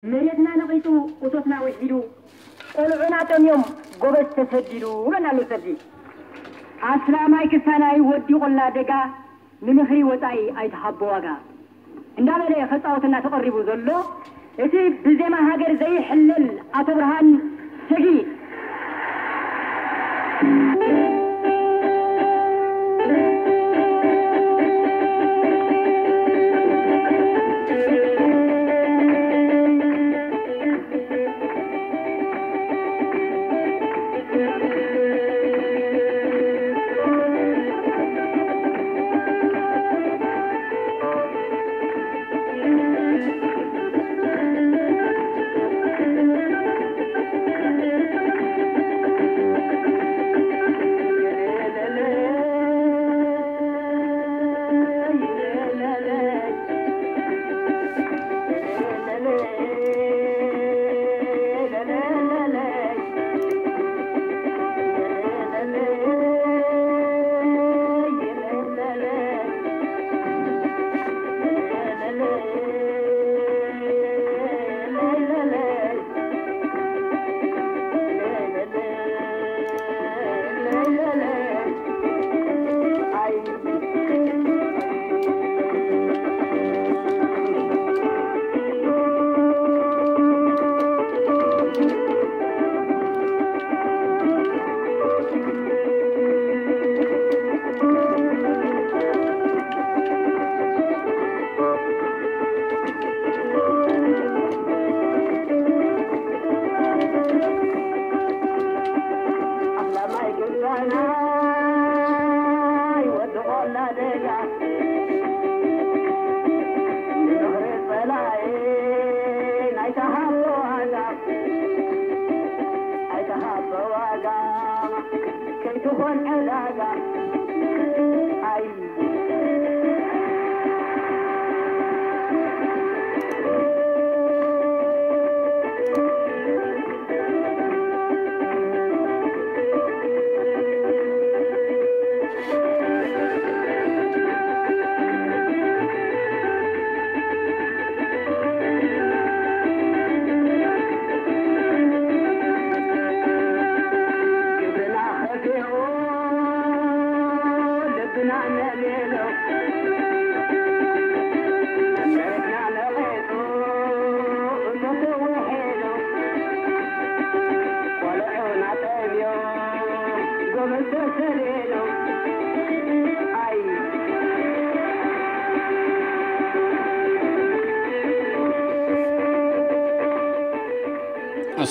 መሬትና ነቒጹ፣ እቶትና ውሒዱ፣ ቆልዑና ጠምዮም፣ ጎበዝ ተሰዲዱ፣ ይብለና ኣሎ ሰዲ። ኣስላማይ ክሳናይ ወዲ ቆላ ደጋ፣ ንምኽሪ ወጻኢ ኣይትሃቦ ዋጋ። እንዳበለ ከጻወተና ተቐሪቡ ዘሎ፣ እቲ ብዜማ ሃገር ዘይሕለል ኣቶ ብርሃን ሰጊ።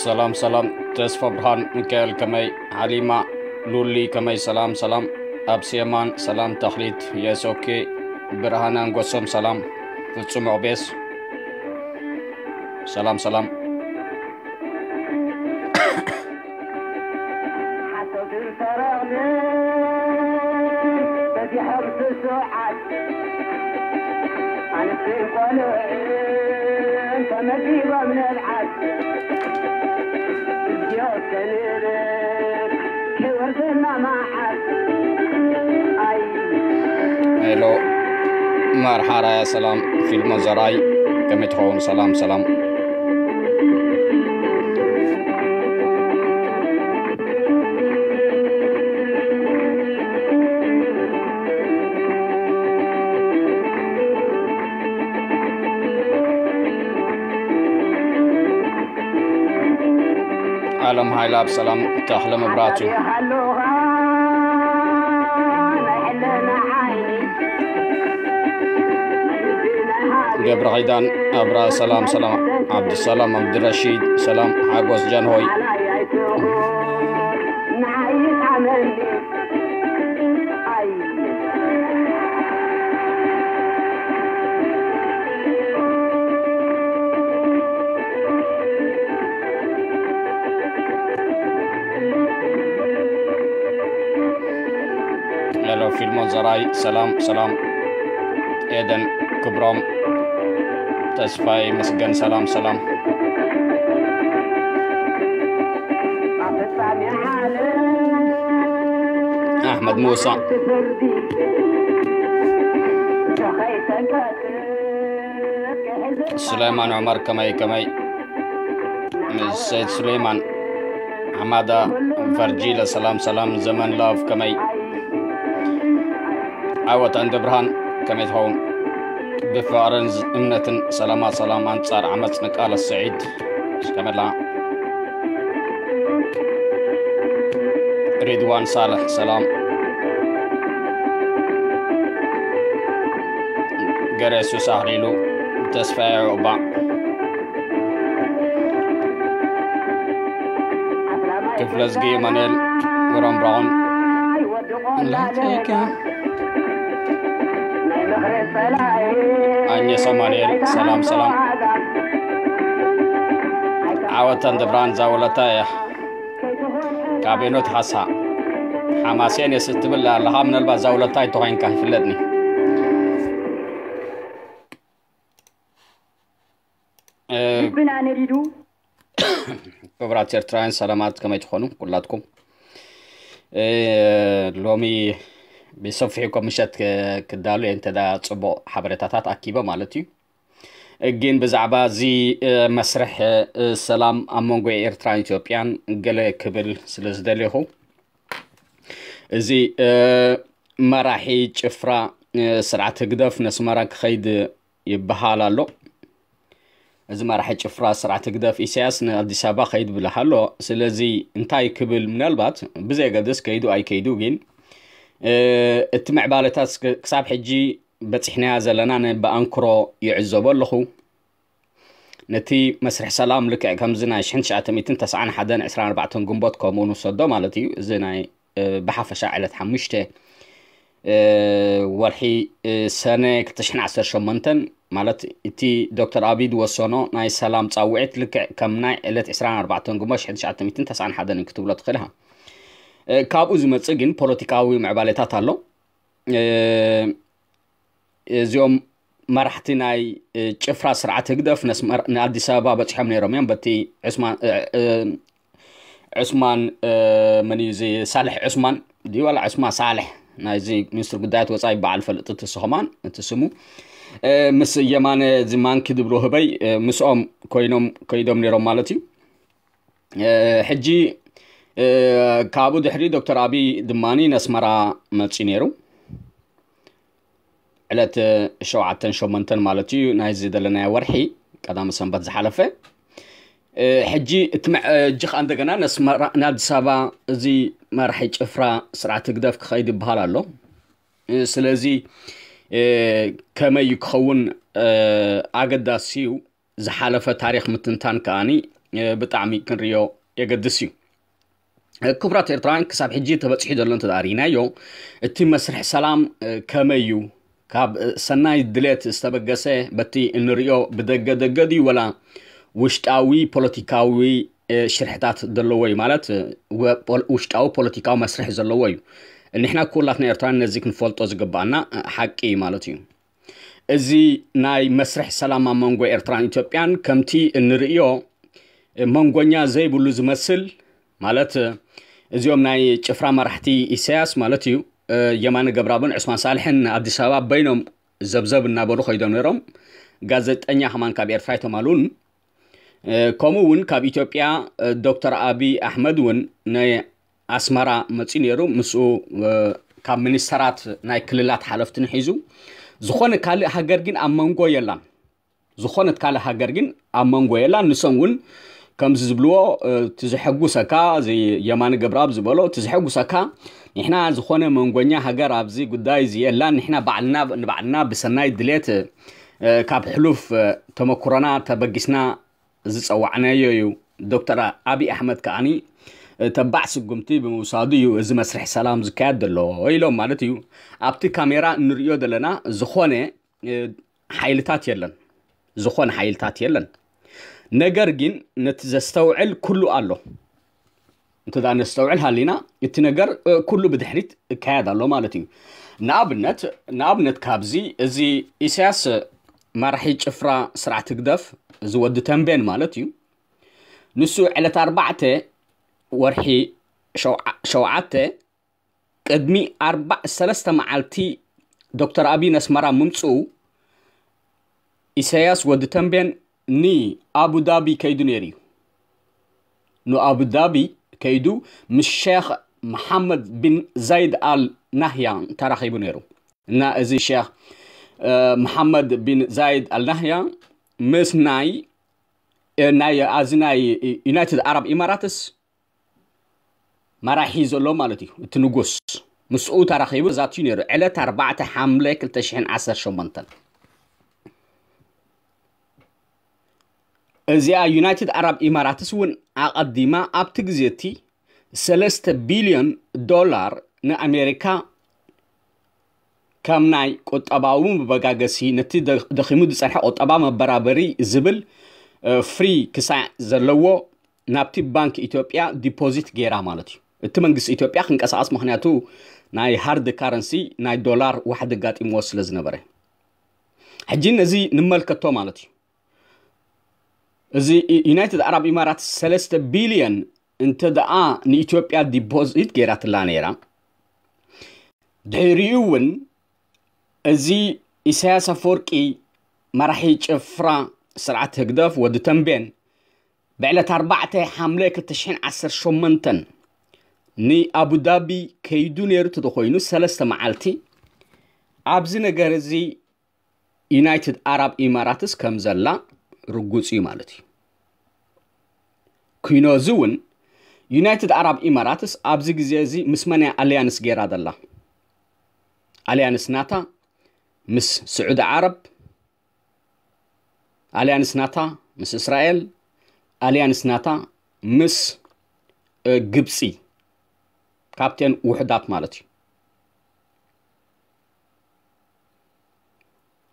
ሰላም ሰላም፣ ተስፋ ብርሃን ሚካኤል ከመይ፣ ሓሊማ ሉሊ ከመይ፣ ሰላም ሰላም። ኣብ ሴማን ሰላም፣ ተኽሊት የሶኬ፣ ብርሃን ኣንጎሶም፣ ሰላም ፍጹም ኦቤስ፣ ሰላም ሰላም። ሓሶትን ሰረቕን በዚሖም ስሱዓት፣ ኣንስትን ቆልዑን ተመዲቦም ንብዓት። እዚኦ ከንብል ከይወርደና መዓት። ኣይ ሄሎ፣ መርሓ ራያ ሰላም፣ ፊልሞን ዘርኣይ ከመይ ትኸውን? ሰላም ሰላም። ዓለም ሃይለ ኣብ ሰላም፣ ተኽለ መብራቱ። ገብረ ኺዳን ኣብራ፣ ሰላም ሰላም። ዓብዱሰላም ዓብዱረሺድ፣ ሰላም። ሓጎስ ጃንሆይ። ሄሎ ፊልሞን ዘርኣይ፣ ሰላም ሰላም። ኤደን ክብሮም፣ ተስፋይ መስገን፣ ሰላም ሰላም። ኣሕመድ ሙሳ፣ ሱሌማን ዑመር፣ ከመይ ከመይ? ሰይድ ሱሌማን ሓማዳ፣ ቨርጂለ፣ ሰላም ሰላም። ዘመን ላቭ፣ ከመይ? ዓወት ኣንደ ብርሃን፣ ከመይ ትኸውን? ብፍቕርን እምነትን ሰላማ ሰላም፣ ኣንጻር ዓመጽ ንቃለስ። ስዒድ፣ ከመላ? ሪድዋን ሳልሕ፣ ሰላም። ገረ ሱስ ኣኽሊሉ፣ ተስፋዬ ዑቕባ፣ ክፍለዝጊ፣ ማኑኤል፣ ወሮም ብራውን፣ ላይከ፣ ኣኘስ ኣማኑኤል፣ ሰላም ሰላም። ዓወት ኣንደ ብርሃን ዛወለታ እያ። ካብ ሄኖት ሓሳ፣ ሓማሴን የስ እትብል ኣለኻ። ምናልባት ዛውለታይ ተኾይንካ ይፍለጥኒ። እ፣ ልብና ነዲዱ። ክቡራት ኤርትራውያን ሰላማት፣ ከመይ ትኾኑ ኩላትኩም? እ፣ ሎሚ ብሰፊሑ ኮ ምሸት ክ-፣ ክዳሉ እየ፣ እንተ ዳ ጽቡቕ ሓበሬታታት ኣኪበ ማለት እዩ። ግን ብዛዕባ እዚ፣ እ፣ መስርሕ፣ እ፣ ሰላም ኣብ መንጎ ኤርትራን ኢትዮጵያን ገለ ክብል ስለ ዝደለኹ፣ እዚ፣ እ፣ መራሒ ጭፍራ፣ እ፣ ስርዓት ህግደፍ ነስመራ ክኸይድ ይበሃል ኣሎ። እዚ መራሒ ጭፍራ ስርዓት ህግደፍ ኢሳያስ ንኣዲስ ኣበባ ኸይድ ብለህ ኣሎ። ስለዚ እንታይ ክብል፣ ምናልባት ብዘየገድስ ከይዱ ኣይከይዱ፣ ግን፣ እ፣ እቲ ምዕባለታት እስከ-፣ ክሳብ ሕጂ በጺሕናያ ዘለና ን-፣ ብኣንክሮ ይዕዘቦ ኣለኹ። ነቲ መስርሕ ሰላም ልክዕ ከምዚ ናይ ሽሕን ትሽዓተ ሚእትን ተስዓን ሓደን ዕስራን ኣርባዕተን ግንቦት ከምኡ ንውሰዶ ማለት እዩ። እዚ ናይ፣ እ፣ ብሓፈሻ ዕለት ሓሙሽተ፣ እ፣ ወርሒ፣ እ፣ ሰነ ክልተ ሽሕን ዓሰርተ ሸሞንተን ማለት እቲ ዶክተር ኣቢይ ዝወሰኖ ናይ ሰላም ጻውዒት ልክዕ ከም ናይ ዕለት ዕስራን ኣርባዕተን ግንቦት ሽሕን ትሽዓተ ሚእትን ተስዓን ሓደን እዩ ክትብሎ ትኽእል ኢኻ። እ፣ ካብኡ ዝመጽእ ግን ፖለቲካዊ ምዕባሌታት ኣሎ። እ፣ እዚኦም መራሕቲ ናይ፣ እ፣ ጭፍራ ስርዓት ህግደፍ ነስመር-፣ ንኣዲስ ኣበባ በጺሖም ነይሮም እዮም። በቲ ዑስማን፣ እ፣ እ፣ ዑስማን፣ እ፣ መን እዩ እዚ? ሳልሕ ዑስማን ድዩ ዋላ ዑስማን ሳልሕ? ናይዚ ሚኒስትሪ ጉዳያት ወጻኢ በዓል ፈልጥ እቲ ስኹማን እቲ ስሙ፣ እ፣ ምስ የማነ እዚ ማንኪ ዝብሎ ህበይ፣ እ፣ ምስኦም ኮይኖም ከይዶም ነይሮም ማለት እዩ። እ፣ ሕጂ፣ እ፣ ካብኡ ድሕሪ ዶክተር ኣቢይ ድማኒ ነስመራ መጺኡ ነይሩ። ዕለት ሸውዓተን ሸሞንተን ማለት እዩ፣ ናይዚ ዘለናዮ ወርሒ ቀዳመ ሰንበት ዝሓለፈ። እ፣ ሕጂ እቲ መ-፣ እ፣ ሕጂ ኸኣ እንደገና ነስመራ፣ ንኣዲስ ኣበባ እዚ መራሒ ጭፍራ ስርዓት ህግደፍ ክኸይድ ይበሃል ኣሎ። እ፣ ስለዚ፣ እ፣ ከመይ እዩ ክኸውን፣ እ፣ ኣገዳሲ እዩ። ዝሓለፈ ታሪኽ ምትንታን ከኣኒ፣ እ፣ ብጣዕሚ ክንርእዮ የገድስ እዩ። እ፣ ክቡራት ኤርትራውያን፣ ክሳብ ሕጂ ተበጺሑ ዘሎ እንተ ደኣ ርኢናዮ፣ እቲ መስርሕ ሰላም፣ እ፣ ከመይ እዩ? ካብ፣ እ፣ ሰናይ ድሌት ዝተበገሰ፣ በቲ እንርእዮ ብደገ ደገ ድዩ ወላ ውሽጣዊ ፖለቲካዊ፣ እ፣ ሽርሕታት ዘለዎ እዩ? ማለት፣ እ፣ ወ-፣ ፖል-፣ ውሽጣዊ ፖለቲካዊ መስርሕ ዘለዎ እዩ። ንሕና ኩላትና ኤርትራውያን ነዚ ክንፈልጦ ዝግባኣና፣ እ፣ ሓቂ እዩ ማለት እዩ። እዚ ናይ መስርሕ ሰላም ኣብ መንጎ ኤርትራን ኢትዮጵያን ከምቲ እንርእዮ መንጎኛ ዘይብሉ ዝመስል፣ ማለት እዚኦም ናይ ጭፍራ መራሕቲ ኢሳያስ ማለት እዩ፣ የማነ ገብረኣብን ዑስማን ሳልሕን ኣዲስ ኣበባ በይኖም ዘብዘብ እናበሉ ከይዶም ነይሮም። ጋዜጠኛ ከማን ካብ ኤርትራ ኣይተማሉን። ከምኡ እውን ካብ ኢትዮጵያ ዶክተር ኣቢይ ኣሕመድ እውን ናይ ኣስመራ መጺኡ ነይሩ። ምስኡ፣ እ፣ ካብ ሚኒስተራት ናይ ክልላት ሓለፍትን ሒዙ፣ ዝኾነ ካልእ ሃገር ግን ኣብ መንጎ የላን። ዝኾነት ካልእ ሃገር ግን ኣብ መንጎ የላን። ንሶም እውን ከምዚ ዝብልዎ፣ እ፣ እቲ ዘሐጉሰካ፣ እዚ የማነ ገብረኣብ ዝበሎ፣ እቲ ዘሐጉሰካ፣ ንሕና ዝኾነ መንጎኛ ሃገር ኣብዚ ጉዳይ እዚ የላን። ንሕና ባዕልና ንባዕልና ብሰናይ ድሌት፣ እ፣ ካብ ሕሉፍ፣ እ፣ ተመኩሮና ተበጊስና ዝጸዋዕናዮ እዩ። ዶክተር ኣብይ ኣሕመድ ከኣኒ ተባዕ ስጉምቲ ብምውሳዱ እዩ እዚ መስርሕ ሰላም ዝካየድ ዘሎ ኢሎም ማለት እዩ። ኣብቲ ካሜራ እንርእዮ ዘለና ዝኾነ፣ እ፣ ሓይልታት የለን፣ ዝኾነ ሓይልታት የለን። ነገር ግን ነቲ ዘስተውዕል ኩሉ ኣሎ። እንተ ደኣ ነስተውዕል ሃሊና እቲ ነገር፣ እ፣ ኩሉ ብድሕሪት እካየድ ኣሎ ማለት እዩ። ንኣብነት፣ ንኣብነት ካብዚ እዚ ኢሳያስ መራሒ ጭፍራ ስርዓት ህግደፍ እዚ ወዲ ተንቤን ማለት እዩ። ንሱ ዕለት ኣርባዕተ ወርሒ ሸውዓ-፣ ሸውዓተ ቅድሚ ኣርባ-፣ ሰለስተ መዓልቲ ዶክተር ኣብይ ነስመራ ምምጽኡ ኢሳያስ ወዲ ተንቤን ንኣቡዳቢ ከይዱ ነይሩ እዩ። ንኣቡዳቢ ከይዱ ምስ ሸኽ መሓመድ ቢን ዛይድ ኣል ናህያን ተራኺቡ ነይሩ። እና እዚ ሸኽ መሓመድ ቢን ዛይድ ኣል ናህያን ምስ ናይ ናይ ኣዚ ናይ ዩናይትድ ኣረብ ኢማራትስ መራሒ ዘሎ ማለት እዩ። እቲ ንጉስ ምስኡ ተራኺቡ ዛትዩ ነይሩ። ዕለት ኣርባዕተ ሓምለ ክልተ ሽሕን ዓሰርተ ሸሞንተን። እዚኣ ዩናይትድ ኣረብ ኢማራትስ እውን ኣቐዲማ ኣብቲ ግዜ እቲ ሰለስተ ቢልዮን ዶላር ንኣሜሪካ ከም ናይ ቁጠባዊ መበጋገሲ ነቲ ደኺሙ ዝጸንሐ ቁጠባ መበራበሪ ዝብል ፍሪ ክሳዕ ዘለዎ ናብቲ ባንክ ኢትዮጵያ ዲፖዚት ገይራ ማለት እዩ። እቲ መንግስቲ ኢትዮጵያ ክንቀሳቐስ፣ ምክንያቱ ናይ ሃርድ ካረንሲ ናይ ዶላር ዋሕዲ ኣጋጢምዎ ስለ ዝነበረ። ሕጂ ነዚ ንመልከቶ ማለት እዩ። እዚ ዩናይትድ ኣረብ ኢማራት ሰለስተ ቢልዮን እንተ ደኣ ንኢትዮጵያ ዲፖዚት ገይራትላ ነይራ፣ ድሕሪኡ እውን እዚ ኢሳያስ ኣፈወርቂ መራሒ ጭፍራ ስርዓት ህግደፍ ወዲ ተንቤን ብዕለት ኣርባዕተ ሓምለ ክልተ ሽሕን ዓሰርተ ሸሞንተን ንኣቡዳቢ ከይዱ ነይሩ ተተኮይኑ ሰለስተ መዓልቲ ኣብዚ ነገር እዚ ዩናይትድ ኣረብ ኢማራትስ ከም ዘላ ርጉጽ እዩ ማለት እዩ። ኩይኖ እዚ እውን ዩናይትድ ኣረብ ኢማራትስ ኣብዚ ግዜ እዚ ምስ መን እያ ኣልያንስ ገይራ ዘላ? ኣልያንስ ናታ ምስ ስዑዲ ዓረብ፣ ኣልያንስ ናታ ምስ እስራኤል፣ ኣልያንስ ናታ ምስ ግብፂ፣ ካብተን ውሕዳት ማለት እዩ።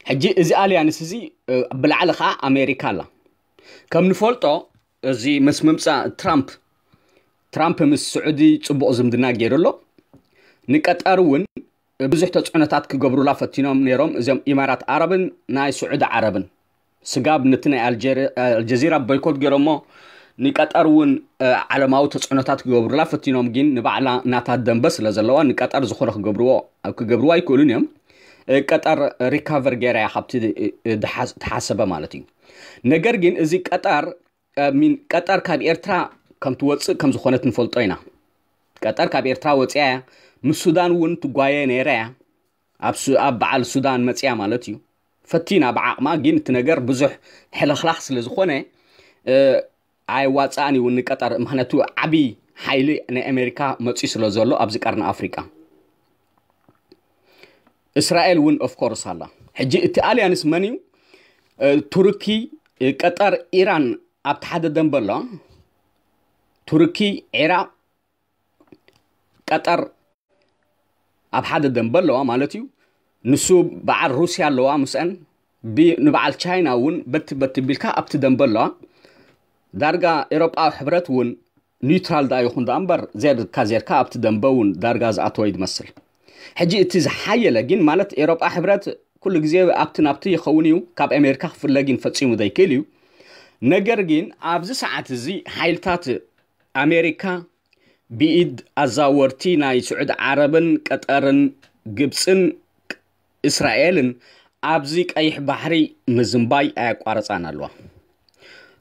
ሕጂ እዚ ኣልያንስ እዚ ብላዕሊ ከዓ ኣሜሪካ ኣላ። ከም ንፈልጦ እዚ ምስ ምምፃእ ትራምፕ ትራምፕ ምስ ስዑዲ ፅቡቕ ዝምድና ገይሩ ኣሎ። ንቀጠር እውን ብዙሕ ተፅዕኖታት ክገብሩላ ፈቲኖም ነይሮም እዚኦም ኢማራት ዓረብን ናይ ስዑዲ ዓረብን። ስጋብ ነቲ ናይ ኣልጀዚራ ቦይኮት ገይሮሞ ንቀጠር እውን ዓለማዊ ተፅዕኖታት ክገብሩላ ፈቲኖም፣ ግን ንባዕላ ናታ ደንበ ስለ ዘለዋ ንቀጠር ዝኾነ ክገብርዎ ክገብርዎ ኣይክእሉን እዮም። ቀጠር ሪካቨር ገይራ እያ ካብቲ ተሓሰበ ማለት እዩ። ነገር ግን እዚ ቀጠር ሚን ቀጠር ካብ ኤርትራ ከም ትወፅእ ከም ዝኾነት ንፈልጦ ኢና። ቀጠር ካብ ኤርትራ ወፅያ እያ። ምስ ሱዳን እውን ትጓየ ነይራ እያ። ኣብ በዓል ሱዳን መፅያ ማለት እዩ። ፈቲና ብዓቕማ፣ ግን እቲ ነገር ብዙሕ ሕልኽላኽ ስለ ዝኾነ ኣይዋፅኣን እዩ ንቀጠር። ምክንያቱ ዓብዪ ሓይሊ ናይ ኣሜሪካ መፅዩ ስለ ዘሎ ኣብዚ ቀርኒ ኣፍሪቃ። እስራኤል እውን ኦፍኮርስ ኣላ። ሕጂ እቲ ኣልያንስ መን እዩ? ቱርኪ፣ ቀጠር፣ ኢራን ኣብቲ ሓደ ደንበ ኣለዋ። ቱርኪ፣ ዒራቕ፣ ቀጠር ኣብ ሓደ ደንበ ኣለዋ ማለት እዩ። ንሱ በዓል ሩስያ ኣለዋ ምስአን፣ ንበዓል ቻይና እውን በቲ በቲ ቢልካ ኣብቲ ደንበ ኣለዋ። ዳርጋ ኤሮጳዊ ሕብረት እውን ኒውትራል ዳ ይኹን ዳ እምበር፣ ዜርካ ዜርካ ኣብቲ ደንበ እውን ዳርጋ ዝኣተወ ይመስል። ሕጂ እቲ ዝሓየለ ግን ማለት ኤሮጳ ሕብረት ኩሉ ግዜ ኣብቲ ናብቲ ይኸውን እዩ፣ ካብ ኣሜሪካ ክፍለ ግን ፈጺሙ ዘይክእል እዩ። ነገር ግን ኣብዚ ሰዓት እዚ ሓይልታት ኣሜሪካ ብኢድ ኣዛወርቲ ናይ ስዑዲ ዓረብን ቀጠርን ግብፅን እስራኤልን ኣብዚ ቀይሕ ባሕሪ ምዝንባይ ኣያቋረፃን ኣለዋ።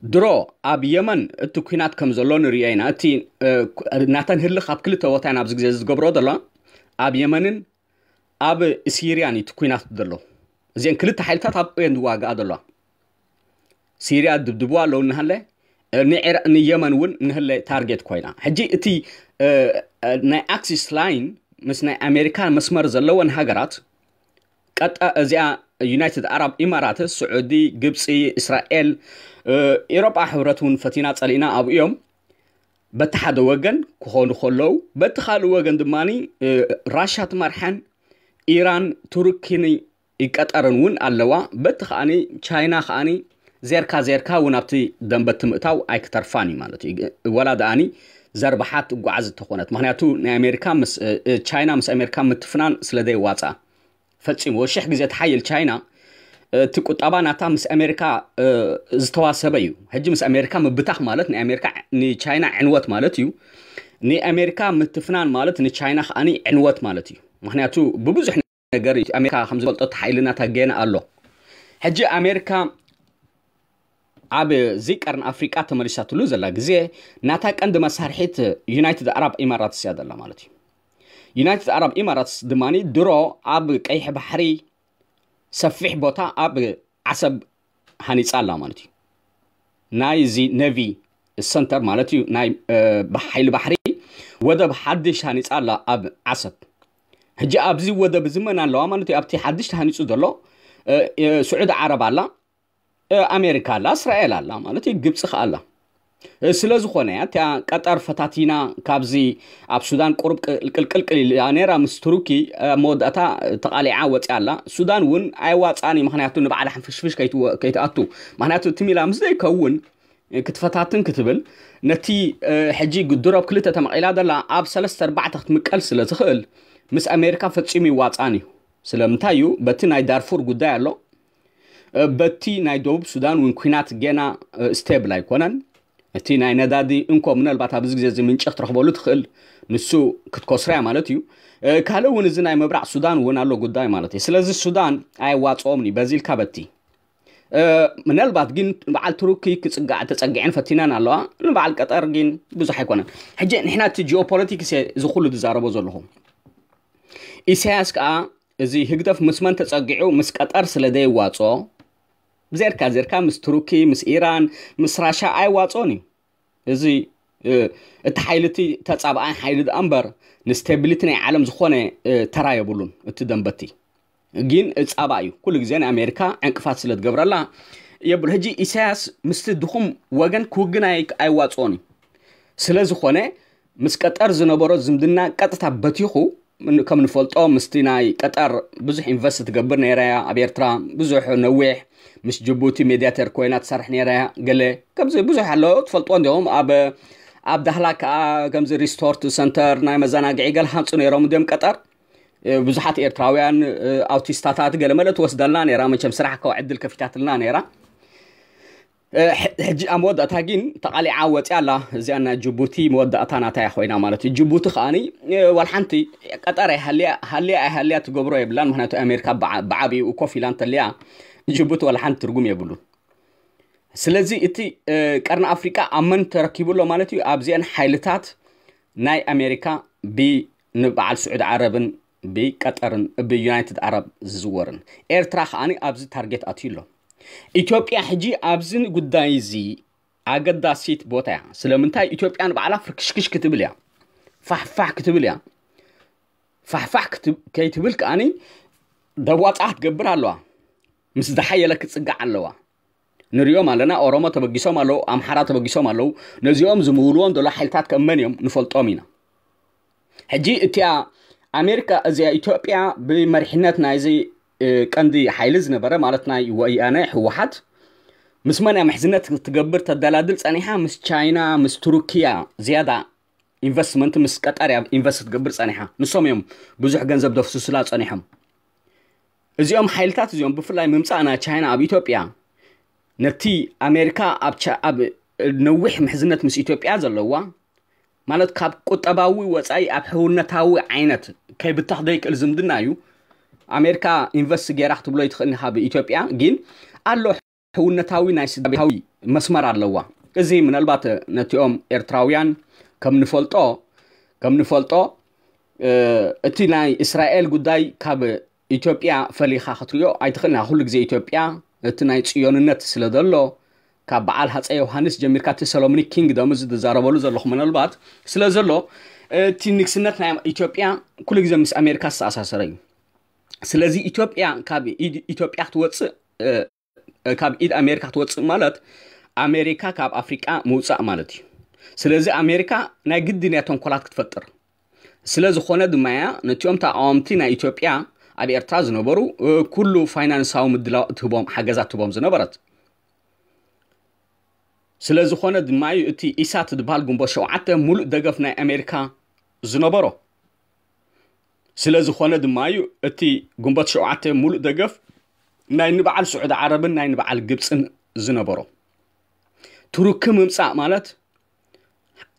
ድሮ ኣብ የመን እቲ ኩናት ከም ዘሎ ንሪኦ ኢና። እቲ ናተን ህልኽ ኣብ ክልተ ቦታ ኢና ኣብዚ ግዜ ዝገብሮ ዘሎ፣ ኣብ የመንን ኣብ ሲርያን እቲ ኩናት ዘሎ። እዚአን ክልተ ሓይልታት ኣብ እየን ዝዋግኣ ዘለዋ። ሲርያ ድብድብዋ ኣለዉ እናሃለ ንየመን እውን ንህለ ታርጌት ኮይና። ሕጂ እቲ ናይ ኣክሲስ ላይን ምስ ናይ ኣሜሪካ መስመር ዘለወን ሃገራት ቀጣ እዚኣ ዩናይትድ ኣረብ ኢማራት፣ ስዑዲ፣ ግብፂ፣ እስራኤል፣ ኤሮጳ ሕብረት እውን ፈቲና ፀሊእና ኣብኡ እዮም። በቲ ሓደ ወገን ክኾኑ ከለዉ፣ በቲ ካልእ ወገን ድማ ራሻ ትመርሐን ኢራን፣ ቱርኪን ቀጠርን እውን ኣለዋ። በቲ ከዓኒ ቻይና ከዓኒ ዜርካ ዜርካ እውን ኣብቲ ደንበ ትምእታው ኣይክተርፋን እዩ ማለት እዩ። ወላ ደኣኒ ዘርባሓት ትጓዓዝ እንተኾነት፣ ምክንያቱ ናይ ኣሜሪካ ምስ ቻይና ምስ ኣሜሪካ ምትፍናን ስለ ዘይዋፃ ፈፂሙ ሽሕ ግዜ ትሓይል ቻይና። እቲ ቁጠባ ናታ ምስ ኣሜሪካ ዝተዋሰበ እዩ። ሕጂ ምስ ኣሜሪካ ምብታኽ ማለት ናይ ኣሜሪካ ንቻይና ዕንወት ማለት እዩ። ንኣሜሪካ ምትፍናን ማለት ንቻይና ከዓኒ ዕንወት ማለት እዩ። ምክንያቱ ብብዙሕ ነገር እዩ። ኣሜሪካ ከም ዝፈልጦ እቲ ሓይሊ ናታ ገና ኣሎ። ሕጂ ኣሜሪካ ኣብ እዚ ቀርኒ ኣፍሪቃ ተመሊሳትሉ ዘላ ግዜ ናታ ቀንዲ መሳርሒት ዩናይትድ ኣረብ ኢማራትስ እያ ዘላ ማለት እዩ። ዩናይትድ ኣረብ ኢማራትስ ድማ ድሮ ኣብ ቀይሕ ባሕሪ ሰፊሕ ቦታ ኣብ ዓሰብ ሃኒጻ ኣላ ማለት እዩ። ናይ እዚ ነቪ ሰንተር ማለት እዩ፣ ናይ ሓይሊ ባሕሪ ወደብ ሓድሽ ሃኒጻ ኣላ ኣብ ዓሰብ። ሕጂ ኣብዚ ወደብ እዚ መን ኣለዋ ማለት እዩ? ኣብቲ ሓድሽ ተሃኒጹ ዘሎ ስዑዲ ዓረብ ኣላ፣ ኣሜሪካ ኣላ፣ እስራኤል ኣላ ማለት እዩ፣ ግብፂ ከኣ ኣላ። ስለ ዝኾነ እያ እቲኣ ቀጠር ፈታቲና ካብዚ ኣብ ሱዳን ቁሩብ ቅልቅልቅል ኢላ ነይራ ምስ ቱርኪ፣ ኣብ መወዳእታ ተቓሊዓ ወፂኣ ኣላ። ሱዳን እውን ኣይዋፃን እዩ፣ ምክንያቱ ንባዕላ ሕንፍሽፍሽ ከይትኣቱ፣ ምክንያቱ እቲ ሚላ ምስ ዘይከውን ክትፈታትን ክትብል ነቲ ሕጂ ግድሮብ ክልተ ተመቒላ ዘላ ኣብ ሰለስተ ኣርባዕተ ክትምቀል ስለ ዝኽእል ምስ ኣሜሪካ ፈጺሙ ይዋፃን እዩ። ስለምንታይ እዩ? በቲ ናይ ዳርፉር ጉዳይ ኣሎ፣ በቲ ናይ ደቡብ ሱዳን እውን ኩናት ገና ስቴብል ኣይኮነን። እቲ ናይ ነዳዲ እንኮ ምናልባት ኣብዚ ግዜ እዚ ምንጭ ክትረኽበሉ ትኽእል፣ ንሱ ክትኮስርያ ማለት እዩ። ካልእ እውን እዚ ናይ ምብራቕ ሱዳን እውን ኣሎ ጉዳይ ማለት እዩ። ስለዚ ሱዳን ኣየዋፅኦምን እዩ በዚ ኢልካ በቲ ምናልባት ግን በዓል ቱርኪ ክፅጋዕ ተፀጊዐን ፈቲነን ኣለዋ። ንበዓል ቀጠር ግን ብዙሕ ኣይኮነን። ሕጂ ንሕና እቲ ጂኦፖለቲክስ እዚ ኩሉ ዝዛረቦ ዘለኹ ኢሳያስ ከዓ እዚ ህግደፍ ምስ መን ተጸጊዑ ምስ ቀጠር ስለ ደይዋጾ ብዘርካ ዘርካ ምስ ቱርኪ ምስ ኢራን ምስ ራሻ ኣይዋጾን እዩ። እዚ እቲ ሓይሊ እቲ ተጻብኣይ ሓይሊ ደኣ እምበር ንስቴቢሊቲ ናይ ዓለም ዝኾነ ተራ የብሉን። እቲ ደንበቲ ግን ጻባ እዩ። ኩሉ ግዜ ንኣሜሪካ ዕንቅፋት ስለ ትገብረላ የብሉ። ሕጂ ኢሳያስ ምስቲ ድኹም ወገን ክውግን ኣይዋጽኦን እዩ። ስለ ዝኾነ ምስ ቀጠር ዝነበሮ ዝምድና ቀጥታ በቲኹ። ከም ንፈልጦ ምስቲ ናይ ቀጠር ብዙሕ ኢንቨስት ትገብር ነይራ እያ ኣብ ኤርትራ። ብዙሕ ነዊሕ ምስ ጅቡቲ ሜድያተር ኮይና ትሰርሕ ነይራ እያ። ገለ ከምዚ ብዙሕ ኣሎ ትፈልጦ እንዲኹም ኣብ ኣብ ዳህላ ከዓ ከምዚ ሪስቶርት ሰንተር ናይ መዘናግዒ ገለ ሃንፁ ነይሮም እንዲም ቀጠር። ብዙሓት ኤርትራውያን ኣውቲስታታት ገለ መለ ትወስደልና ነይራ። መቸም ስራሕ ከው ዕድል ከፊታትልና ነይራ። ሕጂ ኣብ መወዳእታ ግን ተቓሊዓ ወፂያ ኣላ። እዚኣ ናይ ጅቡቲ መወዳእታ ናታ እያ ኮይና ማለት እዩ። ጅቡቲ ከዓኒ ዋላ ሓንቲ ቀጠር ሃልያ ኣይሃልያ ትገብሮ የብላን። ምክንያቱ ኣሜሪካ ብዓብኡ ኮፍ ኢላ እንተልያ ጅቡቲ ዋላ ሓንቲ ትርጉም የብሉን። ስለዚ እቲ ቀርኒ ኣፍሪቃ ኣብ መን ተረኪቡ ኣሎ ማለት እዩ? ኣብዚአን ሓይልታት ናይ ኣሜሪካ ብንበዓል ስዑዲ ዓረብን ብቀጠርን ብዩናይትድ ዓረብ ዝዝወርን። ኤርትራ ከዓኒ ኣብዚ ታርጌት ኣትዩ ኣሎ። ኢትዮጵያ ሕጂ ኣብዚ ጉዳይ እዚ ኣገዳሲት ቦታ እያ። ስለምንታይ? ኢትዮጵያ ንባዕላ ፍርክሽክሽ ክትብል እያ፣ ፋሕፋሕ ክትብል እያ። ፋሕፋሕ ከይትብል ከዓኒ ደዋፃ ክትገብር ኣለዋ። ምስ ዝሓየለ ክትፅጋዕ ኣለዋ። ንሪኦም ኣለና። ኦሮሞ ተበጊሶም ኣለዉ፣ ኣምሓራ ተበጊሶም ኣለዉ። ነዚኦም ዝምውልዎም ዘሎ ሓይልታት ከመን እዮም ንፈልጦም ኢና። ሕጂ እቲኣ ኣሜሪካ እዚኣ ኢትዮጵያ ብመሪሕነት ናይዚ ቀንዲ ሓይሊ ዝነበረ ማለት ናይ ወያነ ህወሓት ምስ መን እያ ምሕዝነት ክትገብር ተደላድል ፀኒሓ? ምስ ቻይና ምስ ቱርኪያ ዝያዳ ኢንቨስትመንት ምስ ቀጠር እያ ኢንቨስት ክትገብር ፀኒሓ። ንሶም እዮም ብዙሕ ገንዘብ ደፍስሱላ ፀኒሖም። እዚኦም ሓይልታት እዚኦም ብፍላይ ምምፃእ ናይ ቻይና ኣብ ኢትዮጵያ ነቲ ኣሜሪካ ኣብ ነዊሕ ምሕዝነት ምስ ኢትዮጵያ ዘለዋ ማለት ካብ ቁጠባዊ ወፃኢ ኣብ ሕውነታዊ ዓይነት ከይብተኽ ዘይክእል ዝምድና እዩ። ኣሜሪካ ኢንቨስት ገይራ ክትብሎ ይትኽእል ኢኻ ብኢትዮጵያ፣ ግን ኣሎ ሕውነታዊ ናይ ስድራቤታዊ መስመር ኣለዋ። እዚ ምናልባት ነቲኦም ኤርትራውያን ከም ንፈልጦ ከም ንፈልጦ እቲ ናይ እስራኤል ጉዳይ ካብ ኢትዮጵያ ፈሊኻ ክትሪኦ ኣይትኽእልና። ኩሉ ግዜ ኢትዮጵያ እቲ ናይ ጽዮንነት ስለ ዘሎ ካብ በዓል ሃፀ ዮሃንስ ጀሚርካ እቲ ሰሎሞኒክ ኪንግደም እዚ ዝዛረበሉ ዘለኹ ምናልባት ስለ ዘሎ እቲ ንግስነት ናይ ኢትዮጵያ ኩሉ ግዜ ምስ ኣሜሪካ ዝተኣሳሰረ እዩ። ስለዚ ኢትዮጵያ ካብ ኢድ ኢትዮጵያ ክትወፅእ ካብ ኢድ ኣሜሪካ ክትወፅእ ማለት ኣሜሪካ ካብ ኣፍሪቃ ምውፃእ ማለት እዩ። ስለዚ ኣሜሪካ ናይ ግድን እያ ተንኮላት ክትፈጥር። ስለ ዝኾነ ድማ እያ ነቲኦም ተቃወምቲ ናይ ኢትዮጵያ ኣብ ኤርትራ ዝነበሩ ኩሉ ፋይናንሳዊ ምድላው እትህቦም ሓገዛት ትህቦም ዝነበረት። ስለ ዝኾነ ድማ እዩ እቲ ኢሳት ዝበሃል ግንቦት ሸውዓተ ሙሉእ ደገፍ ናይ ኣሜሪካ ዝነበሮ። ስለ ዝኾነ ድማ እዩ እቲ ግንቦት ሸውዓተ ሙሉእ ደገፍ ናይ ንበዓል ስዑዲ ዓረብን ናይ ንበዓል ግብፅን ዝነበሮ። ቱርኪ ምምፃእ ማለት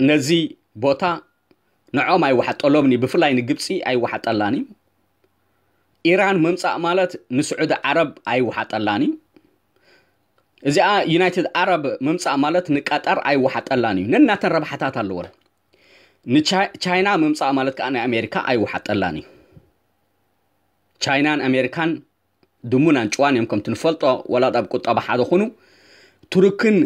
ነዚ ቦታ ንዖም ኣይወሓጠሎምን እዩ። ብፍላይ ንግብፂ ኣይወሓጠላን እዩ። ኢራን ምምፃእ ማለት ንስዑዲ ዓረብ ኣይወሓጠላን እዩ። እዚኣ ዩናይትድ ዓረብ ምምፃእ ማለት ንቀጠር ኣይወሓጠላን እዩ። ነናተን ረብሓታት ኣለወን። ንቻይና ምምፃእ ማለት ከዓ ናይ ኣሜሪካ ኣይወሓጠላን እዩ። ቻይናን ኣሜሪካን ድሙን ኣንጭዋን እዮም። ከምቲ ንፈልጦ፣ ወላ ኣብ ቁጠባ ሓደ ኹኑ፣ ቱርክን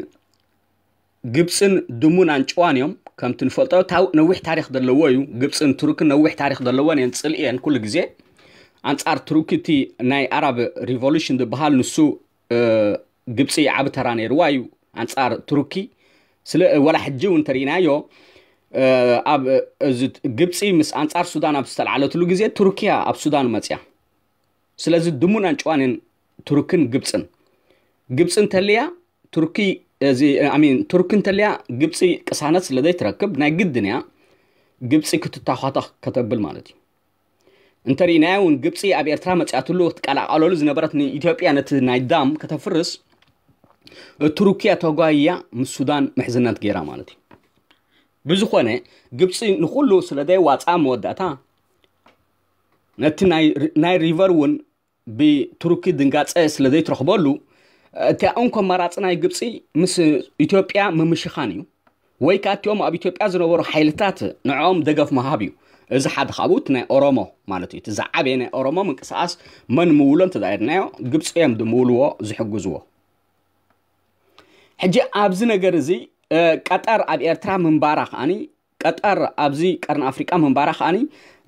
ግብፅን ድሙን ኣንጭዋን እዮም። ከምቲ ንፈልጦ፣ ነዊሕ ታሪክ ዘለዎ እዩ። ግብፅን ቱርክን ነዊሕ ታሪክ ዘለወን እየን። ፅልኢ እየን ኩሉ ግዜ። ኣንፃር ቱርኪ እቲ ናይ ኣራብ ሪቮሉሽን ዝበሃል ንሱ ግብፂ ዓብ ተራ ነይርዋ እዩ ኣንፃር ቱርኪ። ስለ ወላ ሕጂ እውን እንተርኢናዮ፣ ኣብ ግብፂ ምስ ኣንፃር ሱዳን ኣብ ዝተለዓለትሉ ግዜ ቱርኪያ ኣብ ሱዳን መፅያ። ስለዚ ድሙን ኣንጭዋንን ቱርክን ግብፅን፣ ግብፂ እንተልያ ቱርኪ፣ እዚ ኣሚን፣ ቱርኪ እንተልያ ግብፂ ቅሳነት ስለ ዘይትረክብ ናይ ግድን እያ ግብፂ ክትታኳተኽ ከተብል ማለት እዩ። እንተርኢናዮ እውን ግብፂ ኣብ ኤርትራ መፅያትሉ ክትቀላቀለሉ ዝነበረት ንኢትዮጵያ ነቲ ናይ ዳም ከተፍርስ ቱርኪያ ተጓይያ ምስ ሱዳን ምሕዝነት ገይራ ማለት እዩ። ብዝኾነ ግብፂ ንኩሉ ስለ ዘይዋፃ መወዳእታ ነቲ ናይ ሪቨር እውን ብቱርኪ ድንጋፀ ስለ ዘይትረኽበሉ እቲኣ እንኮ ኣማራፂ ናይ ግብፂ ምስ ኢትዮጵያ ምምሽኻን እዩ። ወይ ከዓ እቲኦም ኣብ ኢትዮጵያ ዝነበሩ ሓይልታት ንዕኦም ደገፍ ምሃብ እዩ። እዚ ሓደ ካብኡ እቲ ናይ ኦሮሞ ማለት እዩ። እቲ ዝዓበየ ናይ ኦሮሞ ምንቅስቃስ መን ምውሎ እንተዳየድናዮ ግብፂ እዮም ድምውልዎ ዝሕግዝዎ። ሕጂ ኣብዚ ነገር እዚ ቀጠር ኣብ ኤርትራ ምንባራ ከዓኒ ቀጠር ኣብዚ ቀርኒ ኣፍሪቃ ምንባራ ከዓኒ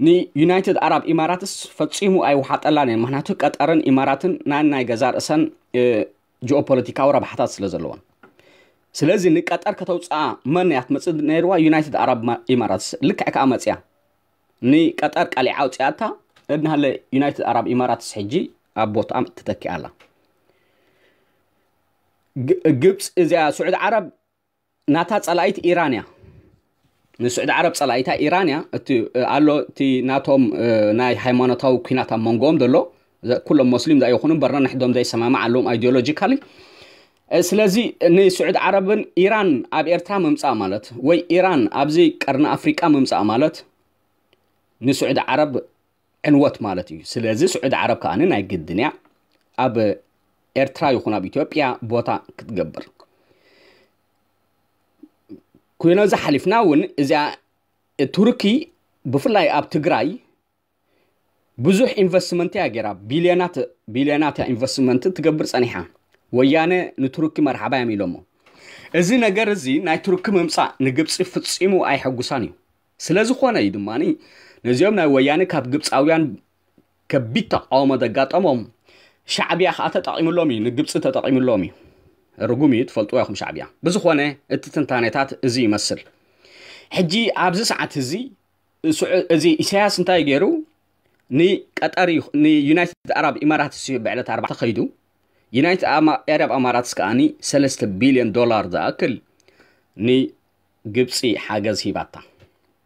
ንዩናይትድ ኣራብ ኢማራትስ ፈጺሙ ኣይወሓጠላን እየን። ምክንያቱ ቀጠርን ኢማራትን ናይ ናይ ገዛ ርእሰን ጂኦፖለቲካዊ ረብሓታት ስለ ዘለዎን። ስለዚ ንቀጠር ከተውፅኣ መን እያ ትመፅእ ነይርዋ? ዩናይትድ ኣራብ ኢማራትስ ልክዕ ከዓ መፅያ ንቀጠር ቀሊዓ ኣውፅኣታ። እድናሃለ ዩናይትድ ኣራብ ኢማራትስ ሕጂ ኣብ ቦትኣም ትተኪኣላ። ግብፅ እዚኣ ስዑድ ዓረብ ናታ ፀላኢት ኢራን እያ። ንስዑድ ዓረብ ፀላኢታ ኢራን እያ። እቲ ኣሎ እቲ ናቶም ናይ ሃይማኖታዊ ኩናት ኣብ መንጎኦም ዘሎ ኩሎም ሞስሊም ዛ ይኹኑ በርና ንሕዶም ዘይሰማማዕ ኣለዎም ኣይዲዮሎጂካሊ። ስለዚ ንስዑድ ዓረብን ኢራን ኣብ ኤርትራ ምምፃእ ማለት ወይ ኢራን ኣብዚ ቀርኒ ኣፍሪቃ ምምፃእ ማለት ንስዑድ ዓረብ ዕንወት ማለት እዩ። ስለዚ ስዑድ ዓረብ ከዓኒ ናይ ግድን እያ ኣብ ኤርትራ ይኹን ኣብ ኢትዮጵያ ቦታ ክትገብር። ኮይኖ ዝሓሊፍና እውን እዚኣ ቱርኪ ብፍላይ ኣብ ትግራይ ብዙሕ ኢንቨስትመንት እያ ገይራ። ቢልዮናት ቢልዮናት እያ ኢንቨስትመንት ትገብር ፀኒሓ። ወያነ ንቱርኪ መርሓባ እዮም ኢሎሞ። እዚ ነገር እዚ ናይ ቱርኪ ምምፃእ ንግብፂ ፍፂሙ ኣይሐጉሳን እዩ። ስለ ዝኾነ እዩ ድማ ነዚኦም ናይ ወያነ ካብ ግብፃውያን ከቢድ ተቃውሞ ዘጋጠሞም ሻዕብያ ከዓ ተጠቂምሎም እዩ፣ ንግብፂ ተጠቂምሎም እዩ። ርጉም እዩ፣ ትፈልጥዎ ኢኹም ሻዕብያ። ብዝኾነ እቲ ትንታኔታት እዚ ይመስል። ሕጂ ኣብዚ ሰዓት እዚ እዚ ኢሳያስ እንታይ ገይሩ? ንቀጠር ንዩናይትድ ኣራብ ኢማራትስ እዩ ብዕለት ኣርባዕተ ከይዱ። ዩናይትድ ኣራብ ኣማራትስ ከዓኒ ሰለስተ ቢልዮን ዶላር ዝኣክል ንግብፂ ሓገዝ ሂባታ።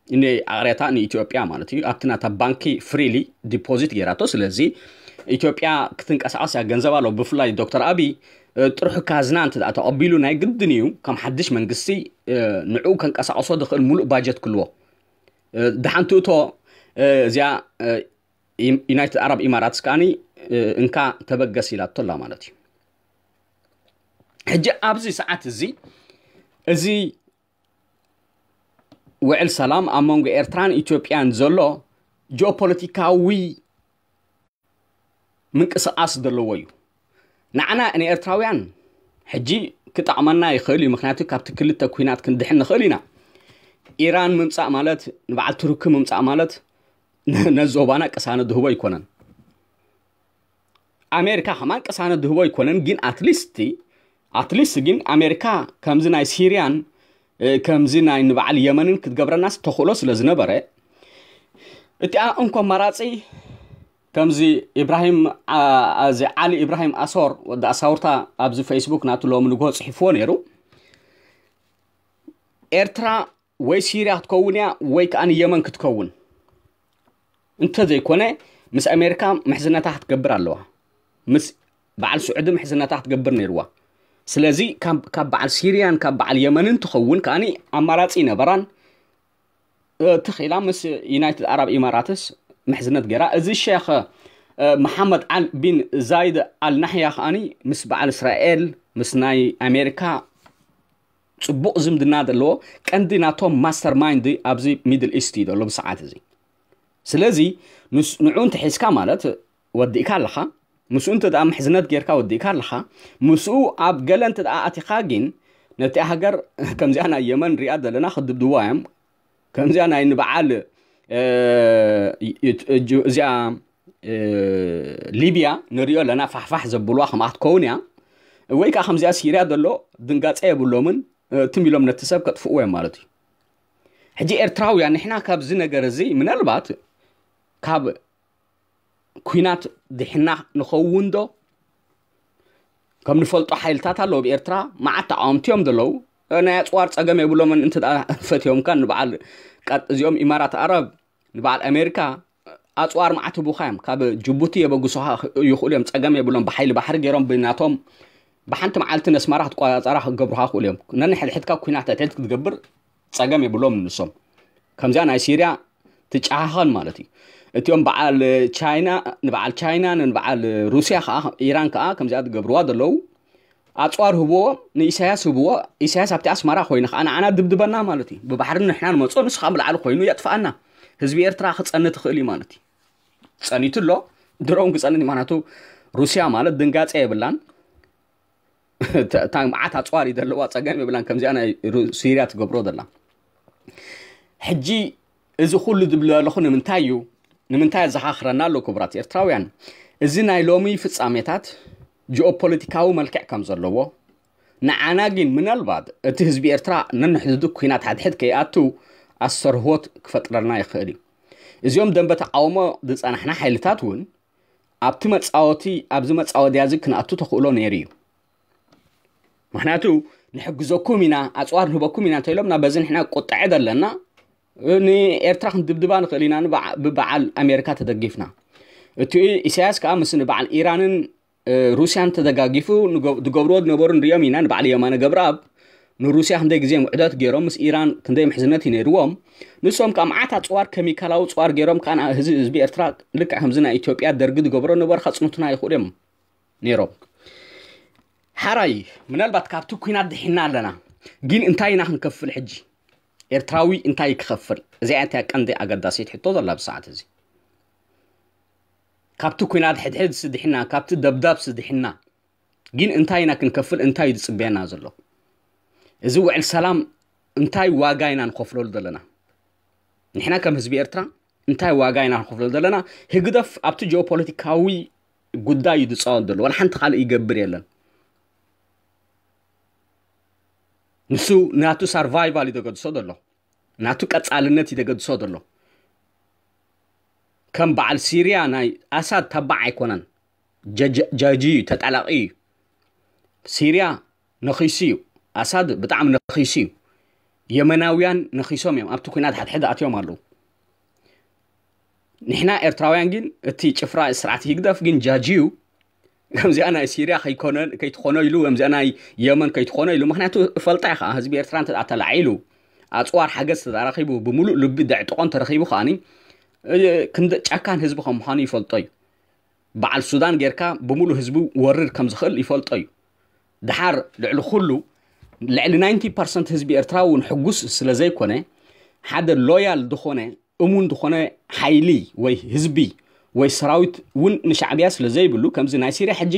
ንኣቕርያታ ንኢትዮጵያ ማለት እዩ። ኣብቲ ናታ ባንኪ ፍሪሊ ዲፖዚት ገይራቶ። ስለዚ ኢትዮጵያ ክትንቀሳቐስ እያ፣ ገንዘብ ኣሎ። ብፍላይ ዶክተር ኣብይ ጥርሑ ካዝና እንተ ተቐቢሉ ናይ ግድን እዩ ከም ሓድሽ መንግስቲ ንዕኡ ከንቀሳቐሶ ዝኽእል ሙሉእ ባጀት ክልዎ። ደሓን ትእቶ እዚኣ ዩናይትድ ኣረብ ኢማራትስ ከዓኒ እንካ ተበገስ ኢላቶ ኣላ ማለት እዩ። ሕጂ ኣብዚ ሰዓት እዚ እዚ ውዕል ሰላም ኣብ መንጎ ኤርትራን ኢትዮጵያን ዘሎ ጂኦፖለቲካዊ ምንቅስቃስ ዘለዎ እዩ። ንዓና ንኤርትራውያን ሕጂ ክጠቕመና ይኽእል እዩ፣ ምክንያቱ ካብቲ ክልተ ኩናት ክንድሕን ንኽእል ኢና። ኢራን ምምፃእ ማለት ንበዓል ቱርኪ ምምፃእ ማለት ነዚ ዞባና ቅሳነ ድህቦ ኣይኮነን። ኣሜሪካ ከማን ቅሳነ ድህቦ ኣይኮነን፣ ግን ኣትሊስት ኣትሊስት ግን ኣሜሪካ ከምዚ ናይ ሲርያን ከምዚ ናይ ንበዓል የመንን ክትገብረናስ ተኽእሎ ስለ ዝነበረ እቲኣ እንኮ ኣማራፂ ከምዚ ኢብራሂም ዓሊ ኢብራሂም ኣሶር ወዲ ኣሳውርታ ኣብዚ ፌስቡክ ናቱ ሎሚ ንግሆ ፅሒፍዎ ነይሩ። ኤርትራ ወይ ሲርያ ክትከውን እያ ወይ ከዓ ንየመን ክትከውን። እንተዘይኮነ ምስ ኣሜሪካ ምሕዝነታ ክትገብር ኣለዋ። ምስ በዓል ስዑዲ ምሕዝነታ ክትገብር ነይርዋ። ስለዚ ካብ በዓል ሲርያን ካብ በዓል የመንን ትኸውን ከዓኒ ኣማራፂ ይነበራን። ተኺላ ምስ ዩናይትድ ኣረብ ኢማራትስ ምሕዝነት ገይራ። እዚ ሸኽ መሓመድ ዓል ቢን ዛይድ ኣል ናሕያ ከዓኒ ምስ በዓል እስራኤል ምስ ናይ ኣሜሪካ ጽቡቕ ዝምድና ዘለዎ ቀንዲ ናቶም ማስተር ማይንድ ኣብዚ ሚድል ኢስት እዩ ዘሎ ብሰዓት እዚ። ስለዚ ንስ- ንዑ እንተ ሒዝካ ማለት ወዲእካ ኣለኻ። ምስኡ እንተ ደኣ ምሕዝነት ጌርካ ወዲእካ ኣለኻ። ምስኡ ኣብ ገለ እንተ ደኣ ኣቲኻ ግን ነቲ ሃገር ከምዚኣ ናይ የመን ሪኣ ዘለና ክድብድዋ እዮም። ከምዚኣ ናይ ንበዓል እ፣ እ፣ እ፣ እዚኣ እ፣ ሊብያ ንሪኦ ኣለና ፋሕፋሕ ዘብልዋ ከምኣ ክትከውን እያ። ወይ ከዓ ከምዚኣ ሲርያ ዘሎ ድንጋፀ የብሎምን። እ፣ ትም ኢሎም ነቲ ሰብ ከጥፍእዎ እዮም ማለት እዩ። ሕጂ ኤርትራውያን ንሕና ካብዚ ነገር እዚ ምናልባት ካብ ኩናት ድሕና ንኸውን ዶ? ከም ንፈልጦ ሓይልታት ኣለዉ ኣብ ኤርትራ፣ መዓት ተቃወምቲ እዮም ዘለዉ። ናይ ኣጽዋር ጸገም የብሎምን፣ እንተ ደኣ ፈትዮምካ ንበዓል ቀጥ-፣ እዚኦም ኢማራት ኣረብ፣ ንበዓል ኣሜሪካ ኣጽዋር መዓት ህቡኻ እዮም። ካብ ጅቡቲ የበግሱኻ ይኽእሉ እዮም፣ ጸገም የብሎም። ብሓይሊ ባሕሪ ገይሮም ብናቶም ብሓንቲ መዓልቲ ነስመራ ክትቆጻጸራ ክገብሩኻ ይኽእሉ እዮም። ነንሕድሕድካ ኩናት ሕድሕድ ክትገብር ጸገም የብሎም ንሶም። ከምዚኣ ናይ ሲርያ ትጨኻኸን ማለት እዩ። እቲኦም በዓል ቻይና፣ ንበዓል ቻይና፣ ንበዓል ሩስያ ከዓ፣ ኢራን ከዓ ከምዚኣ ዝገብርዋ ዘለዉ። ኣጽዋር ህብዎ፣ ንኢሳያስ ህብዎ። ኢሳያስ ኣብቲ ኣስመራ ኮይኑ ከዓ ንዓና ድብድበና ማለት እዩ። ብባሕሪ ንሕና ንመጾ፣ ንሱ ከዓ ብላዕሊ ኮይኑ የጥፍኣና። ህዝቢ ኤርትራ ክጸኒ ትኽእል እዩ ማለት እዩ። ጸኒቱ ኣሎ፣ ድሮውን ክጸኒ እዩ። ምኽንያቱ ሩስያ ማለት ድንጋጸ የብላን። እታ መዓት ኣጽዋር እዩ ዘለዋ፣ ጸገም የብላን። ከምዚኣ ናይ ሩ-፣ ሲርያ ትገብሮ ዘላ። ሕጂ እዚ ኩሉ ዝብል ዘለኹ ንምንታይ እዩ? ንምንታይ ኣዘኻኽረና ኣሎ ክቡራት ኤርትራውያን? እዚ ናይ ሎሚ ፍጻሜታት ጂኦፖለቲካዊ መልክዕ ከም ዘለዎ፣ ንዓና ግን ምናልባት እቲ ህዝቢ ኤርትራ ነንሕድሕዱ ኩናት ሓድሕድ ከይኣቱ ኣስተርህወት ክፈጥረልና ይኽእል እዩ። እዚኦም ደንበ ተቃውሞ ዝጸናሕና ሓይልታት እውን ኣብቲ መጻወቲ፣ ኣብዚ መጻወድያ እዚ ክንኣቱ ተኽእሎ ነይሩ እዩ። ምኽንያቱ ንሕግዘኩም ኢና፣ ኣጽዋር ንህበኩም ኢና እንተኢሎምና፣ በዚ ንሕና ቁጥዐ ዘለና፣ ንኤርትራ ክንድብድባ ንኽእል ኢና፣ ንበዓ-፣ ብበዓል ኣሜሪካ ተደጊፍና። እቲ ኢሳያስ ከኣ ምስ ንበዓል ኢራንን፣ እ፣ ሩስያን ተደጋጊፉ ንገ-፣ ዝገብርዎ ዝነበሩ ንሪኦም ኢና። ንበዓል የማነ ገብረኣብ ንሩስያ ክንደይ ግዜ ውዕደት ገይሮም፣ ምስ ኢራን ክንደይ ምሕዝነት እዩ ነይርዎም። ንሶም ከኣ መዓት ኣጽዋር፣ ኬሚካላዊ ኣጽዋር ገይሮም ከኣ ንህዝቢ፣ ህዝቢ ኤርትራ ልክዕ ከምዚ ናይ ኢትዮጵያ ደርጊ ዝገብሮ ነበሩ ከጽንቱና ይኽእሉ እዮም ነይሮም። ሓራይ፣ ምናልባት ካብቲ ኩናት ድሒና ኣለና። ግን እንታይ ኢና ክንከፍል ሕጂ? ኤርትራዊ እንታይ ክኸፍል? እዚኣ እያ ቀንዲ ኣገዳሲት ሕቶ ዘላ ብሰዓት እዚ። ካብቲ ኩናት ሕድሕድ ስድሕና፣ ካብቲ ደብዳብ ስድሕና። ግን እንታይ ኢና ክንከፍል? እንታይ እዩ ዝጽበየና ዘሎ? እዚ ውዕል ሰላም እንታይ ዋጋ ኢና ንኸፍለሉ ዘለና? ንሕና ከም ህዝቢ ኤርትራ እንታይ ዋጋ ኢና ንኸፍለሉ ዘለና? ህግደፍ ኣብቲ ጂኦፖለቲካዊ ጉዳይ እዩ ዝጻወት ዘሎ። ዋላ ሓንቲ ካልእ ይገብር የለን። ንሱ ናቱ ሳርቫይቫል እዩ ዘገድሶ ዘሎ። ናቱ ቀጻልነት እዩ ዘገድሶ ዘሎ። ከም በዓል ሲርያ ናይ ኣሳድ ተባዕ ኣይኮነን። ጀ-፣ ጀ-፣ ጃጂ እዩ፣ ተጣላቂ እዩ። ሲርያ ነኺሱ እዩ። ኣሳድ ብጣዕሚ ነኺሱ እዩ። የመናውያን ነኺሶም እዮም። ኣብቲ ኩናት ሓድሕድ ኣትዮም ኣለዉ። ንሕና ኤርትራውያን ግን እቲ ጭፍራ ስርዓት ህግደፍ ግን ጃጂ እዩ። ከምዚኣ ናይ ሲርያ ከይኮነ-፣ ከይትኾኖ ኢሉ፣ ከምዚኣ ናይ የመን ከይትኾኖ ኢሉ። ምኽንያቱ ፈልጣ እዩ ከዓ፣ ህዝቢ ኤርትራ እንተ ተላዒሉ፣ ኣጽዋር ሓገዝ ተረኺቡ፣ ብምሉእ ልቢ ደዕጥቆ እንተረኺቡ ከዓኒ፣ እ፣ ክንደ ጨካን ህዝቢ ከም ምዃኑ ይፈልጦ እዩ። በዓል ሱዳን ጌርካ ብምሉእ ህዝቢ ወርር ከም ዝኽእል ይፈልጦ እዩ። ድሓር ልዕሊ ኩሉ፣ ልዕሊ ናይንቲ ፐርሰንት ህዝቢ ኤርትራ እውን ሕጉስ ስለ ዘይኮነ፣ ሓደ ሎያል ዝኾነ፣ እሙን ዝኾነ ሓይሊ ወይ ህዝቢ ወይ ሰራዊት እውን ንሻዕብያ ስለ ዘይብሉ፣ ከምዚ ናይ ሲርያ ሕጂ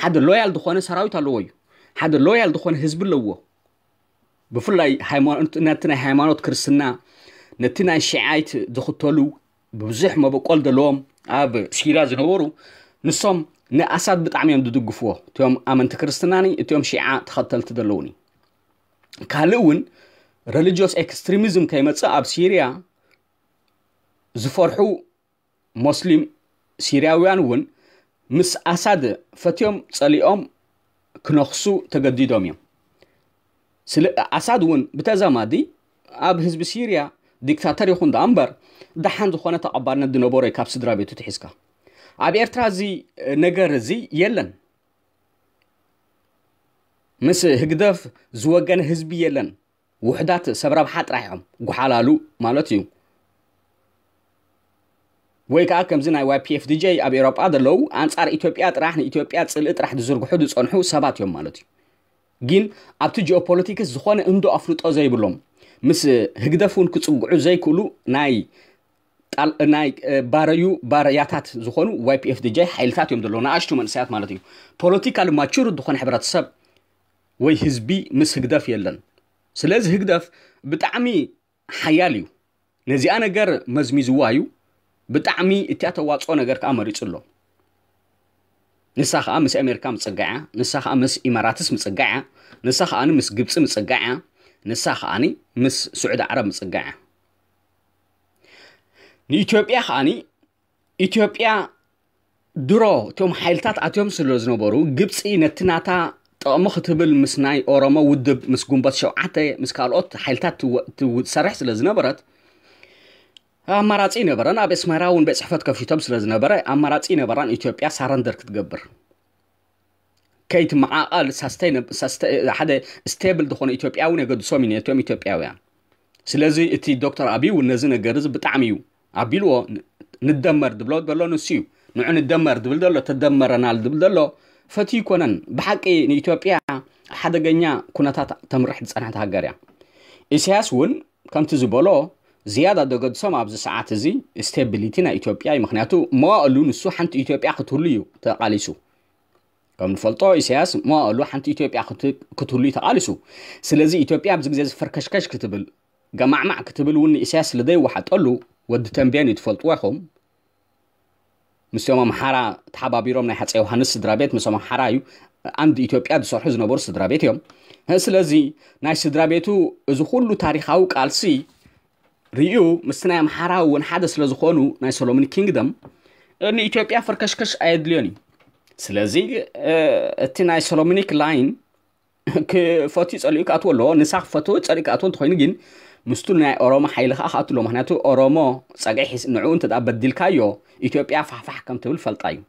ሓደ ሎያል ዝኾነ ሰራዊት ኣለዎ እዩ። ሓደ ሎያል ዝኾነ ህዝቢ ኣለዎ። ብፍላይ ሃይማኖት፣ ነቲ ናይ ሃይማኖት ክርስትና፣ ነቲ ናይ ሺዓይት ዝኽተሉ ብዙሕ መበቆል ዘለዎም ኣብ ሲርያ ዝነበሩ፣ ንሶም ንኣሳድ ብጣዕሚ እዮም ዝድግፍዎ። እቲኦም ኣመንቲ ክርስትናኒ፣ እቲኦም ሺዓ ተኸተልቲ ዘለውኒ። ካልእ እውን ረሊጂዮስ ኤክስትሪሚዝም ከይመጽእ ኣብ ሲርያ ዝፈርሑ ሞስሊም ሲርያውያን እውን ምስ ኣሳድ ፈትዮም ጸሊኦም ክነኽሱ ተገዲዶም እዮም። ስለ ኣሳድ እውን ብተዛማዲ ኣብ ህዝቢ ሲርያ ዲክታተር ይኹን ደኣ እምበር ደሓን ዝኾነ ተቐባልነት ዝነበሮ እዩ ካብ ስድራ ቤቱ ትሒዝካ። ኣብ ኤርትራ እዚ ነገር እዚ የለን። ምስ ህግደፍ ዝወገነ ህዝቢ የለን። ውሑዳት ሰብ ረብሓ ጥራሕ እዮም ጉሓላሉ ማለት እዩ። ወይ ከዓ ከምዚ ናይ ዋይ ፒ ኤፍ ዲ ጀይ ኣብ ኤውሮጳ ዘለዉ ኣንጻር ኢትዮጵያ ጥራሕ፣ ንኢትዮጵያ ጽልኢ ጥራሕ ዝዝርግሑ ዝጸንሑ ሰባት እዮም ማለት እዩ። ግን ኣብቲ ጂኦፖለቲክስ ዝኾነ እንዶ ኣፍልጦ ዘይብሎም፣ ምስ ህግደፍ እውን ክጽግዑ ዘይክእሉ ናይ ጣል-፣ ናይ፣ እ፣ ባረዩ ባረያታት ዝኾኑ ዋይ ፒ ኤፍ ዲ ጂ ሓይልታት እዮም ዘለዉ፣ ንኣሽቱ መንእሰያት ማለት እዩ። ፖለቲካሊ ማቹር ዝኾነ ሕብረተሰብ ወይ ህዝቢ ምስ ህግደፍ የለን። ስለዚ ህግደፍ ብጣዕሚ ሓያል እዩ። ነዚኣ ነገር መዝሚዝዋ እዩ። ብጣዕሚ እቲኣ ተዋፅኦ ነገር ከዓ መሪፁ ኣሎ። ንሳ ከዓ ምስ ኣሜሪካ ምፅጋዕ እያ፣ ንሳ ከዓ ምስ ኢማራትስ ምፅጋዕ እያ፣ ንሳ ከዓ ምስ ግብፂ ምፅጋዕ እያ፣ ንሳ ከዓ ምስ ስዑዲ ዓረብ ምፅጋዕ እያ። ንኢትዮጵያ ከዓ፣ ኢትዮጵያ ድሮ እቶም ሓይልታት ኣትዮም ስለ ዝነበሩ፣ ግብፂ ነቲ ናታ ጥቕሚ ክትብል ምስ ናይ ኦሮሞ ውድብ፣ ምስ ግንቦት ሸውዓተ፣ ምስ ካልኦት ሓይልታት ትወ-፣ ትሰርሕ ስለ ዝነበረት፣ ኣማራፂ ይነበረን። ኣብ ኣስመራ እውን ቤት ፅሕፈት ከፊቶም ስለ ዝነበረ፣ ኣማራፂ ይነበራን ኢትዮጵያ ሳረንደር ክትገብር። ከይትመዓቐል፣ ሳስተይነ-፣ ሳስተ-፣ ሓደ ስቴብል ዝኾነ ኢትዮጵያ እውን የገድሶም እዩ ነቶም ኢትዮጵያውያን። ስለዚ እቲ ዶክተር ኣቢይ እውን ነዚ ነገር እዚ ብጣዕሚ እዩ ኣቢልዎ። ን-፣ ንደመር ዝብሎ ዘሎ ንሱ እዩ። ንዑ ንደመር ዝብል ዘሎ፣ ተደመረናል ዝብል ዘሎ ፈትዩ ይኮነን። ብሓቂ ንኢትዮጵያ ሓደገኛ ኩነታት ተምርሕ ዝጸንሐት ሃገር እያ። ኢሳያስ እውን ከምቲ ዝበሎ ዝያዳ ዘገድሶም ኣብዚ ሰዓት እዚ ስቴቢሊቲ ናይ ኢትዮጵያ እዩ። ምኽንያቱ መዋእሉ ንሱ ሓንቲ ኢትዮጵያ ክትህሉ እዩ ተቓሊሱ። ከም ንፈልጦ ኢሳያስ መዋእሉ ሓንቲ ኢትዮጵያ ክት-፣ ክትህሉ እዩ ተቓሊሱ። ስለዚ ኢትዮጵያ ኣብዚ ግዜ እዚ ፈርከሽከሽ ክትብል፣ ገማዕማዕ ክትብል እውን ንኢሳያስ ስለ ዘይወሓጠሉ፣ ወዲ ተንቤን እዩ ትፈልጥዎ ኢኹም። ምስቶም ኣምሓራ ተሓባቢሮም ናይ ሃፀይ ዮሃንስ ስድራ ቤት ምስቶም ኣምሓራ እዩ ኣንድ ኢትዮጵያ ዝሰርሑ ዝነበሩ ስድራ ቤት እዮም። ስለዚ ናይ ስድራ ቤቱ እዚ ኩሉ ታሪኻዊ ቃልሲ ርእዩ ምስቲ ናይ ኣምሓራ እውን ሓደ ስለ ዝኾኑ ናይ ሶሎሞኒክ ኪንግደም ንኢትዮጵያ ፈርከሽከሽ ኣየድልዮን እዩ። ስለዚ፣ እ፣ እቲ ናይ ሶሎሞኒክ ላይን ክፈትዩ ጸሊኡ ክኣትዎ ኣለዎ። ንሳ ክፈትዎ ጸሊኡ ክኣትዎ እንተኾይኑ ግን ምስቱ ናይ ኦሮሞ ሓይሊ ከኣ ክኣቱ ኣለዎ። ምኽንያቱ ኦሮሞ ጸግዒ ሒስ-፣ ንዕኡ እንተ ደኣ በዲልካዮ ኢትዮጵያ ፋሕፋሕ ከም ትብል ፈልጣ እዩ።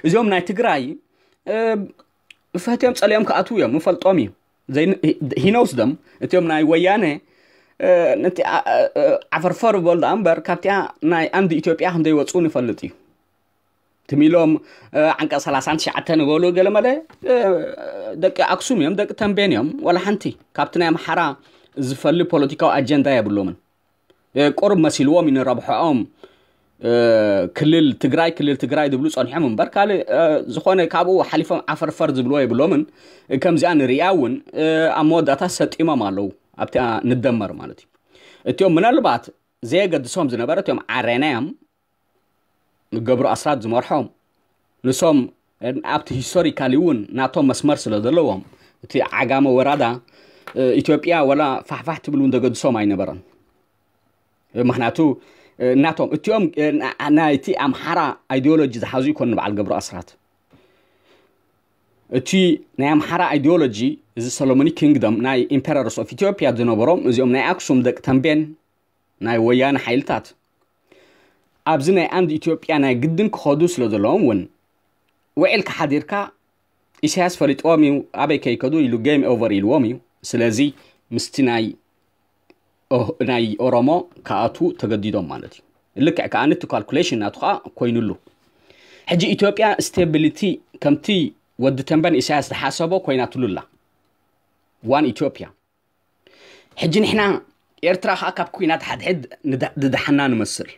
እዚኦም ናይ ትግራይ፣ እ፣ ፈትዮም ጸሊኦም ክኣትዉ እዮም፣ ንፈልጦም እዩ። ዘይ-፣ ሂ-፣ ሂኖስ ደም እቲኦም ናይ ወያነ፣ እ፣ ነቲ ኣ-፣ እ፣ ዓፈርፈር በሉ ደኣ እምበር ካብቲኣ ናይ ኣንድ ኢትዮጵያ ከም ዘይወጽኡ ንፈልጥ እዩ። ትም ኢሎም፣ እ፣ ዓንቀጽ ሰላሳን ትሽዓተን ንበሉ ገለመለ፣ እ፣ ደቂ ኣክሱም እዮም፣ ደቂ ተንቤን እዮም። ዋላ ሓንቲ ካብቲ ናይ ኣምሓራ ዝፈሊ ፖለቲካዊ ኣጀንዳ የብሎምን። እ፣ ቁሩብ መሲልዎም እዩ ንረብሖኦም፣ እ፣ ክልል ትግራይ፣ ክልል ትግራይ ዝብሉ ጸኒሖም እምበር ካልእ፣ እ፣ ዝኾነ ካብኡ ሓሊፎም ዓፈርፈር ዝብልዎ የብሎምን። ከምዚኣ ንርእያ እውን፣ እ፣ ኣብ መወዳእታ ሰጢሞም ኣለዉ። ኣብቲኣ ንደመር ማለት እዩ። እቲኦም ምናልባት ዘየገድሶም ዝነበረ እቲኦም ዓረና እዮም። ገብሩ ኣስራት ዝመርሖም ንሶም ኣብቲ ሂስቶሪካሊ እውን ናቶም መስመር ስለ ዘለዎም እቲ ዓጋመ ወራዳ፣ እ፣ ኢትዮጵያ ወላ ፋሕፋሕ ትብል እውን ዘገድሶም ኣይነበረን። ምኽንያቱ፣ እ፣ ናቶም እቲኦም፣ እ፣ ና-፣ ናይቲ ኣምሓራ ኣይዲዮሎጂ ዝሓዙ ይኮኑ በዓል ገብሩ ኣስራት። እቲ ናይ ኣምሓራ ኣይዲዮሎጂ እዚ ሶሎሞኒክ ኪንግደም ናይ ኢምፔረርስ ኦፍ ኢትዮጵያ ዝነበሮም እዚኦም ናይ ኣክሱም ደቂ ተንቤን ናይ ወያነ ሓይልታት ኣብዚ ናይ ኣንድ ኢትዮጵያ ናይ ግድን ክኸዱ ስለ ዘለዎም እውን ውዒልካ ሓዲርካ ኢሳያስ ፈሊጥዎም እዩ፣ ኣበይ ከይከዱ ኢሉ ጌም ኦቨር ኢልዎም እዩ። ስለዚ ምስቲ ናይ ኦ-፣ ናይ ኦሮሞ ክኣትዉ ተገዲዶም ማለት እዩ። ልክዕ ከኣ ነቲ ካልኩሌሽን ናቱ ከኣ ኮይኑሉ። ሕጂ ኢትዮጵያ ስቴቢሊቲ ከምቲ ወዲ ተንበን ኢሳያስ ዝሓሰቦ ኮይናትሉ ኣላ። ዋን ኢትዮጵያ። ሕጂ ንሕና ኤርትራ ከኣ ካብ ኩናት ሓድሕድ ንዳ-፣ ዝደሓና ንመስል።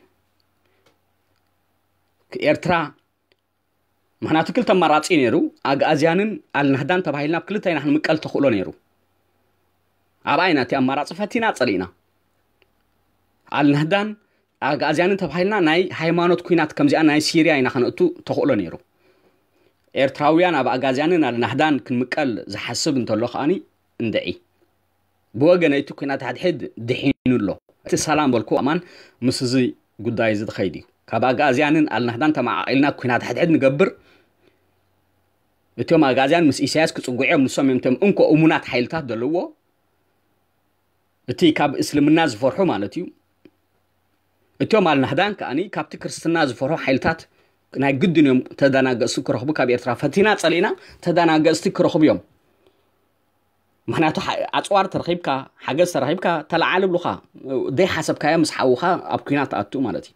ኤርትራ፣ ምኽንያቱ ክልተ ኣማራጺ ነይሩ፣ ኣግኣዝያንን ኣልናህዳን ተባሂልና ኣብ ክልተ ኢና ክንምቀል ተኽእሎ ነይሩ። ኣብኣ ኢና እቲ ኣማራጺ ፈቲና ጸሊእና። ኣልናህዳን ኣግኣዝያንን ተባሂልና ናይ ሃይማኖት ኩናት ከምዚኣ ናይ ሲርያ ኢና ከነእቱ ተኽእሎ ነይሩ። ኤርትራውያን ኣብ ኣጋዝያንን ኣልናህዳን ክንምቀል ዝሓስብ እንተሎ ከኣኒ እንድዒ። ብወገነይ እቲ ኩናት ሓድሕድ ድሒኑ ኣሎ። እቲ ሰላም በልኩ ኣማን ምስ እዚ ጉዳይ እዚ ዝኸይድ እዩ። ካብ ኣጋዝያንን ኣልናህዳን ተመዓቒልና ኩናት ሓድሕድ ንገብር። እቶም ኣጋዝያን ምስ ኢሳያስ ክጽጉዑ እዮም፣ ንሶም እዮም እቶም እንኮ እሙናት ሓይልታት ዘለዎ። እቲ ካብ እስልምና ዝፈርሑ ማለት እዩ። እቶም ኣልናህዳን ከኣኒ ካብቲ ክርስትና ዝፈርሑ ሓይልታት ናይ ግድን እዮም ተደናገጽቲ ክረኽቡ፣ ካብ ኤርትራ ፈቲና ጸሊእና ተደናገጽቲ ክረኽቡ እዮም። ምኽንያቱ ሓ-፣ ኣጽዋር ተረኺብካ፣ ሓገዝ ተረኺብካ፣ ተለዓል ይብሉኻ። ዘይሓሰብካዮ ምስ ሓውኻ ኣብ ኲናት ትኣቱ ማለት እዩ።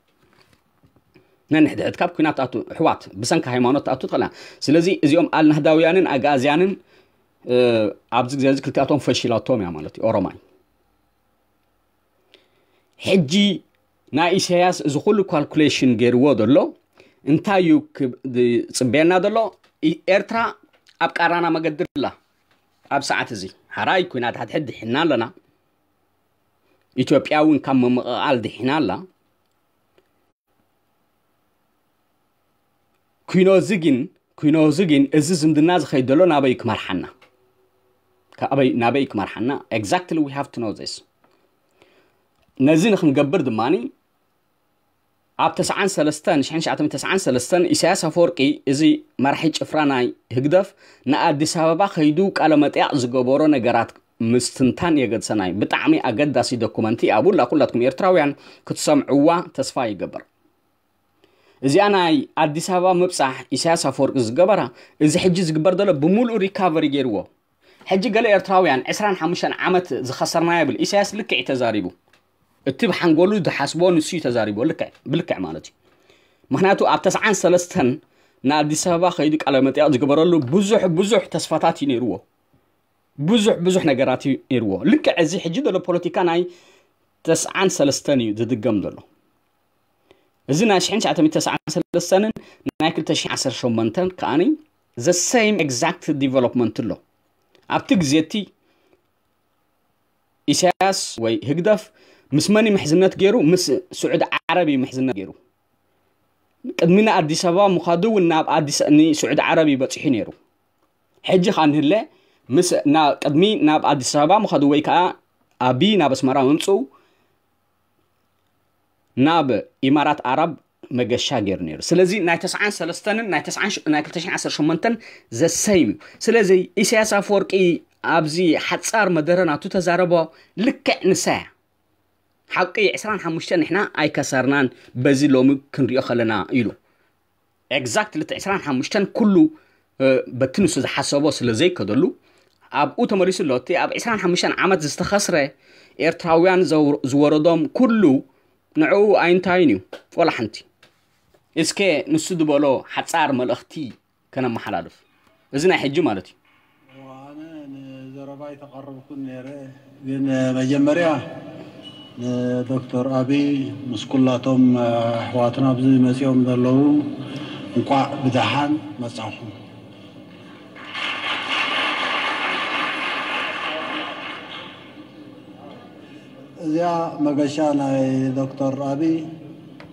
ነንሕድሕድካ ኣብ ኲናት ትኣቱ፣ ኣሕዋት፣ ብሰንኪ ሃይማኖት ትኣቱ ትኽእላ። ስለዚ እዚኦም ኣልናህዳውያንን ኣግኣዝያንን ኣብዚ ግዜ እዚ ክልቲኣቶም ፈሺላቶም እያ ማለት እዩ። ኦሮማይ ሕጂ ናይ ኢሳያስ እዚ ኩሉ ካልኩሌሽን ገይርዎ ዘሎ እንታይ እዩ? ጽበየና ዘሎ ኤርትራ ኣብ ቃራና መገዲ ኣላ። ኣብ ሰዓት እዚ ሓራይ ኩናት ሓድሕድ ድሒና ኣለና። ኢትዮጵያ እውን ካብ ምምቕቓል ድሒና ኣላ። ኩኖ እዚ ግን ኩኖ እዚ ግን እዚ ዝምድና ዝኸይድ ዘሎ ናበይ ክመርሓና? ናበይ ክመርሓና? Exactly, we have to know this። ነዚ ንክንገብር ድማ ኣብ ተስዓን ሰለስተን ሽሕን ትሽዓተ ሚእትን ተስዓን ሰለስተን ኢሳያስ ኣፈወርቂ፣ እዚ መራሒ ጭፍራ ናይ ህግደፍ፣ ንኣዲስ ኣበባ ከይዱ ቃለ መጠያቕ ዝገበሮ ነገራት ምስትንታን የገድሰናይ። ብጣዕሚ ኣገዳሲ ዶኩመንቲ ኣብላ ኩላትኩም ኤርትራውያን ክትሰምዕዋ ተስፋ ይገብር። እዚኣ ናይ ኣዲስ ኣበባ ምብጻሕ ኢሳያስ ኣፈወርቂ ዝገበራ፣ እዚ ሕጂ ዝግበር ዘሎ ብምሉእ ሪካቨሪ ገይርዎ። ሕጂ ገለ ኤርትራውያን ዕስራን ሓሙሽተን ዓመት ዝኸሰርና ይብል። ኢሳያስ ልክዕ እዩ ተዛሪቡ። እቲ ብሓንጎሉ ዝሓስቦ ንሱ እዩ ተዛሪቦ፣ ልክዕ ብልክዕ ማለት እዩ። ምክንያቱ ኣብ ተስዓን ሰለስተን ንኣዲስ ኣበባ ከይዱ ቃለ መጠያቕ ዝገበረሉ ብዙሕ ብዙሕ ተስፋታት እዩ ነይርዎ። ብዙሕ ብዙሕ ነገራት እዩ ነይርዎ። ልክዕ እዚ ሕጂ ዘሎ ፖለቲካ ናይ ተስዓን ሰለስተን እዩ ዝድገም ዘሎ። እዚ ናይ ሽሕን ትሽዓተ ሚእትን ተስዓን ሰለስተንን ናይ ክልተ ሽሕን ዓሰርተ ሸሞንተን ከኣኒ the same exact development ኣሎ። ኣብቲ ግዜ እቲ ኢሳያስ ወይ ህግደፍ ምስ መን እዩ ምሕዝነት ገይሩ? ምስ ስዑዲ ዓረብ እዩ ምሕዝነት ገይሩ። ቅድሚ ንኣዲስ ኣበባ ምዃዱ እውን ናብ ኣዲስ ንስዑዲ ዓረብ እዩ በፂሑ ነይሩ። ሕጂ ኸኣ ንህለ ምስ ና ቅድሚ ናብ ኣዲስ ኣበባ ምዃዱ ወይ ከዓ ኣቢ ናብ ኣስመራ ምምፅኡ ናብ ኢማራት ኣረብ መገሻ ገይሩ ነይሩ። ስለዚ ናይ ተስዓን ሰለስተንን ናይ ተስዓን ሽ- ናይ ክልተ ሽሕን ዓሰርተ ሸሞንተን ዘሰይም እዩ። ስለዚ ኢሳያስ ኣፈወርቂ ኣብዚ ሓጻር መደረ ናቱ ተዛረቦ ልክዕ ንሳ እያ። ሓቂ ዕስራን ሓሙሽተን ንሕና ኣይከሰርናን በዚ ሎሚ ክንሪኦ ከለና ኢሉ። ኤግዛክትሊ እቲ ዕስራን ሓሙሽተን ኩሉ በቲ ንሱ ዝሓሰቦ ስለ ዘይከደሉ ኣብኡ ተመሊሱ ኣሎ። እቲ ኣብ ዕስራን ሓሙሽተን ዓመት ዝተኸስረ ኤርትራውያን ዝወረዶም ኩሉ ንዕኡ ኣይንታይን እዩ ወላ ሓንቲ። እስከ ንሱ ዝበሎ ሓጻር መልእኽቲ ከነመሓላልፍ። እዚ ናይ ሕጂ ማለት እዩ። ኣነ ንዘረባ ኣይተቐረብኩን ነይረ፣ ግን መጀመርያ ንዶክተር ኣቢይ ምስ ኩላቶም ኣሕዋትና ኣብዚ መፂኦም ዘለዉ እንቋዕ ብደሓን መጻኹም። እዚኣ መገሻ ናይ ዶክተር ኣቢይ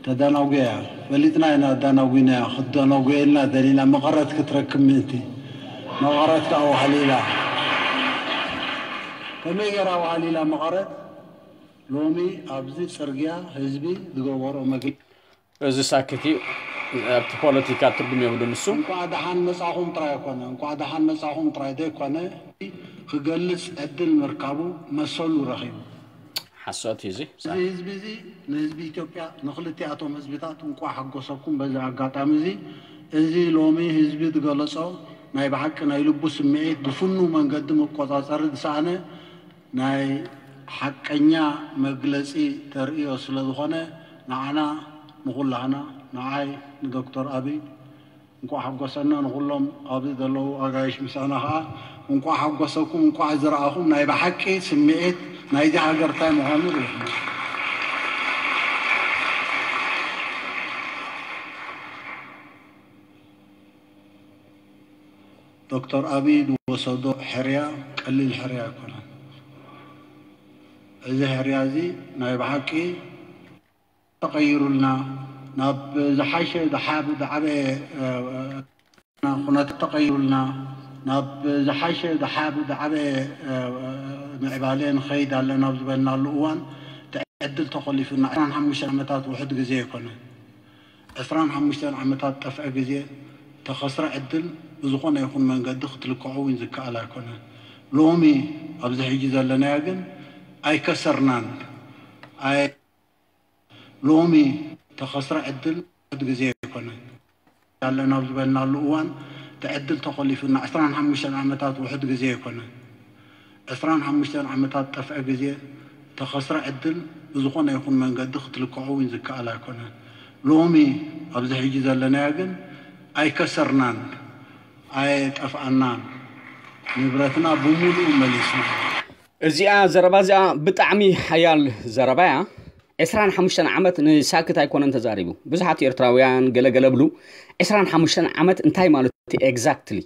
ተዳናጉያ እያ። ፈሊጥና ኢና ኣዳናጉናያ፣ ክትደናጉየልና ደሊና መቐረት ክትረክብ ምእንቲ። መቐረት ከዓ ዋህሊላ። ከመይ ገይራ ዋህሊላ መቐረት? ሎሚ ኣብዚ ፅርግያ ህዝቢ ዝገበሮ መግለፂ እዚ ሳክት እዩ። ኣብቲ ፖለቲካ ትርጉም የብሉን ንሱ። እንኳዕ ደሓን መጻኹም ጥራይ ኣይኮነ፣ እንኳዕ ደሓን መጻኹም ጥራይ ዘይኮነ፣ ክገልጽ ዕድል ምርካቡ መሰሉ ረኺቡ። ሓሶት እዩ እዚ። እዚ ህዝቢ እዚ ንህዝቢ ኢትዮጵያ፣ ንክልቲኣቶም ህዝብታት እንኳዕ ሓጎሰኩም። በዚ ኣጋጣሚ እዚ፣ እዚ ሎሚ ህዝቢ ዝገለጾ ናይ ብሓቂ ናይ ልቡ ስምዒት ብፍኑው መንገዲ መቆጻጸሪ ዝሰኣነ ናይ ሓቀኛ መግለጺ ተርእዮ ስለ ዝኾነ፣ ንዓና ንኹላህና፣ ንዓይ፣ ንዶክተር ኣቢይ እንቋዕ ሓጎሰና፣ ንኹሎም ኣብዚ ዘለዉ ኣጋይሽ ምሳና ኸዓ እንቋዕ ሓጎሰኩም፣ እንቋዕ ዝረኣኹም። ናይ ብሓቂ ስምዒት ናይዚ ሃገር እንታይ ምዃኑ ርኢኹም። ዶክተር ኣቢይ ዝወሰዶ ሕርያ ቀሊል ሕርያ ኣይኮነን። እዚ ሕርያ እዚ ናይ ብሓቂ ተቐይሩልና፣ ናብ ዝሓሸ ዝሓብ ዝዓበየ ኩነታት ተቐይሩልና፣ ናብ ዝሓሸ ዝሓብ ዝዓበየ ምዕባለ ንኸይድ ኣለና ኣብ ዝበልናሉ እዋን፣ እቲ ዕድል ተኾሊፉና። ዕስራን ሓሙሽተን ዓመታት ውሑድ ግዜ ኣይኮነን። ዕስራን ሓሙሽተን ዓመታት ጠፍዐ ግዜ፣ ተኸስረ ዕድል ብዝኾነ ይኹን መንገዲ ክትልክዖ እውን ዝከኣል ኣይኮነን። ሎሚ ኣብዚ ሕጂ ዘለናዮ ግን ኣይከሰርናን። ኣይ ሎሚ ተኸስረ ዕድል ውሑድ ግዜ ኣይኮነን። ኣለና ኣብ ዝበልናሉ እዋን እቲ ዕድል ተኾሊፉና። ዕስራን ሓሙሽተን ዓመታት ውሑድ ግዜ ኣይኮነን። ዕስራን ሓሙሽተን ዓመታት ጠፍዐ ግዜ፣ ተኸስረ ዕድል ብዝኾነ ይኹን መንገዲ ክትልክዖ እውን ዝከኣል ኣይኮነን። ሎሚ ኣብዚ ሕጂ ዘለናዮ ግን ኣይከሰርናን፣ ኣይጠፍኣናን። ንብረትና ብሙሉእ መሊሱ። እዚኣ ዘረባ እዚኣ ብጣዕሚ ሓያል ዘረባ እያ። ዕስራን ሓሙሽተን ዓመት ንሳክት ኣይኮነን ተዛሪቡ። ብዙሓት ኤርትራውያን ገለገለ ብሉ ዕስራን ሓሙሽተን ዓመት እንታይ ማለት እዩ exactly?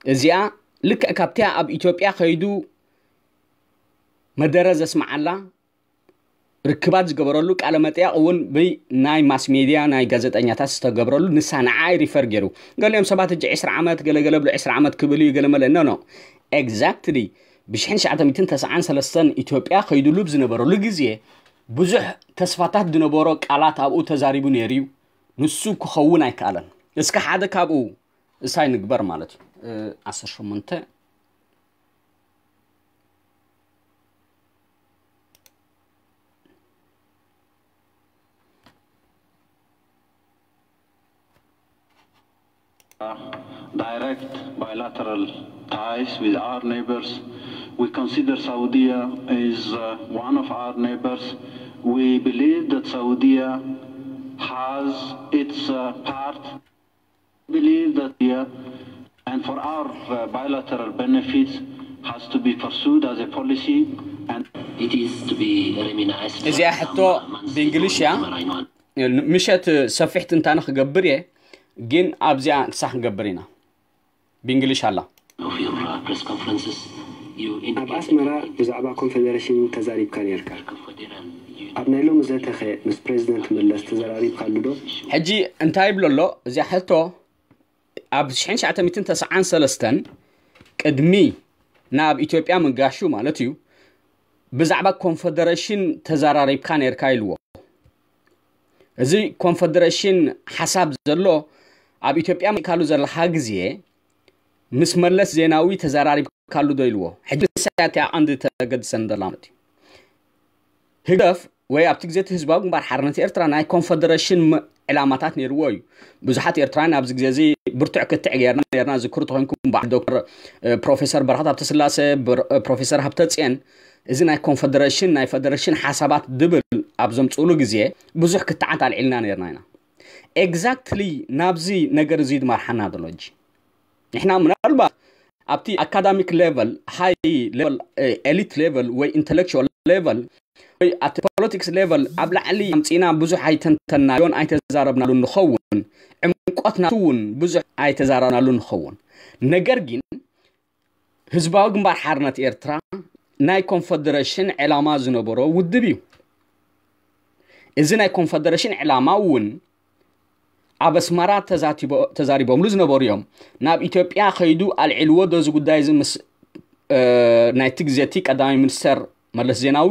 እዚኣ ልክዕ ካብቲያ ኣብ ኢትዮጵያ ከይዱ መደረ ዘስምዓላ ርክባት ዝገበረሉ ቃለ መጠያቕ እውን ብናይ ማስ ሜድያ ናይ ጋዜጠኛታት ዝተገብረሉ ንሳ ንዓይ ሪፈር ገይሩ። ገሊኦም ሰባት እጂ ዕስራ ዓመት ገለገለ ብሎ ዕስራ ዓመት ክብል እዩ ገለመለ ኖ ኖ exactly ብሽሕን ትሽዓተ ሚእትን ተስዓን ሰለስተን ኢትዮጵያ ከይድሉ ብዝነበረሉ ግዜ ብዙሕ ተስፋታት ዝነበሮ ቃላት ኣብኡ ተዛሪቡ ነይሩ እዩ። ንሱ ክኸውን ኣይከኣለን። እስከ ሓደ ካብኡ እሳይ ንግበር ማለት እዩ። ዓሰርተ ሸሞንተ direct bilateral ties with our neighbors. We consider Saudi is uh, one of our neighbors. We believe that Saudi has its uh, part. We believe that here and for our uh, bilateral benefits has to be pursued as a policy and it is to be reminized እዚኣ ሕቶ ብእንግሊሽ እያ። ምሸት ሰፊሕ ትንታነ ክገብር እየ፣ ግን ኣብዚኣ ክሳዕ ክንገብር ኢና። ብእንግሊሽ ኣላ። of your uh, press conferences. You ኣብ ኣስመራ ብዛዕባ ኮንፌደሬሽን ተዛሪብካ ነርካ። ኣብ ናይ ሎሚ ዘተኸ ምስ ፕሬዚደንት መለስ ተዘራሪብካሉ ዶ? ሕጂ እንታይ ይብሎ ኣሎ እዚኣ ሕቶ? ኣብ ሽሕን ትሽዓተ ሚእትን ተስዓን ሰለስተን ቅድሚ ናብ ኢትዮጵያ ምንጋሹ ማለት እዩ፣ ብዛዕባ ኮንፈደሬሽን ተዘራሪብካ ነርካ ኢልዎ። እዚ ኮንፈደሬሽን ሓሳብ ዘሎ ኣብ ኢትዮጵያ ምእካሉ ዘለካ ግዜ ምስ መለስ ዜናዊ ተዘራሪብካሉ ዶ ኢልዎ። ሕጂ ንሳ እያ እቲኣ ቀንዲ ተገድሰን ዘላ ማለት እዩ። ህግደፍ ወይ ኣብቲ ግዜ እቲ ህዝባዊ ግንባር ሓርነት ኤርትራ ናይ ኮንፈደሬሽን ዕላማታት ነይርዎ እዩ። ብዙሓት ኤርትራውያን ኣብዚ ግዜ እዚ ብርቱዕ ክትዕ ገይርና ነርና። ዝክሩ ተኮይንኩም በዓል ዶክተር ፕሮፌሰር በረኸት ሃብተስላሴ፣ ፕሮፌሰር ሃብተፅየን እዚ ናይ ኮንፈደሬሽን ናይ ፈደሬሽን ሓሳባት ድብል ኣብ ዘምፅእሉ ግዜ ብዙሕ ክትዓት ኣልዒልና ነርና ኢና። ኤግዛክትሊ ናብዚ ነገር እዚ ድማርሓና ዘሎ እጂ ንሕና ምናልባት ኣብቲ ኣካዳሚክ ሌቨል፣ ሃይ ሌቨል፣ ኤሊት ሌቨል ወይ ኢንተሌክቹዋል ሌቨል ወይ ኣብቲ ፖለቲክስ ሌቨል ኣብ ላዕሊ ኣምፂና ብዙሕ ኣይተንተናዮን ኣይተዛረብናሉ ንኸውን፣ ዕምቆት ናቱ እውን ብዙሕ ኣይተዛረብናሉ ንኸውን። ነገር ግን ህዝባዊ ግንባር ሓርነት ኤርትራ ናይ ኮንፈደሬሽን ዕላማ ዝነበሮ ውድብ እዩ። እዚ ናይ ኮንፈደሬሽን ዕላማ እውን ኣብ ኣስመራ ተዛቲቦ- ተዛሪቦምሉ ዝነበሩ እዮም። ናብ ኢትዮጵያ ከይዱ ኣልዒልዎ ዶ እዚ ጉዳይ እዚ ምስ እ፣ ናይቲ ግዜ እቲ ቀዳማይ ሚኒስተር መለስ ዜናዊ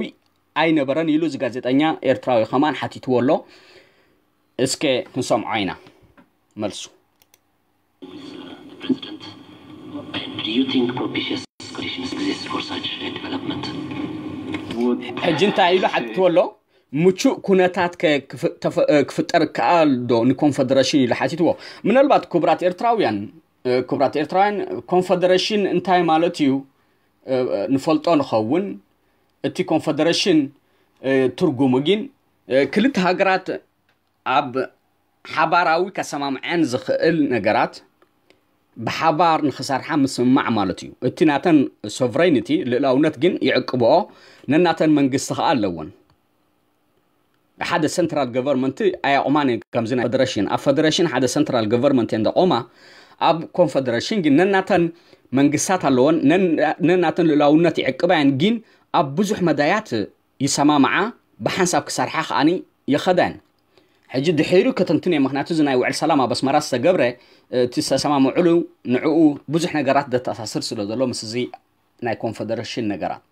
ኣይነበረን ኢሉ እዚ ጋዜጠኛ ኤርትራዊ ከማን ሓቲትዎ ኣሎ። እስከ ክንሰምዖ ኢና መልሱ። President, and do you think propitious conditions exist for such a development? ሕጂ እንታይ ኢሉ ሓቲትዎ ኣሎ? ምቹእ ኩነታት ከ- ክፍ- ተፈ- እ፣ ክፍጠር ከኣል ዶ ንኮንፈደሬሽን ኢሉ ሓቲትዎ። ምናልባት ክቡራት ኤርትራውያን እ፣ ክቡራት ኤርትራውያን ኮንፈደሬሽን እንታይ ማለት እዩ እ፣ ንፈልጦ ንኸውን። እቲ ኮንፈደሬሽን እ፣ ትርጉሙ ግን እ፣ ክልተ ሃገራት ኣብ ሓባራዊ ከሰማምዐን ዝኽእል ነገራት ብሓባር ንኽሰርሓ ምስምማዕ ማለት እዩ። እቲ ናተን ሶቨሬኒቲ ልእላውነት ግን ይዕቅብኦ፣ ነናተን መንግስቲ ኸኣ ኣለወን። ሓደ ሰንትራል ገቨርንመንት ኣያቑማን እየን። ከምዚ ናይ ፈደሬሽን ኣብ ፈደሬሽን ሓደ ሰንትራል ገቨርንመንት እየን ዘቆማ። ኣብ ኮንፈደሬሽን ግን ነናተን መንግስታት ኣለወን፣ ነን- ነናተን ልእላውነት ይዕቅባ እየን። ግን ኣብ ብዙሕ መዳያት ይሰማምዓ፣ ብሓንሳብ ክሰርሓ ከኣኒ ይኸዳን። ሕጂ ድሒሩ ክትንትን እየ፣ ምክንያቱ እዚ ናይ ውዕል ሰላም ኣብ ኣስመራ ዝተገብረ እቲ ዝተሰማምዑሉ ንዕኡ ብዙሕ ነገራት ዘተኣሳስር ስለ ዘሎ ምስ እዚ ናይ ኮንፈደሬሽን ነገራት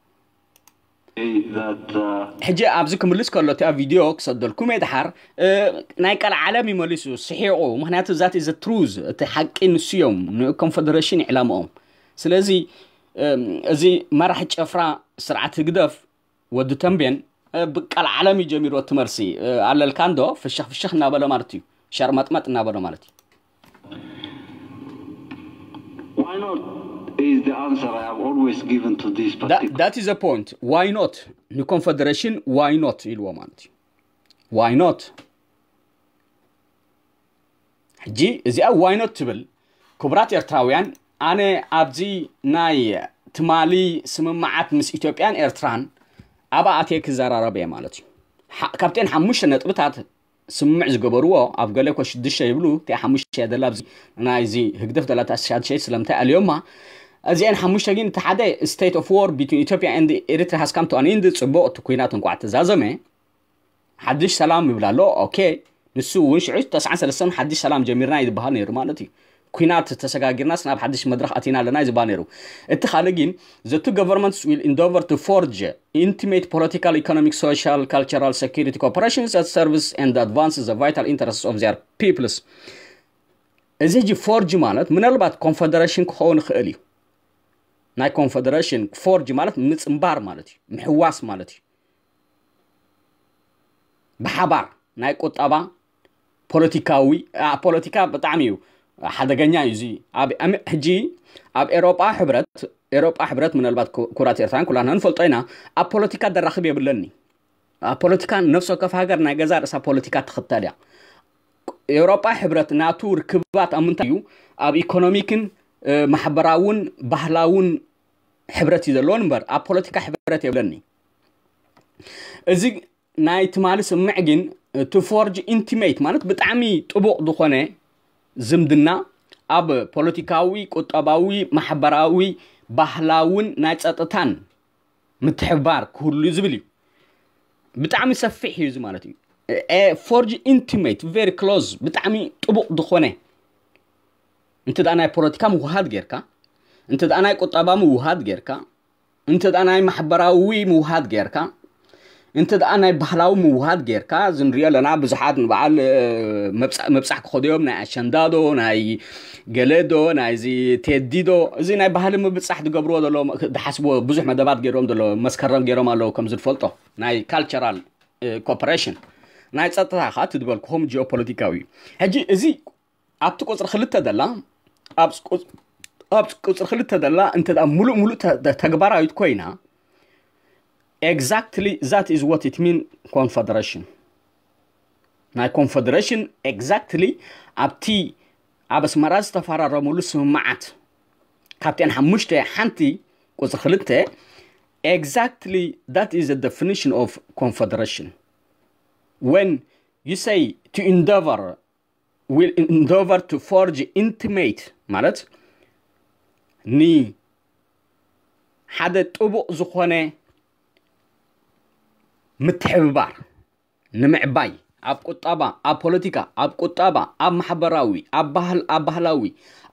that uh, ሕጂ ኣብዚ ክምልስ ከሎ እቲኣ ቪድዮ ክሰደልኩም እየ ድሓር እ፣ ናይ ቀልዓለም እዩ መሊሱ ስሒቑ። ምክንያቱ ዛት ዘ ትሩዝ እቲ ሓቂ ንሱ እዮም ንኮንፈደሬሽን ዕላምኦም። ስለዚ እ፣ እዚ መራሒ ጨፍራ ስርዓት ህግደፍ ወዲ ተንቤን እ፣ ብቀልዓለም እዩ ጀሚሩ እቲ መልሲ እ፣ ኣለልካ እንዶ ፍሽኽ ፍሽኽ እናበለ ማለት እዩ፣ ሸርመጥመጥ እናበለ ማለት እዩ። Why not is the answer I have always given to this particular That is the point. Why not ንኮንፈደሬሽን why not ኢልዎ ማለት እዩ። Why not? ሕጂ እዚኣ why not ትብል ክቡራት ኤርትራውያን ኣነ ኣብዚ ናይ ትማሊ ስምምዓት ምስ ኢትዮጵያን ኤርትራን ኣብኣ ኣትየ ክዘራረብ እየ ማለት እዩ። ሓ- ካብተን ሓሙሽተ ነጥብታት ስምምዕ ዝገበርዎ፣ ኣብ ገለ እኮ ሽዱሽተ ይብሉ፣ እቲኣ ሓሙሽተ እያ ዘላ ኣብዚ ናይዚ ህግደፍ ዘላ እታ ሻድሸይቲ ስለምንታይ ኣልዮማ? እዚአን ሓሙሽተ ግን፣ እቲ ሓደ state of war between Ethiopia and Eritrea has come to an end፣ ጽቡቕ፣ እቲ ኩናት እንኳዕ ተዛዘመ፣ ሓድሽ ሰላም ይብል ኣሎ። ኦኬ፣ ንሱ እውን ሽዑ ተስዓን ሰለስተን ሓድሽ ሰላም ጀሚርና እዩ ዝበሃል ነይሩ ማለት እዩ። ኩናት ተሰጋጊርናስ ናብ ሓድሽ መድረኽ ኣቲና ኣለና እዩ ዝበሃል ነይሩ። እቲ ካልእ ግን the two governments will endeavor to forge intimate political, economic, social, cultural, security cooperation that serves and advances the vital interests of their peoples። እዚ ሕጂ ፎርጅ ማለት ምናልባት ኮንፈደሬሽን ክኸውን ይኽእል እዩ። ናይ ኮንፈደሬሽን ፎርጅ ማለት ምጽንባር ማለት እዩ፣ ምሕዋስ ማለት እዩ። ብሓባር ናይ ቁጠባ፣ ፖለቲካዊ፣ ፖለቲካ ብጣዕሚ እዩ ሓደገኛ እዩ። እዚ ኣብ ሕጂ ኣብ ኤሮጳ ሕብረት፣ ኤሮጳ ሕብረት ምናልባት ኩራት ኤርትራን ኩላና ንፈልጦ ኢና፣ ኣብ ፖለቲካ ደራኽብ የብለኒ። ኣብ ፖለቲካ ነፍሲ ወከፍ ሃገር ናይ ገዛ ርእሳ ፖለቲካ ትኽተል እያ። ኤውሮጳ ሕብረት ናቱ ርክባት ኣብ ምንታይ እዩ? ኣብ ኢኮኖሚክን ማሕበራውን ባህላውን ሕብረት እዩ ዘለዎን እምበር ኣብ ፖለቲካ ሕብረት የብለኒ። እዚ ናይ ትማሊ ስምምዕ ግን to forge intimate ማለት ብጣዕሚ ጥቡቕ ዝኾነ ዝምድና ኣብ ፖለቲካዊ፣ ቁጠባዊ፣ ማሕበራዊ፣ ባህላውን ናይ ጸጥታን ምትሕብባር ክህሉ ዝብል እዩ። ብጣዕሚ ሰፊሕ እዩ እዚ ማለት እዩ። Forge intimate very close ብጣዕሚ ጥቡቕ ዝኾነ እንተ ደኣ ናይ ፖለቲካ ምውሃድ ጌርካ፣ እንተ ደኣ ናይ ቁጠባ ምውሃድ ጌርካ፣ እንተ ደኣ ናይ ማሕበራዊ ምውሃድ ጌርካ፣ እንተ ደኣ ናይ ባህላዊ ምውሃድ ጌርካ፣ እዚ ንሪኦ ኣለና ብዙሓት ንበዓል ምብጻሕ ክኸዱ እዮም፣ ናይ ኣሸንዳዶ ናይ ገለዶ ናይዚ ቴዲዶ፣ እዚ ናይ ባህሊ ምብጻሕ ዝገብርዎ ዘለዉ ዝሓስብዎ ብዙሕ መደባት ገይሮም ዘለዉ መስከረም ገይሮም ኣለዉ ከም ዝንፈልጦ ናይ ካልቸራል ኮፐሬሽን ናይ ጸጥታ ኸዓ ትድበልክኹም ጂኦፖለቲካዊ እዩ። ሕጂ እዚ ኣብቲ ቁፅሪ ክልተ ደላ ኣብ ቁፅሪ ክልተ ደላ እንተ ሙሉእ ሙሉእ ተግባራዊት ኮይና exactly that is what it mean confederation ናይ ኮንፈደሬሽን exactly ኣብቲ ኣብ ኣስመራ ዝተፈራረሙሉ ስምምዓት ካብተን ሓሙሽተ ሓንቲ ቁፅሪ ክልተ exactly that is the definition of confederation when you say to endeavor will endeavor to forge intimate ማለት ንሓደ ጥቡቕ ዝኾነ ምትሕብባር ንምዕባይ ኣብ ቁጠባ ኣብ ፖለቲካ ኣብ ቁጠባ ኣብ ማሕበራዊ ኣብ ባህል ኣብ ባህላዊ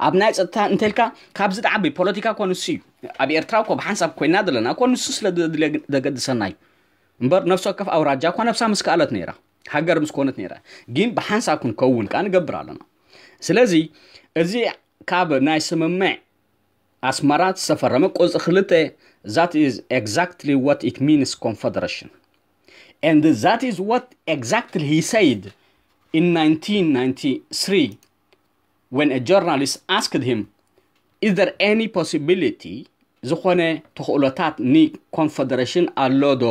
ኣብ ናይ ፀጥታ እንተልካ ካብዚ ዝዓቢ ፖለቲካ እኮ ንሱ እዩ ኣብ ኤርትራ እኮ ብሓንሳብ ኮይና ዘለና እኮ ንሱ ስለ ዘገድሰና እዩ እምበር ነፍሲ ወከፍ ኣውራጃ እኳ ነብሳ ምስ ከኣለት ነይራ ሃገር ምስ ኮነት ነይራ ግን ብሓንሳብ ክንከውን ከዓ ንገብር ኣለና ስለዚ እዚ ካብ ናይ ስምምዕ ኣስመራ ዝተፈረመ ቁፅሪ ክልተ that is exactly what it means confederation and that is what exactly he said in nineteen ninety-three when a journalist asked him is there any possibility ዝኾነ ተኽእሎታት ን confederation ኣሎ ዶ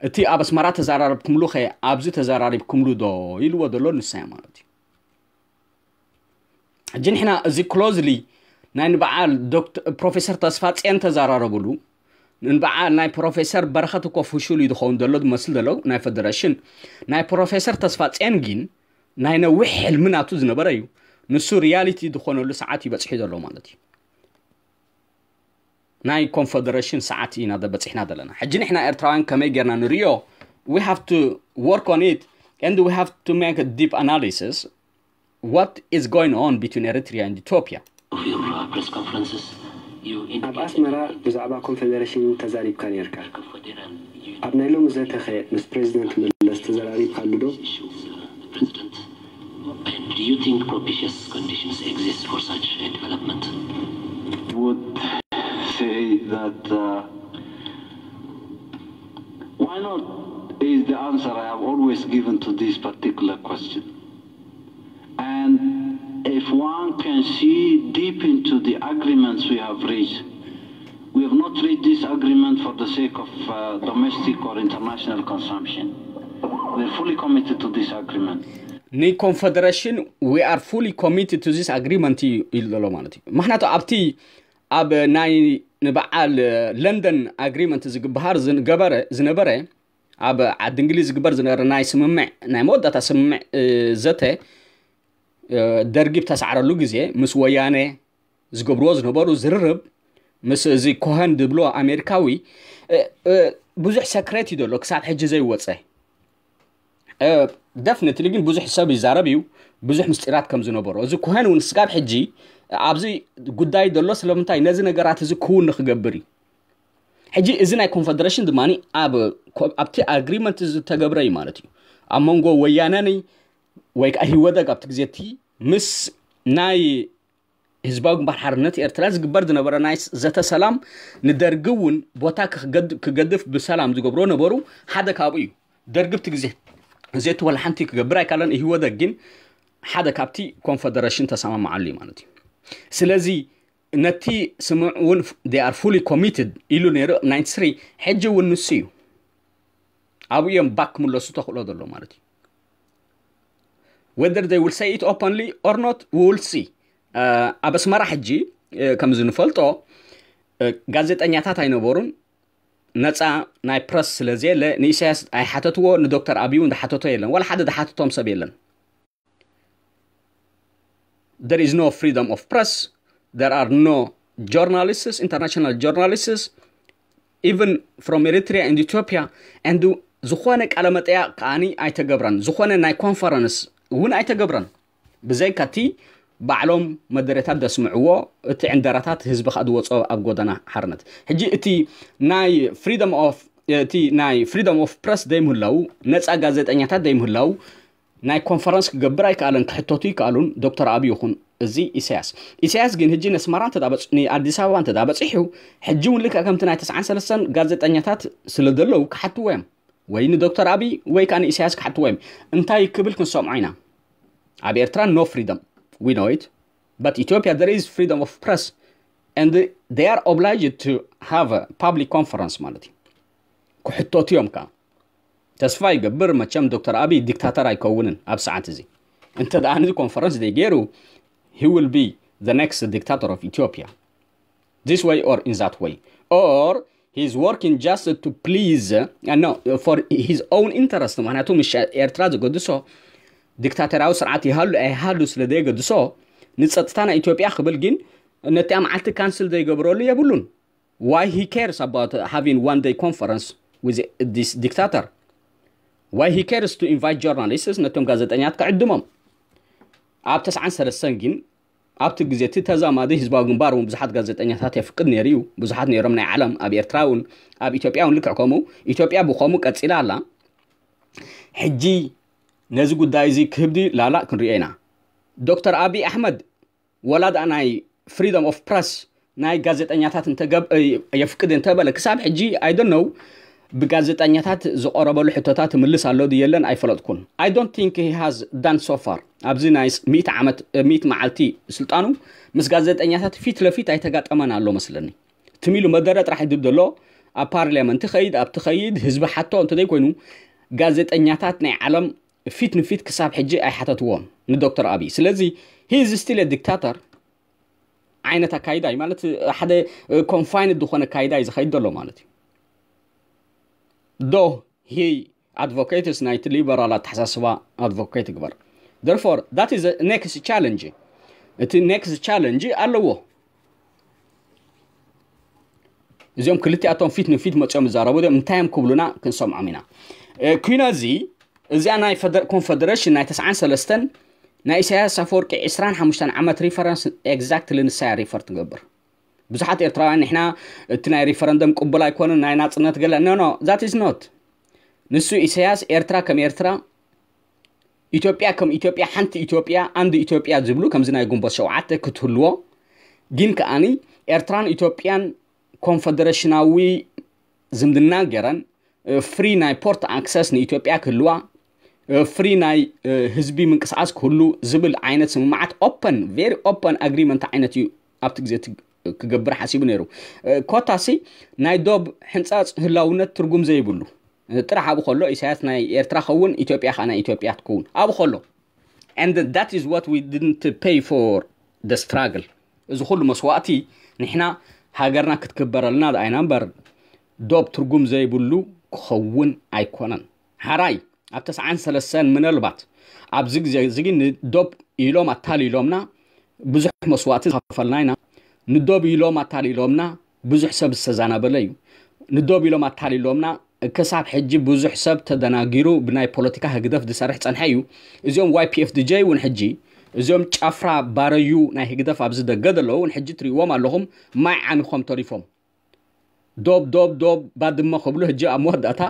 እቲ ኣብ ኣስመራ ተዘራረብኩምሉ ኸ ኣብዚ ተዘራሪብኩምሉ ዶ ኢልዎ ዘሎ ንሳይ ማለት እዩ ሕጂ ንሕና እዚ closely ናይ ንበዓል ፕሮፌሰር ተስፋፅዮን ተዘራረብሉ ንበዓል ናይ ፕሮፌሰር በረኸት እኮ ፍሹል እዩ ዝኸውን ዘሎ ዝመስል ዘሎ ናይ ፌደሬሽን ናይ ፕሮፌሰር ተስፋፅዮን ግን ናይ ነዊሕ ሕልሚ ናቱ ዝነበረ እዩ ንሱ reality ዝኾነሉ ሰዓት እዩ በፅሑ ዘሎ ማለት እዩ ናይ ኮንፈደሬሽን ሰዓት ኢና በፂሕና ዘለና ሕጂ ንሕና ኤርትራውያን ከመይ ጌርና ንርእዮ we have to work on it and we have to make a deep analysis what is going on between Eritrea and Ethiopia ኣብ ኣስመራ ብዛዕባ ኮንፈደሬሽን ተዛሪብካ ኔርካ ኣብ ናይ ሎሚ ዘተኸ ምስ ፕሬዚደንት መለስ ተዘራሪብካሉ ዶ Do you think propitious conditions exist for such a development? would say that uh, why not is the answer I have always given to this particular question. And if one can see deep into the agreements we have reached, we have not reached this agreement for the sake of uh, domestic or international consumption. We are fully committed to this agreement. ንኮንፈደሬሽን we are fully committed to this agreement እዩ ኢሉ ዘሎ ማለት እዩ። ምክንያቱ ኣብቲ ኣብ ናይ ንበዓል ለንደን ኣግሪመንት ዝግበሃር ዝገበረ ዝነበረ ኣብ ዓዲ እንግሊዝ ዝግበር ዝነበረ ናይ ስምምዕ ናይ መወዳእታ ስምምዕ ዘተ ደርጊ ብተሳዕረሉ ግዜ ምስ ወያነ ዝገብርዎ ዝነበሩ ዝርርብ ምስ እዚ ኮሀን ድብሎ ኣሜሪካዊ ብዙሕ ሰክሬት እዩ ዘሎ ክሳብ ሕጂ ዘይወፀ። ደፍኒትሊ ግን ብዙሕ ሰብ ይዛረብ እዩ ብዙሕ ምስጢራት ከም ዝነበሮ። እዚ ኮሀን እውን ስጋብ ሕጂ ኣብዚ ጉዳይ ዘሎ ስለምንታይ ነዚ ነገራት እዚ ክውን ንክገብር እዩ። ሕጂ እዚ ናይ ኮንፈደሬሽን ድማ ኣብቲ ኣግሪመንት ዝተገብረ እዩ ማለት እዩ። ኣብ መንጎ ወያነኒ ወይ ከዓ ህወደግ ኣብቲ ግዜ እቲ ምስ ናይ ህዝባዊ ግንባር ሓርነት ኤርትራ ዝግበር ዝነበረ ናይ ዘተ ሰላም ንደርጊ እውን ቦታ ክገድፍ ብሰላም ዝገብሮ ነበሩ። ሓደ ካብኡ እዩ። ደርጊ ኣብቲ ግዜ ዘቲ ወላ ሓንቲ ክገብር ኣይካለን። ህወደግ ግን ሓደ ካብቲ ኮንፈደሬሽን ተሰማማዓሉ እዩ ማለት እዩ። ስለዚ ነቲ ስምምዕ እውን they are fully committed ኢሉ ነይሩ ናይንቲ ስሪ። ሕጂ እውን ንሱ እዩ ኣብኡ እዮም ባክ ክምለሱ ተኽእሎ ዘሎ ማለት እዩ። Whether they will say it openly or not, we will see. ኣብ ኣስመራ ሕጂ ከምዚ ንፈልጦ ጋዜጠኛታት ኣይነበሩን። ነፃ ናይ ፕረስ ስለ ዘየለ ንኢሳያስ ኣይሓተትዎ፣ ንዶክተር ኣብይ እውን ዝሓተቶ የለን፣ ዋላ ሓደ ዝሓተቶም ሰብ የለን። There is no freedom of press. There are no journalists, international journalists, even from Eritrea and Ethiopia. And ዝኾነ ቃለ መጠያ ከዓኒ ኣይተገብረን፣ ዝኾነ ናይ ኮንፈረንስ እውን ኣይተገብረን። ብዘይካቲ ባዕሎም መደረታት ዘስምዕዎ እቲ ዕንደራታት ህዝቢ ከዓ ዝወፅኦ ኣብ ጎደና ሓርነት። ሕጂ እቲ ናይ freedom of እቲ ናይ freedom of press ዘይምህላው፣ ነፃ ጋዜጠኛታት ዘይምህላው፣ ናይ ኮንፈረንስ ክገብር ኣይከኣለን። ክሕተቱ ይከኣሉን ዶክተር ኣብይ ይኹን እዚ ኢሳያስ። ኢሳያስ ግን ሕጂ ነስመራ ንኣዲስ ኣበባ እንተ በፂሑ ሕጂ እውን ልክዕ ከምቲ ናይ ተስዓን ሰለስተን ጋዜጠኛታት ስለ ዘለዉ ክሓትዎ እዮም። ወይ ንዶክተር ኣብይ ወይ ከዓ ንኢሳያስ ክሓትዎ እዮም። እንታይ ክብል ክንሰምዖ ኢና? ኣብ ኤርትራ no freedom, we know it, but Ethiopia there is freedom of press and they are obliged to have a public conference ማለት እዩ። ክሕተቱ እዮም ከዓ። ተስፋ ይገብር መቸም ዶክተር ኣብይ ዲክታተር ኣይከውንን ኣብ ሰዓት እዚ። እንተ ደኣ ነዚ ኮንፈረንስ ዘይገይሩ he will be the next dictator of Ethiopia, this way or in that way, or he is working just to please, uh, no, for his own interest. ምክንያቱ ምስ ኤርትራ ዝገድሶ ዲክታተራዊ ስርዓት ይሃሉ ኣይሃሉ ስለ ዘየገድሶ ንፀጥታ ናይ ኢትዮጵያ ክብል ግን ነቲኣ መዓልቲ ካንስል ዘይገብረሉ የብሉን። Why he cares about having one day conference with this dictator? Why he cares to invite journalists? ነቶም ጋዜጠኛት ክዕድሞም። ኣብ ተስዓን ሰለስተን ግን ኣብቲ ግዜ እቲ ተዛማዲ ህዝባዊ ግንባር እውን ብዙሓት ጋዜጠኛታት የፍቅድ ነይሩ እዩ። ብዙሓት ነይሮም ናይ ዓለም ኣብ ኤርትራ እውን ኣብ ኢትዮጵያ እውን ልክዕ ከምኡ። ኢትዮጵያ ብኸምኡ ቀፂላ ኣላ። ሕጂ ነዚ ጉዳይ እዚ ክህብ ድዩ ላላ ክንሪኦ ኢና። ዶክተር ኣብይ ኣሕመድ ወላ ደኣ ናይ freedom of press ናይ ጋዜጠኛታት እንተገብ የፍቅድ እንተበለ ክሳብ ሕጂ I don't know ብጋዜጠኛታት ዝቐረበሉ ሕቶታት ምልስ ኣሎ ድየለን ኣይፈለጥኩን። I don't think he has done so far ኣብዚ ናይ ሚእቲ ዓመት ሚእቲ መዓልቲ ስልጣኑ ምስ ጋዜጠኛታት ፊት ለፊት ኣይተጋጠመን ኣሎ መስለኒ። ትሚሉ መደረ ጥራሕ ይድብ ዘሎ ኣብ ፓርሊያመንት ኸይድ ኣብቲ ኸይድ ህዝቢ ሓቶ እንተዘይኮይኑ ጋዜጠኛታት ናይ ዓለም ፊት ንፊት ክሳብ ሕጂ ኣይሓተትዎን ንዶክተር ኣብይ። ስለዚ he is still a dictator ዓይነት ኣካይዳ እዩ ማለት ሓደ ኮንፋይንድ ዝኾነ ኣካይዳ እዩ ዝኸይድ ዘሎ ማለት እዩ። ዶ he advocates ናይቲ ሊበራል ኣተሓሳስባ ኣድቮኬት ይግበር። Therefore that is next challenge። እቲ next challenge ኣለዎ። እዚኦም ክልቲኣቶም ፊት ንፊት መፅኦም ይዛረቡ እዮም። እንታይ እዮም ክብሉና ክንሰምዖም ኢና። ኩናዚ እዚኣ ናይ ኮንፈደሬሽን ናይ ተስዓን ሰለስተን ናይ ኢሳያስ ኣፈወርቂ ዕስራን ሓሙሽተን ዓመት ሪፈረንስ ኤግዛክትሊ ንሳያ ሪፈር ትገብር። ብዙሓት ኤርትራውያን ንሕና እቲ ናይ ሪፈረንደም ቅቡል ኣይኮነን ናይ ናፅነት ገለ no no that is not። ንሱ ኢሳያስ ኤርትራ ከም ኤርትራ ኢትዮጵያ ከም ኢትዮጵያ ሓንቲ ኢትዮጵያ ኣንድ ኢትዮጵያ ዝብሉ ከምዚ ናይ ግንቦት ሸውዓተ ክትህልዎ ግን ከኣኒ ኤርትራን ኢትዮጵያን ኮንፈደሬሽናዊ ዝምድና ገይረን ፍሪ ናይ ፖርት ኣክሰስ ንኢትዮጵያ ክህልዋ ፍሪ ናይ ህዝቢ ምንቅስቃስ ክህሉ ዝብል ዓይነት ስምምዓት ኦፐን ቨሪ ኦፐን ኣግሪመንት ዓይነት እዩ ኣብቲ ግዜ ክገብር ሓሲቡ ነይሩ። ኮታሲ ናይ ዶብ ሕንፃፅ ህላውነት ትርጉም ዘይብሉ ጥራሕ ኣብኡ ከሎ ኢሳያስ ናይ ኤርትራ ኸውን ኢትዮጵያ ከዓ ናይ ኢትዮጵያ ትከውን ኣብኡ ከሎ And that is what we didn't pay for the struggle. እዚ ኩሉ መስዋእቲ ንሕና ሃገርና ክትክበረልና ደኣይና እምበር ዶብ ትርጉም ዘይብሉ ክኸውን ኣይኮነን። ሓራይ ኣብ ተስዓን ሰለስተን ምናልባት ኣብዚ ግዜ እዚ ግን ንዶብ ኢሎም ኣታሊሎምና ብዙሕ መስዋእቲ ዝኸፈልና ኢና። ንዶብ ኢሎም ኣታሊሎምና ብዙሕ ሰብ ዝተዛናበለ እዩ። ንዶብ ኢሎም ኣታሊሎምና ክሳብ ሕጂ ብዙሕ ሰብ ተደናጊሩ ብናይ ፖለቲካ ህግደፍ ዝሰርሕ ጸንሐ እዩ። እዚኦም ዋይ ፒ ኤፍ ዲ ጀይ እውን ሕጂ እዚኦም ጫፍራ ባረዩ ናይ ህግደፍ ኣብዚ ደገ ዘለዉ እውን ሕጂ ትሪእዎም ኣለኹም ማይ ዓሚኾም ተሪፎም። ዶብ ዶብ ዶብ ባድመ ክብሉ ሕጂ ኣብ መወዳእታ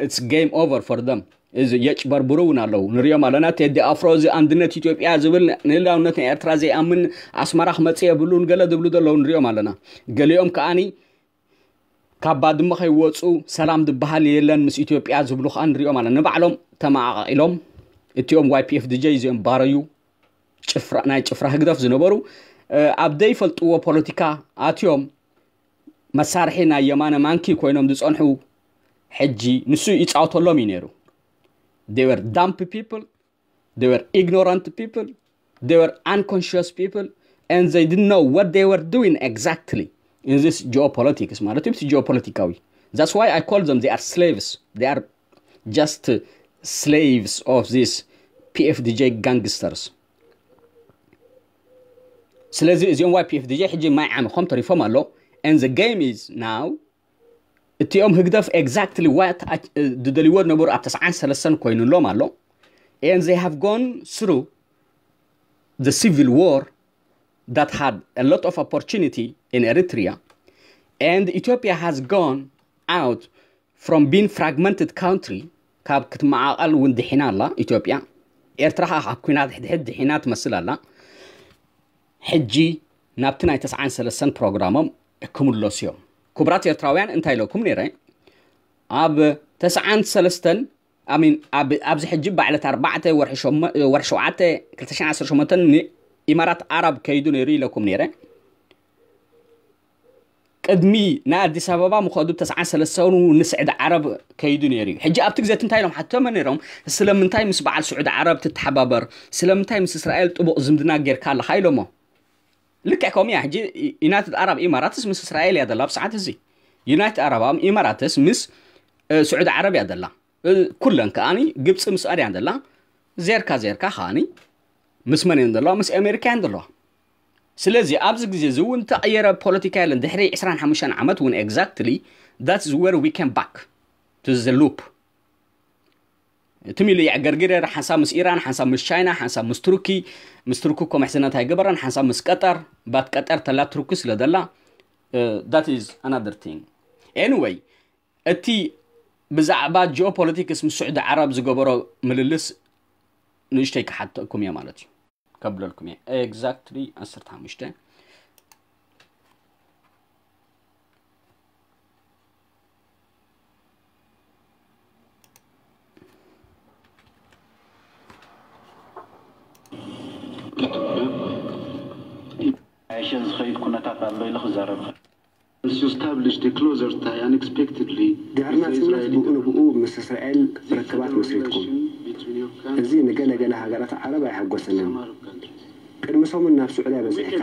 it's game over for them። እዚ የጭበርብሩ እውን ኣለዉ ንሪኦም ኣለና። ቴዲ ኣፍሮ እዚ ኣንድነት ኢትዮጵያ ዝብል ንህላውነት ናይ ኤርትራ ዘይኣምን ኣስመራ ክመጽእ የብሉን ገለ ዝብሉ ዘለዉ ንሪኦም ኣለና። ገሊኦም ከኣኒ ካብ ባድመ ከይወፁ ሰላም ዝበሃል የለን ምስ ኢትዮጵያ ዝብሉ ከዓ ንሪኦም ኣለና። ንባዕሎም ተመቓቒሎም እቲኦም ዋይ ፒ ኤፍ ዲ ጀይ እዚኦም ባረዩ ጭፍራ ናይ ጭፍራ ህግደፍ ዝነበሩ ኣብ ዘይፈልጥዎ ፖለቲካ ኣትዮም መሳርሒ ናይ የማነ ማንኪ ኮይኖም ዝፀንሑ ሕጂ ንሱ ይፃወተሎም እዩ ነይሩ። They were dumb people, they were ignorant people, they were unconscious people, and they didn't know what they were doing exactly in this geopolitics ማለት እዩ። ጂኦፖለቲካዊ that's why I call them they are slaves, they are just slaves of this P F D J gangsters. ስለዚ እዚኦም ዋይ ፒ ኤፍ ዲ ጂ ሕጂ ማይ ዓሚኾም ተሪፎም ኣሎ። And the game is now እቲኦም ህግደፍ exactly what ዝደልይዎ ዝነበሩ ኣብ ተስዓን ሰለስተን ኮይኑሎም ኣሎ። And they have gone through the civil war that had a lot of opportunity in Eritrea, and Ethiopia has gone out from being fragmented country ካብ ክትመዓቐል እውን ድሒና ኣላ ኢትዮጵያ። ኤርትራ ከዓ ካብ ኩናት ሕድሕድ ድሒና ትመስል ኣላ። ሕጂ ናብቲ ናይ ተስዓን ሰለስተን ፕሮግራሞም ክምለሱ እዮም። ክቡራት ኤርትራውያን እንታይ ኢለኩም ነይረ? ኣብ ተስዓን ሰለስተን ኣሚን ኣብዚ ሕጂ ባዕለት ኣርባዕተ ወርሒ ሸውዓተ ክልተ ሽሕን ዓሰርተ ሸሞንተን ንኢማራት ኣረብ ከይዱ ነይሩ ኢለኩም ነይረ። ቅድሚ ናይ ኣዲስ ኣበባ ምኸዱ ተስዓን ሰለስተን ንስዕዲ ዓረብ ከይዱ ነይሩ እዩ። ሕጂ ኣብቲ ግዜ እንታይ ኢሎም ሓቶመ ነይሮም? ስለምንታይ ምስ በዓል ስዑዲ ዓረብ ትተሓባበር? ስለምንታይ ምስ እስራኤል ጥቡቕ ዝምድና ጌርካ ኣለኻ ኢሎሞ። ልክዕ ከምኡ እያ። ሕጂ ዩናይትድ ኣረብ ኢማራትስ ምስ እስራኤል እያ ዘላ ብሰዓት እዚ። ዩናይትድ ኣረብ ኢማራትስ ምስ ስዑዲ ዓረብ እያ ዘላ። ኩለን ከኣኒ ግብፂ ምስኣን እያ ዘላ። ዜርካ ዜርካ ከኣኒ ምስ መን እየን ዘለዋ? ምስ ኣሜሪካ እየን ዘለዋ። ስለዚ ኣብዚ ግዜ እዚ እውን ተቐየረ ፖለቲካ የለን። ድሕሪ ዕስራን ሓሙሽተን ዓመት እውን exactly that's where we came back to the loop። ትም ኢሉ የዕገርግር ነይሩ። ሓንሳብ ምስ ኢራን፣ ሓንሳብ ምስ ቻይና፣ ሓንሳብ ምስ ቱርኪ። ምስ ቱርኪ እኮ ምሕዝነት ኣይገበረን። ሓንሳብ ምስ ቀጠር፣ ባት ቀጠር ተላ ቱርኪ ስለ ደላ that is another thing. Anyway እቲ ብዛዕባ ጂኦፖለቲክስ ምስ ስዑዲ ዓረብ ዝገበሮ ምልልስ ንእሽተይ ክሓተኩም እየ ማለት እዩ። ከብለልኩም እየ exactly ዓሰርተ ሓሙሽተ ዝኸይድ ኩነታት ኣሎ ኢለ ክዛረብ ድሕሪ ናጽነት ብኡ ንብኡ ምስ እስራኤል ርክባት መስሪትኩም። እዚ ንገለ ገለ ሃገራት ዓረብ ኣየሐጎሰንን። ቅድሚ ሰሙን ናብ ስዑድያ በጺሕካ።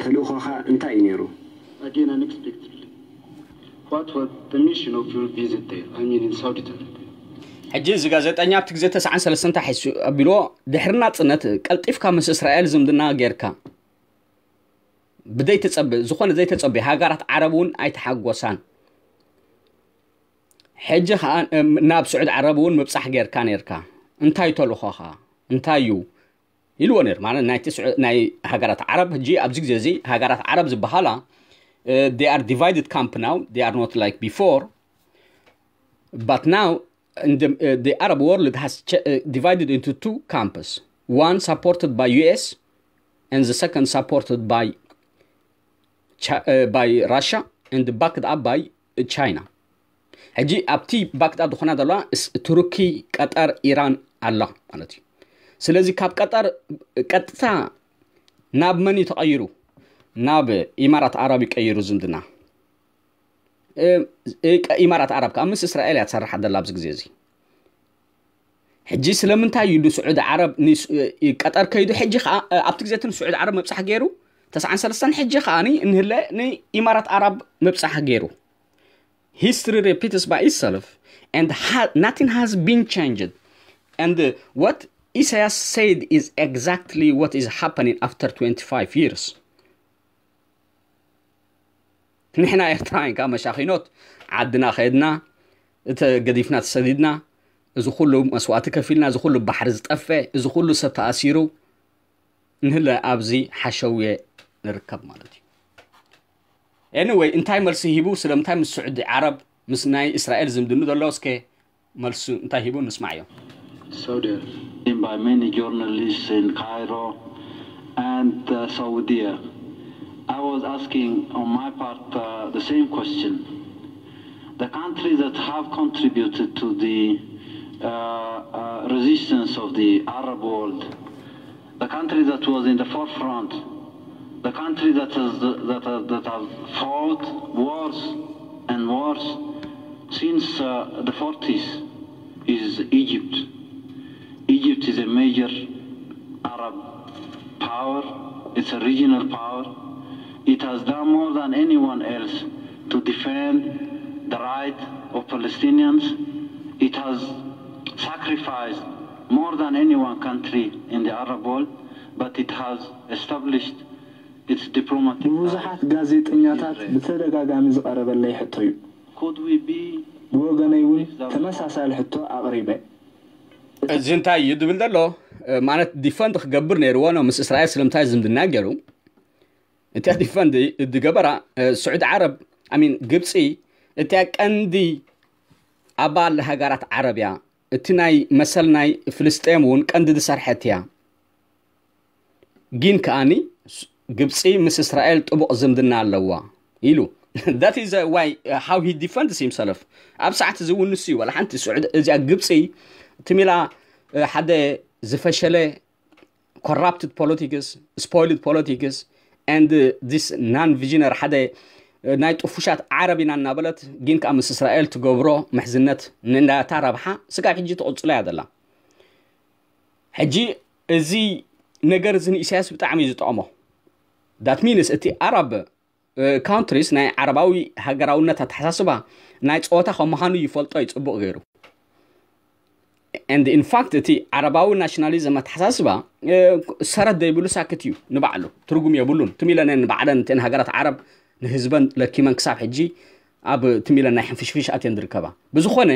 ተልእኾኻ እንታይ እዩ ነይሩ? ሕጂ እዚ ጋዜጠኛ ኣብቲ ግዜ ተስዓን ሰለስተን እንታይ ሒሱ ኣቢልዎ? ድሕሪ ናጽነት ቀልጢፍካ ምስ እስራኤል ዝምድና ጌርካ ብዘይተጸብ ዝኾነ ዘይተጸብዮ ሃገራት ዓረብ እውን ኣይተሓጎሳን። ሕጂ ከዓ ናብ ስዑድ ዓረብ እውን ምብጻሕ ጌርካ ኔርካ እንታይ ተልኾኻ እንታይ እዩ ኢልዎ ነይሩ ማለት ናይቲ ናይ ሃገራት ዓረብ ሕጂ ኣብዚ ግዜ እዚ ሃገራት ዓረብ ዝበሃላ they are divided camp now, they are not like before, but now in the, uh, the Arab world has ch- uh, divided into two camps, one supported by U S and the second supported by Chi- uh, by Russia and backed up by China. ሕጂ ኣብቲ backed up ዝኾና ዘለዋ ቱርኪ፣ ቀጠር፣ ኢራን ኣላ ማለት እዩ። ስለዚ ካብ ቀጠር ቀጥታ ናብ መን እዩ ተቐይሩ? ናብ ኢማራት ዓረብ ይቀይሩ ዝምድና። ኢማራት ዓረብ ከዓ ምስ እስራኤል እያ ትሰርሕ ዘላ ኣብዚ ግዜ እዚ። ሕጂ ስለምንታይ እዩ ንስዑዲ ዓረብ ንስ- ቀጠር ከይዱ? ሕጂ ከዓ ኣብቲ ግዜ እቲ ንስዑዲ ዓረብ መብፃሕ ገይሩ ተስዓን ሰለስተን፣ ሕጂ ከዓ ንህለ ንኢማራት ዓረብ መብፃሕ ገይሩ። History repeats by itself, and ha- nothing has been changed. And uh, what Isaias said is exactly what is happening after twenty-five years. ንሕና ኤርትራውያን ካብ መሻኺኖት ዓድና ከድና፣ እቲ ገዲፍና ተሰዲድና፣ እዚ ኩሉ መስዋእቲ ከፊልና፣ እዚ ኩሉ ባሕሪ ዝጠፈ፣ እዚ ኩሉ ሰብ ተኣሲሩ፣ ንህለ ኣብዚ ሓሸውየ ንርከብ ማለት እዩ። Anyway፣ እንታይ መልሲ ሂቡ? ስለምንታይ ምስ ስዑዲ ዓረብ፣ ምስ ናይ እስራኤል ዝምድኑ ዘሎ? እስከ መልሱ እንታይ ሂቡ ንስማዕዮ። Saudi Arabia by many journalists in Cairo and uh, Saudi. I was asking on my part uh, the same question. The countries that have contributed to the uh, uh, resistance of the Arab world, the country that was in the forefront, the country that has that, have, that have fought wars and wars since uh, the forties is Egypt. Egypt is a major Arab power. It's a regional power. It has done more than anyone else to defend the right of Palestinians. It has sacrificed more than any one country in the Arab world, but it has established its diplomatic ብብዙሓት ጋዜጠኛታት ብተደጋጋሚ ዝቐረበለይ ሕቶ እዩ። Could we be ብወገነይ እውን ተመሳሳሊ ሕቶ ኣቕሪበ። እዚ እንታይ እዩ ድብል ዘሎ? ማለት ዲፈንድ ክገብር ነይርዎ ነው ምስ እስራኤል ስለምንታይ ዝምድና ገይሩ? እቲያ ዲፈንድ ዝገበራ ስዑዲ ዓረብ፣ ኣሚን፣ ግብፂ፣ እቲያ ቀንዲ ኣባል ሃገራት ዓረብ እያ። እቲ ናይ መሰል ናይ ፍልስጤም እውን ቀንዲ ዝሰርሐት እያ። ግን ከኣኒ ግብፂ ምስ እስራኤል ጥቡቕ ዝምድና ኣለዋ ኢሉ። That is why uh, how he defends himself. ኣብ ሰዓት እዚ እውን ንሱ እዩ ዋላ ሓንቲ ስዑድ እዚኣ ግብፂ ትሚላ ሓደ ዝፈሸለ corrupted politics, spoiled politics and this non visionary ሓደ ናይ ጥፉሻት ዓረብ ኢና እናበለት ግን ከዓ ምስ እስራኤል ትገብሮ ምሕዝነት ንናታ ረብሓ ስጋብ ሕጂ ትቕፅሎ እያ ዘላ። ሕጂ እዚ ነገር እዚ ንኢሳያስ ብጣዕሚ እዩ ዝጠቕሞ። That means እቲ ኣረብ ካውንትሪስ ናይ ዓረባዊ ሃገራውነት ኣተሓሳስባ ናይ ፀወታ ከም ምዃኑ ይፈልጦ እዩ ፅቡቕ ገይሩ። And in fact እቲ ዓረባዊ ናሽናሊዝም ኣተሓሳስባ ሰረት ዘይብሉ ሳክት እዩ ንባዕሉ ትርጉም የብሉን። ትም ኢለን ንባዕለን እተን ሃገራት ዓረብ ንህዝበን ለኪመን ክሳብ ሕጂ ኣብ ትም ኢለን ናይ ሕንፍሽፍሽ ኣትየን ዝርከባ። ብዝኾነ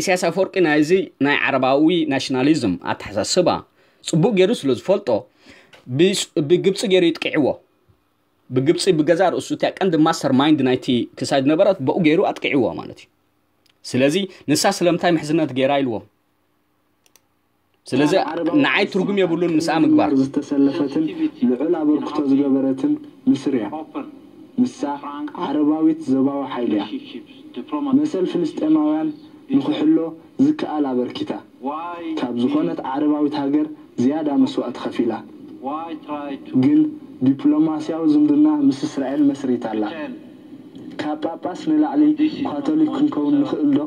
ኢሳያስ ኣፈወርቂ ናይዚ ናይ ዓረባዊ ናሽናሊዝም ኣተሓሳስባ ፅቡቕ ገይሩ ስለ ዝፈልጦ ብግብፂ ገይሩ ይጥቅዕዎ። ብግብፂ ብገዛ ርእሱ እቲያ ቀንዲ ማስተር ማይንድ ናይቲ ክሳይ ዝነበረት ብኡ ገይሩ ኣጥቅዕዎ ማለት እዩ። ስለዚ ንሳ ስለምንታይ ምሕዝነት ገይራ ኢልዎም። ስለዚ ንዓይ ትርጉም የብሉን ምስኣ ምግባር። ዝተሰለፈትን ልዑል ኣበርክቶ ዝገበረትን ምስር እያ። ንሳ ዓረባዊት ዞባዊ ሓይሊ እያ። መሰል ፍልስጤማውያን ንክሕሎ ዝከኣል ኣበርኪታ። ካብ ዝኾነት ዓረባዊት ሃገር ዝያዳ መስዋእቲ ከፊላ። ግን ዲፕሎማስያዊ ዝምድና ምስ እስራኤል መስሪታ ኣላ። ካብ ጳጳስ ንላዕሊ ካቶሊክ ክንከውን ንኽእል ዶ?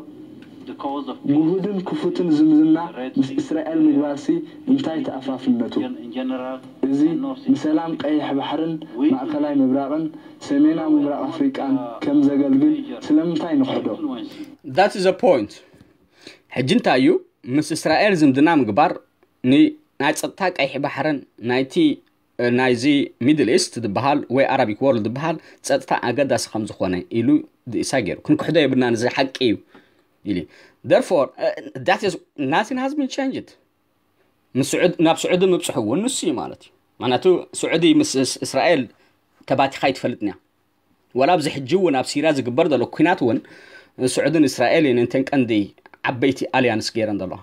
ግሁድን ክፉትን ዝምድና ምስ እስራኤል ምግባርሲ እንታይ ተኣፋፍነቱ? እዚ ንሰላም ቀይሕ ባሕርን ማእከላይ ምብራቕን ሰሜናዊ ምብራቕ ኣፍሪቃን ከም ዘገልግል ስለምንታይ ንኽሕዶ? That is a point። ሕጂ እንታይ እዩ ምስ እስራኤል ዝምድና ምግባር ናይ ፀጥታ ቀይሕ ባሕርን ናይቲ ናይዚ ሚድል ኢስት ዝበሃል ወይ ኣራቢክ ወርልድ ዝበሃል ፀጥታ ኣገዳሲ ከም ዝኾነ ኢሉ ድእሳ ገይሩ ክንክሕዶ የብልና ንዚ ሓቂ እዩ ኢሉ። Therefore nothing has been changed። ናብ ስዑዲ ምብፅሑ እውን ንሱ እዩ ማለት እዩ። ምክንያቱ ስዑዲ ምስ እስራኤል ተባቲኻ ኣይትፈልጥን እያ። ወላ ኣብዚ ሕጂ እውን ኣብ ሲርያ ዝግበር ዘሎ ኩናት እውን ስዑድን እስራኤልን እንተን ቀንዲ ዓበይቲ ኣልያንስ ገይረን ዘለዋ።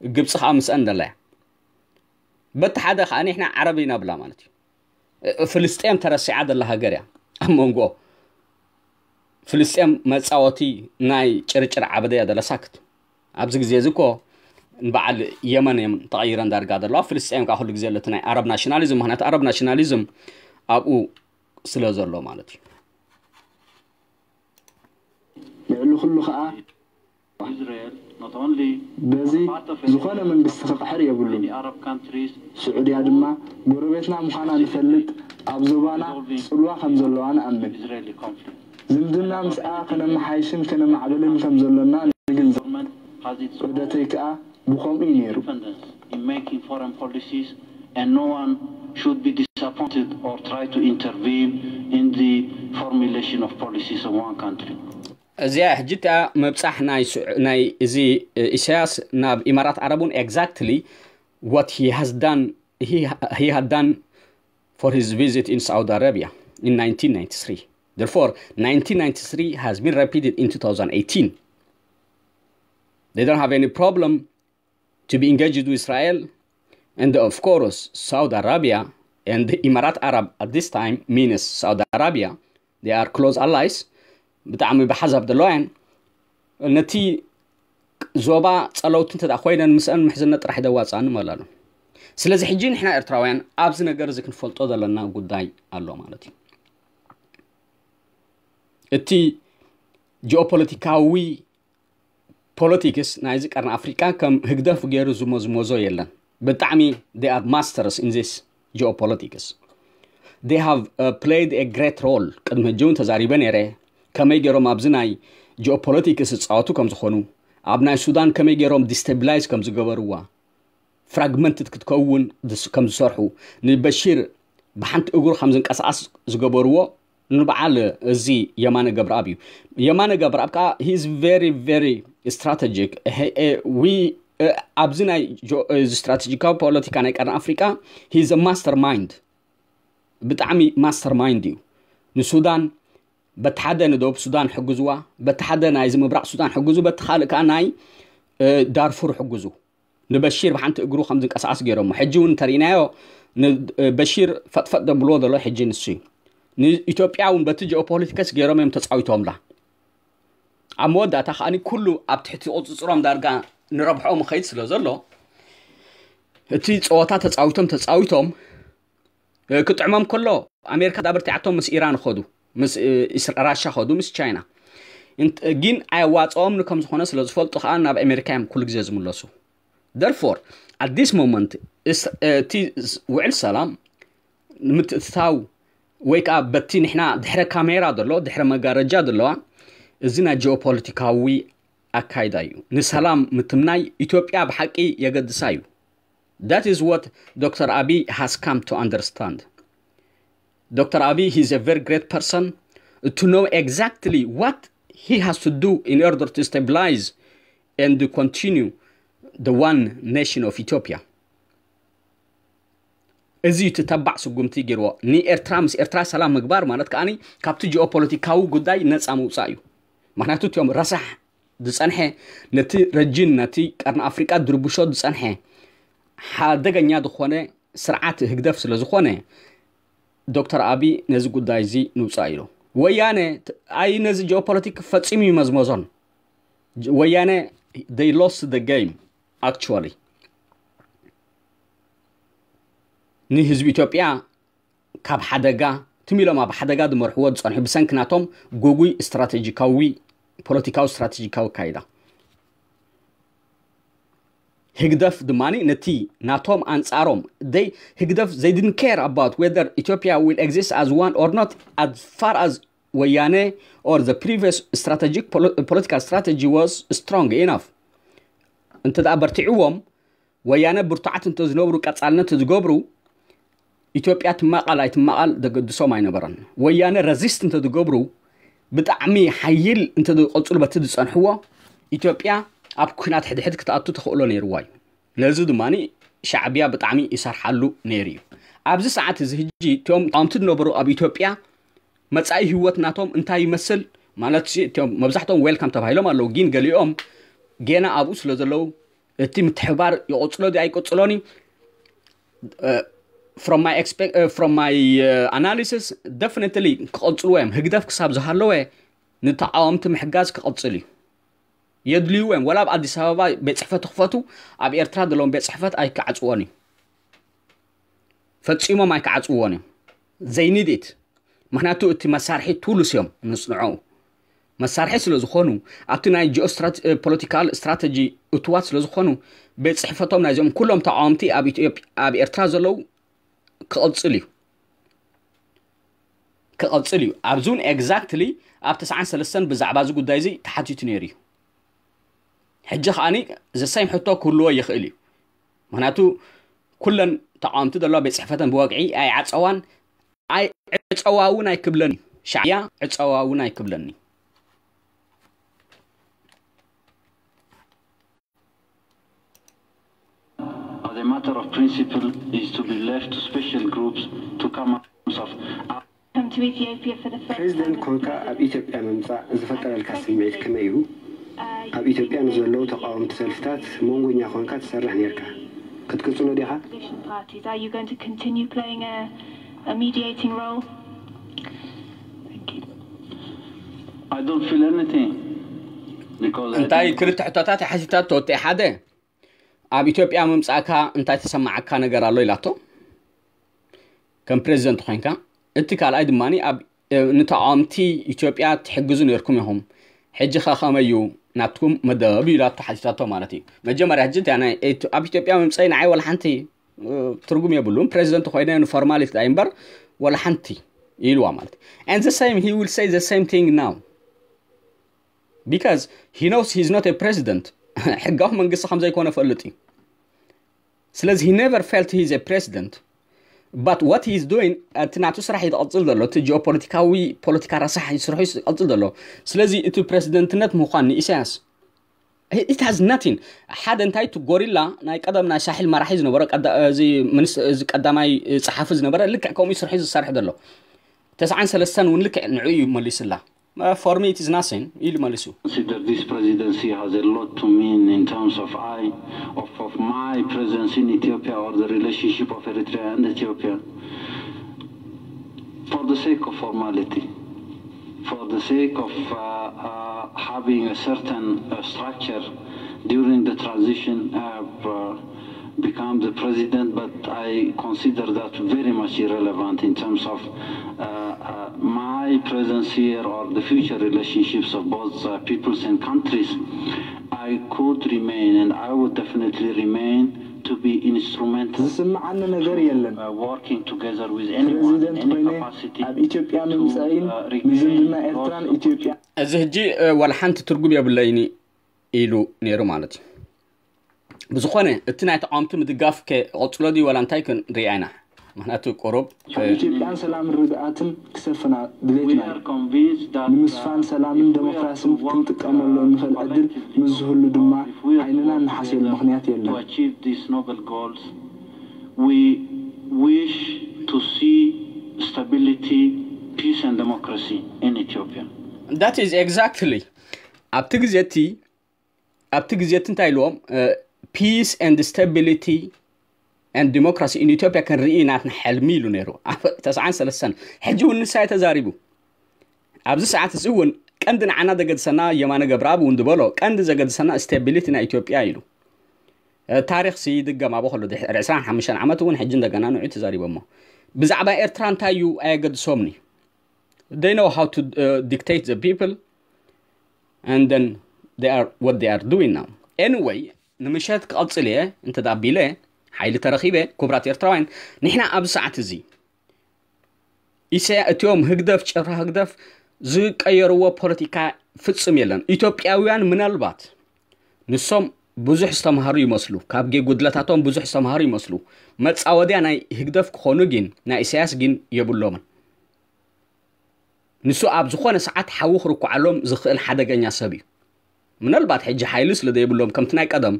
ግብፂ ከዓ ምስአን ዘላ እያ። በቲ ሓደ ከዓ ንሕና ዓረብ ኢና ብላ ማለት እዩ። ፍልስጤም ተረሲዓ ዘላ ሃገር እያ ኣብ መንጎ ፍልስጤም መፃወቲ ናይ ጭርጭር ዓበደ እያ ዘላ ሳክት። ኣብዚ ግዜ እዚ እኮ ንበዓል የመን እዮም ተቐይረን ዳርጋ ዘለዋ። ፍልስጤም ከዓ ኩሉ ግዜ ኣለቲ ናይ ኣረብ ናሽናሊዝም፣ ምክንያቱ ኣረብ ናሽናሊዝም ኣብኡ ስለ ዘሎ ማለት እዩ። ልዕሊ ኩሉ ከዓ በዚ ዝኾነ መንግስቲ ክቕሕር የብሉን። ስዑድያ ድማ ጎረቤትና ምዃና ንፈልጥ፣ ኣብ ዞባና ጽልዋ ከም ዘለዋ ንኣምን። ዝምድና ምስኣ ከነመሓይሽን ከነማዕብልን ከም ዘሎና ንግንዘብ። ዑደተይ ከኣ ብኸምኡ እዩ ነይሩ። And no one should be disappointed or try to intervene in the formulation of policies of one country. እዚኣ ሕጂ እቲኣ ምብጻሕ ናይ እዚ ኢሳያስ ናብ ኢማራት ዓረብ እውን exactly what he has done he had done for his visit in Saudi Arabia in nineteen ninety-three. Therefore, nineteen ninety-three has been repeated in two thousand eighteen. They don't have any problem to be engaged with Israel. And of course, Saudi Arabia and the Imarat Arab at this time means Saudi Arabia. They are close allies. ብጣዕሚ ብሓሳብ ዘለዋ እየን። ነቲ ዞባ ጸለውቲ እንተ ኮይነን ምስአን ምሕዝነት ጥራሕ ደዋፅኣኒ መላሉ። ስለዚ ሕጂ ንሕና ኤርትራውያን ኣብዚ ነገር እዚ ክንፈልጦ ዘለና ጉዳይ ኣሎ ማለት እዩ። እቲ ጂኦፖለቲካዊ ፖለቲክስ ናይዚ ቀርኒ ኣፍሪቃ ከም ህግደፍ ገይሩ ዝመዝመዞ የለን። ብጣዕሚ they are masters in this geopolitics. They have played a great role. ቅድሚ ሕጂ እውን ተዛሪበ ነይረ ከመይ ገይሮም ኣብዚ ናይ geopolitics ዝፃወቱ ከም ዝኾኑ፣ ኣብ ናይ ሱዳን ከመይ ገይሮም destabilize ከም ዝገበርዋ፣ fragmented ክትከውን ከም ዝሰርሑ፣ ንበሺር ብሓንቲ እግሩ ከም ዝንቀሳቐስ ዝገበርዎ ንበዓል እዚ የማነ ገብረኣብ እዩ። የማነ ገብረኣብ ከዓ he is very very strategic። ኣብዚ ናይ strategic ፖለቲካ ናይ ቀርኒ ኣፍሪቃ he is master mind። ብጣዕሚ master mind እዩ። ንሱዳን በቲ ሓደ ንደቡብ ሱዳን ሕግዝዋ፣ በቲ ሓደ ናይዚ ምብራቕ ሱዳን ሕግዙ፣ በቲ ካልእ ከዓ ናይ ዳርፉር ሕግዙ። ንበሺር ብሓንቲ እግሩ ከም ዝንቀሳቐስ ገይሮሞ። ሕጂ እውን እንተርኢናዮ ንበሺር ፈጥፈጥ ደብልዎ ዘሎ ሕጂ ንሱ እዩ። ንኢትዮጵያ እውን በቲ ጂኦፖለቲክስ ገይሮም እዮም ተፃዊቶምላ። ኣብ መወዳእታ ከዓኒ ኩሉ ኣብ ትሕቲ ቁፅፅሮም ዳርጋ ንረብሖም ይኸይድ ስለ ዘሎ እቲ ፀወታ ተፃዊቶም ተፃዊቶም ክጥዕሞም ከሎ ኣሜሪካ ዳብርቲዓቶም ምስ ኢራን ኸዱ፣ ምስ ራሻ ኸዱ፣ ምስ ቻይና ግን ኣየዋፅኦም ከም ዝኾነ ስለ ዝፈልጡ ከዓ ናብ ኣሜሪካ እዮም ኩሉ ግዜ ዝምለሱ። Therefore, at this moment እቲ ውዕል ሰላም ንምትእትታው ወይ ከዓ በቲ ንሕና ድሕረ ካሜራ ዘሎ ድሕረ መጋረጃ ዘለዋ እዚ ናይ ጂኦፖለቲካዊ ኣካይዳ እዩ። ንሰላም ምትምናይ ኢትዮጵያ ብሓቂ የገድሳ እዩ። That is what Doctor Abiy has come to understand. Doctor Abiy, he is a very great person to know exactly what he has to do in order to stabilize and to continue the one nation of Ethiopia. እዚ እቲ ተባዕ ስጉምቲ ገይርዎ ንኤርትራ ምስ ኤርትራ ሰላም ምግባር ማለት ከዓኒ ካብቲ ጂኦፖለቲካዊ ጉዳይ ነፃ ምውፃእ እዩ። ምክንያቱ እቲኦም ረሳሕ ዝፀንሐ ነቲ ረጅን ነቲ ቀርኒ ኣፍሪቃ ድርብሾ ዝፀንሐ ሓደገኛ ዝኾነ ስርዓት ህግደፍ ስለ ዝኾነ ዶክተር ኣቢ ነዚ ጉዳይ እዚ ንውፃእ ኢሉ። ወያነ ኣይ ነዚ ጂኦፖለቲክ ፈፂሙ ይመዝመዞን። ወያነ they lost the game actually። ንህዝቢ ኢትዮጵያ ካብ ሓደጋ ትም ኢሎም ኣብ ሓደጋ ዝመርሕዎ ዝፀንሑ ብሰንኪ ናቶም ጉጉይ ስትራቴጂካዊ ፖለቲካዊ ስትራቴጂካዊ ኣካይዳ። ህግደፍ ድማ ነቲ ናቶም ኣንፃሮም they ህግደፍ they didn't care about whether Ethiopia will exist as one or not as far as ወያነ or the previous strategic political strategy was strong enough። እንተ ደኣ በርቲዕዎም ወያነ ብርቱዓት እንተ ዝነብሩ ቀፃልነት ዝገብሩ ኢትዮጵያ ትማቓል ኣይትማቓል ዘገድሶም ኣይነበረን። ወያነ ረዚስት እንተ ዝገብሩ ብጣዕሚ ሓይል እንተ ዝቐፅሉ በቲ ዝፀንሕዎ ኢትዮጵያ ኣብ ኩናት ሕድሕድ ክትኣቱ ተኽእሎ ነይርዋ እዩ። ነዚ ድማ ሻዕብያ ብጣዕሚ ይሰርሓሉ ነይሩ እዩ። ኣብዚ ሰዓት እዚ ሕጂ እቶም ተቃወምቲ ዝነበሩ ኣብ ኢትዮጵያ መጻኢ ህይወት ናቶም እንታይ ይመስል ማለት እቶም መብዛሕቶም ዌልካም ተባሂሎም ኣለዉ፣ ግን ገሊኦም ጌና ኣብኡ ስለ ዘለዉ እቲ ምትሕባር ይቕጽሎ ድዩ ኣይቅጽሎን እዩ። From my expect from my analysis definitely ክቐጽልዎ እዮም። ህግደፍ ክሳብ ዝሃለወ ንተቃወምቲ ምሕጋዝ ክቐጽል እዩ። የድልይዎ እዮም። ወላ ኣብ ኣዲስ ኣበባ ቤት ጽሕፈት ክፈቱ ኣብ ኤርትራ ዘለዎም ቤት ጽሕፈት ኣይከዓጽዎን እዩ። ፈጺሞም ኣይከዓጽዎን እዮም። They need it። ምክንያቱ እቲ መሳርሒ ቱልስ እዮም ምስ ንዕኡ መሳርሒ ስለ ዝኾኑ፣ ኣብቲ ናይ ጂኦ ፖለቲካል ስትራተጂ እትዋት ስለ ዝኾኑ፣ ቤት ጽሕፈቶም ናይዞም ኩሎም ተቃወምቲ ኣብ ኢትዮጵያ ኣብ ኤርትራ ዘለዉ ክቕጽል እዩ። ክቐጽል እዩ። ኣብዚ እውን ኤግዛክትሊ ኣብ ተስዓን ሰለስተን ብዛዕባ እዚ ጉዳይ እዚ ተሓቲቱ ነይሩ እዩ። ሕጂ ከዓኒ ዘሳይም ሕቶ ክህልዎ ይኽእል እዩ። ምክንያቱ ኩለን ተቃወምቲ ዘለዋ ቤት ጽሕፈተን ብወግዒ ኣይዓጸዋን። ኣይ ዕጸዋ እውን ኣይክብለን እዩ። ሻዕያ ዕጸዋ እውን ኣይክብለን እዩ። As a matter of principle, is to be left to special groups to come up of ፕሬዚደንት ኮንካ ኣብ ኢትዮጵያ ምምፃእ ዝፈጠረልካ ስምዒት ከመይ እዩ? ኣብ ኢትዮጵያ ንዘለዉ ተቃወምቲ ሰልፍታት መንጎኛ ኮንካ ትሰርሕ ነርካ። ክትቅፅሎ ዲኻ? እንታይ ክልተ ሕቶታት ሓሲታት ተወጥኤ ሓደ ኣብ ኢትዮጵያ ምምፃእካ እንታይ ተሰማዓካ ነገር ኣሎ ኢላቶ ከም ፕሬዚደንት ኮይንካ። እቲ ካልኣይ ድማ ንተቃወምቲ ኢትዮጵያ ትሕግዙ ነርኩም ኢኹም፣ ሕጂ ከ ከመይ እዩ ናትኩም መደብ ኢላቶ ሓቲታቶ ማለት እዩ። መጀመርያ ሕጂ እንታይ ናይ ኣብ ኢትዮጵያ ምምፀይ ንዓይ ወላ ሓንቲ ትርጉም የብሉን። ፕሬዚደንት ኮይነ ንፎርማሊቲ ዳይ እምበር ወላ ሓንቲ ኢልዋ ማለት እዩ። And the same, he will say the same thing now because he knows he's not a president. ሕጋዊ መንግስቲ ከም ዘይኮነ ፈልጥ እዩ። ስለዚ he never felt he is a president, but what he is doing, እቲ ናቱ ስራሕ እዩ ዝቐፅል ዘሎ። እቲ ጂኦፖለቲካዊ ፖለቲካ ረሳሕ ስርሑ እዩ ዝቐፅል ዘሎ። ስለዚ እቲ ፕሬዚደንትነት ምዃን ንኢሳያስ it has nothing። ሓደ እንታይ እቲ ጎሪላ ናይ ቀደም ናይ ሳሕል መራሒ ዝነበረ እዚ ቀዳማይ ፀሓፊ ዝነበረ ልክዕ ከምኡ ስርሑ ዝሰርሕ ዘሎ። ተስዓን ሰለስተን እውን ልክዕ ንዑ እዩ መሊስላ። For me it is nothing ኢሉ መሊሱ። Consider this presidency has a lot to mean in terms of I of, of my presence in Ethiopia or the relationship of Eritrea and Ethiopia. For the sake of formality, for the sake of uh, uh, having a certain uh, structure during the transition, I have uh, become the president, but I consider that very much irrelevant in terms of uh, uh, my presence here or the future relationships of both uh, peoples and countries. I could remain and I would definitely remain to be instrumental ዝስምዓኒ ነገር የለን። uh, working together with anyone in ፕሬዚደንት any ኮይነ capacity ኣብ ኢትዮጵያ to ምምፃእን uh, regain ንዝምድና those ኤርትራን ኢትዮጵያ እዚ ሕጂ እ፣ ዋላ ሓንቲ ትርጉም የብለይን ኢሉ ነይሩ ማለት እዩ። ብዝኾነ እቲ ናይ ተቃወምቲ ምድጋፍ ከ ቀፅሎ ድዩ ዋላ እንታይ ክንሪኣ ኢና። ምክንያቱ ቁሩብ እ፣ ኢትዮጵያን ሰላምን ርግኣትን ክሰፍና ድሌትና We are convinced that ንምስፋን uh, ሰላምን if we are ዴሞክራሲን to work ክንጥቀመሉ uh, እንኽእል ዕድል collectively, ምስ ዝህሉ ድማ if we are to ዓይንና work ንሓስየሉ together ምኽንያት to የለን። achieve these noble goals, we wish to see stability, peace and democracy in Ethiopia. That is exactly ኣብቲ ግዜ እቲ ኣብቲ ግዜ እቲ እንታይ ኢልዎም peace and stability and democracy in Ethiopia ክንርኢ ናትና ሕልሚ ኢሉ ነይሩ ኣብ ተስዓን ሰለስተን። ሕጂ እውን ንሳ እዩ ተዛሪቡ። ኣብዚ ሰዓት እዚ እውን ቀንዲ ንዓና ዘገድሰና የማነ ገብረኣብ እውን ዝበሎ ቀንዲ ዘገድሰና ስቴቢሊቲ ናይ ኢትዮጵያ ኢሉ። እ፣ ታሪክ ሲ ይድገም ኣብ ከሎ ድሕሪ ዕስራን ሓሙሽተን ዓመት እውን ሕጂ እንደገና ንዑ ተዛሪቦሞ ብዛዕባ ኤርትራ እንታይ እዩ ኣየገድሶምኒ። They know how to uh, dictate the people and then they are what they are doing now. Anyway ንምሸት ክቐፅል እየ እንተ ዳቢለ ሓይሊ ተረኺበ። ክቡራት ኤርትራውያን ንሕና ኣብዚ ሰዓት እዚ ኢሳያ እቲኦም ህግደፍ ጭፍራ ህግደፍ ዝቀየርዎ ፖለቲካ ፍጹም የለን። ኢትዮጵያውያን ምናልባት ንሶም ብዙሕ ዝተምሃሩ ይመስሉ፣ ካብ ጌ ጉድለታቶም ብዙሕ ዝተምሃሩ ይመስሉ። መጻወድያ ናይ ህግደፍ ክኾኑ ግን ናይ ኢሳያስ ግን የብሎምን። ንሱ ኣብ ዝኾነ ሰዓት ሓዊ ክርኩዓሎም ዝኽእል ሓደገኛ ሰብ እዩ። ምናልባት ሕጂ ሓይሊ ስለ ዘይብሎም ከምቲ ናይ ቀደም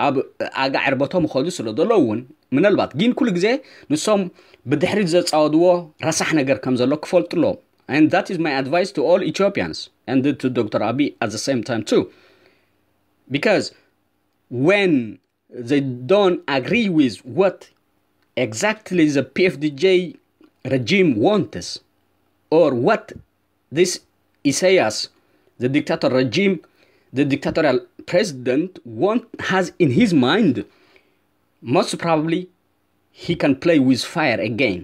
ኣብ ኣጋ ዕርበቶም ይኸዱ ስለ ዘለዉ እውን ምናልባት ግን ኩሉ ግዜ ንሶም ብድሕሪት ዘጻወድዎ ረሳሕ ነገር ከም ዘሎ ክፈልጡ ኣለዎም። And that is my advice to all Ethiopians and to Doctor Abiy at the same time too. Because when they don't agree with what exactly the P F D J regime wants or what this Isaias, the dictator regime, the dictatorial president want has in his mind, most probably he can play with fire again.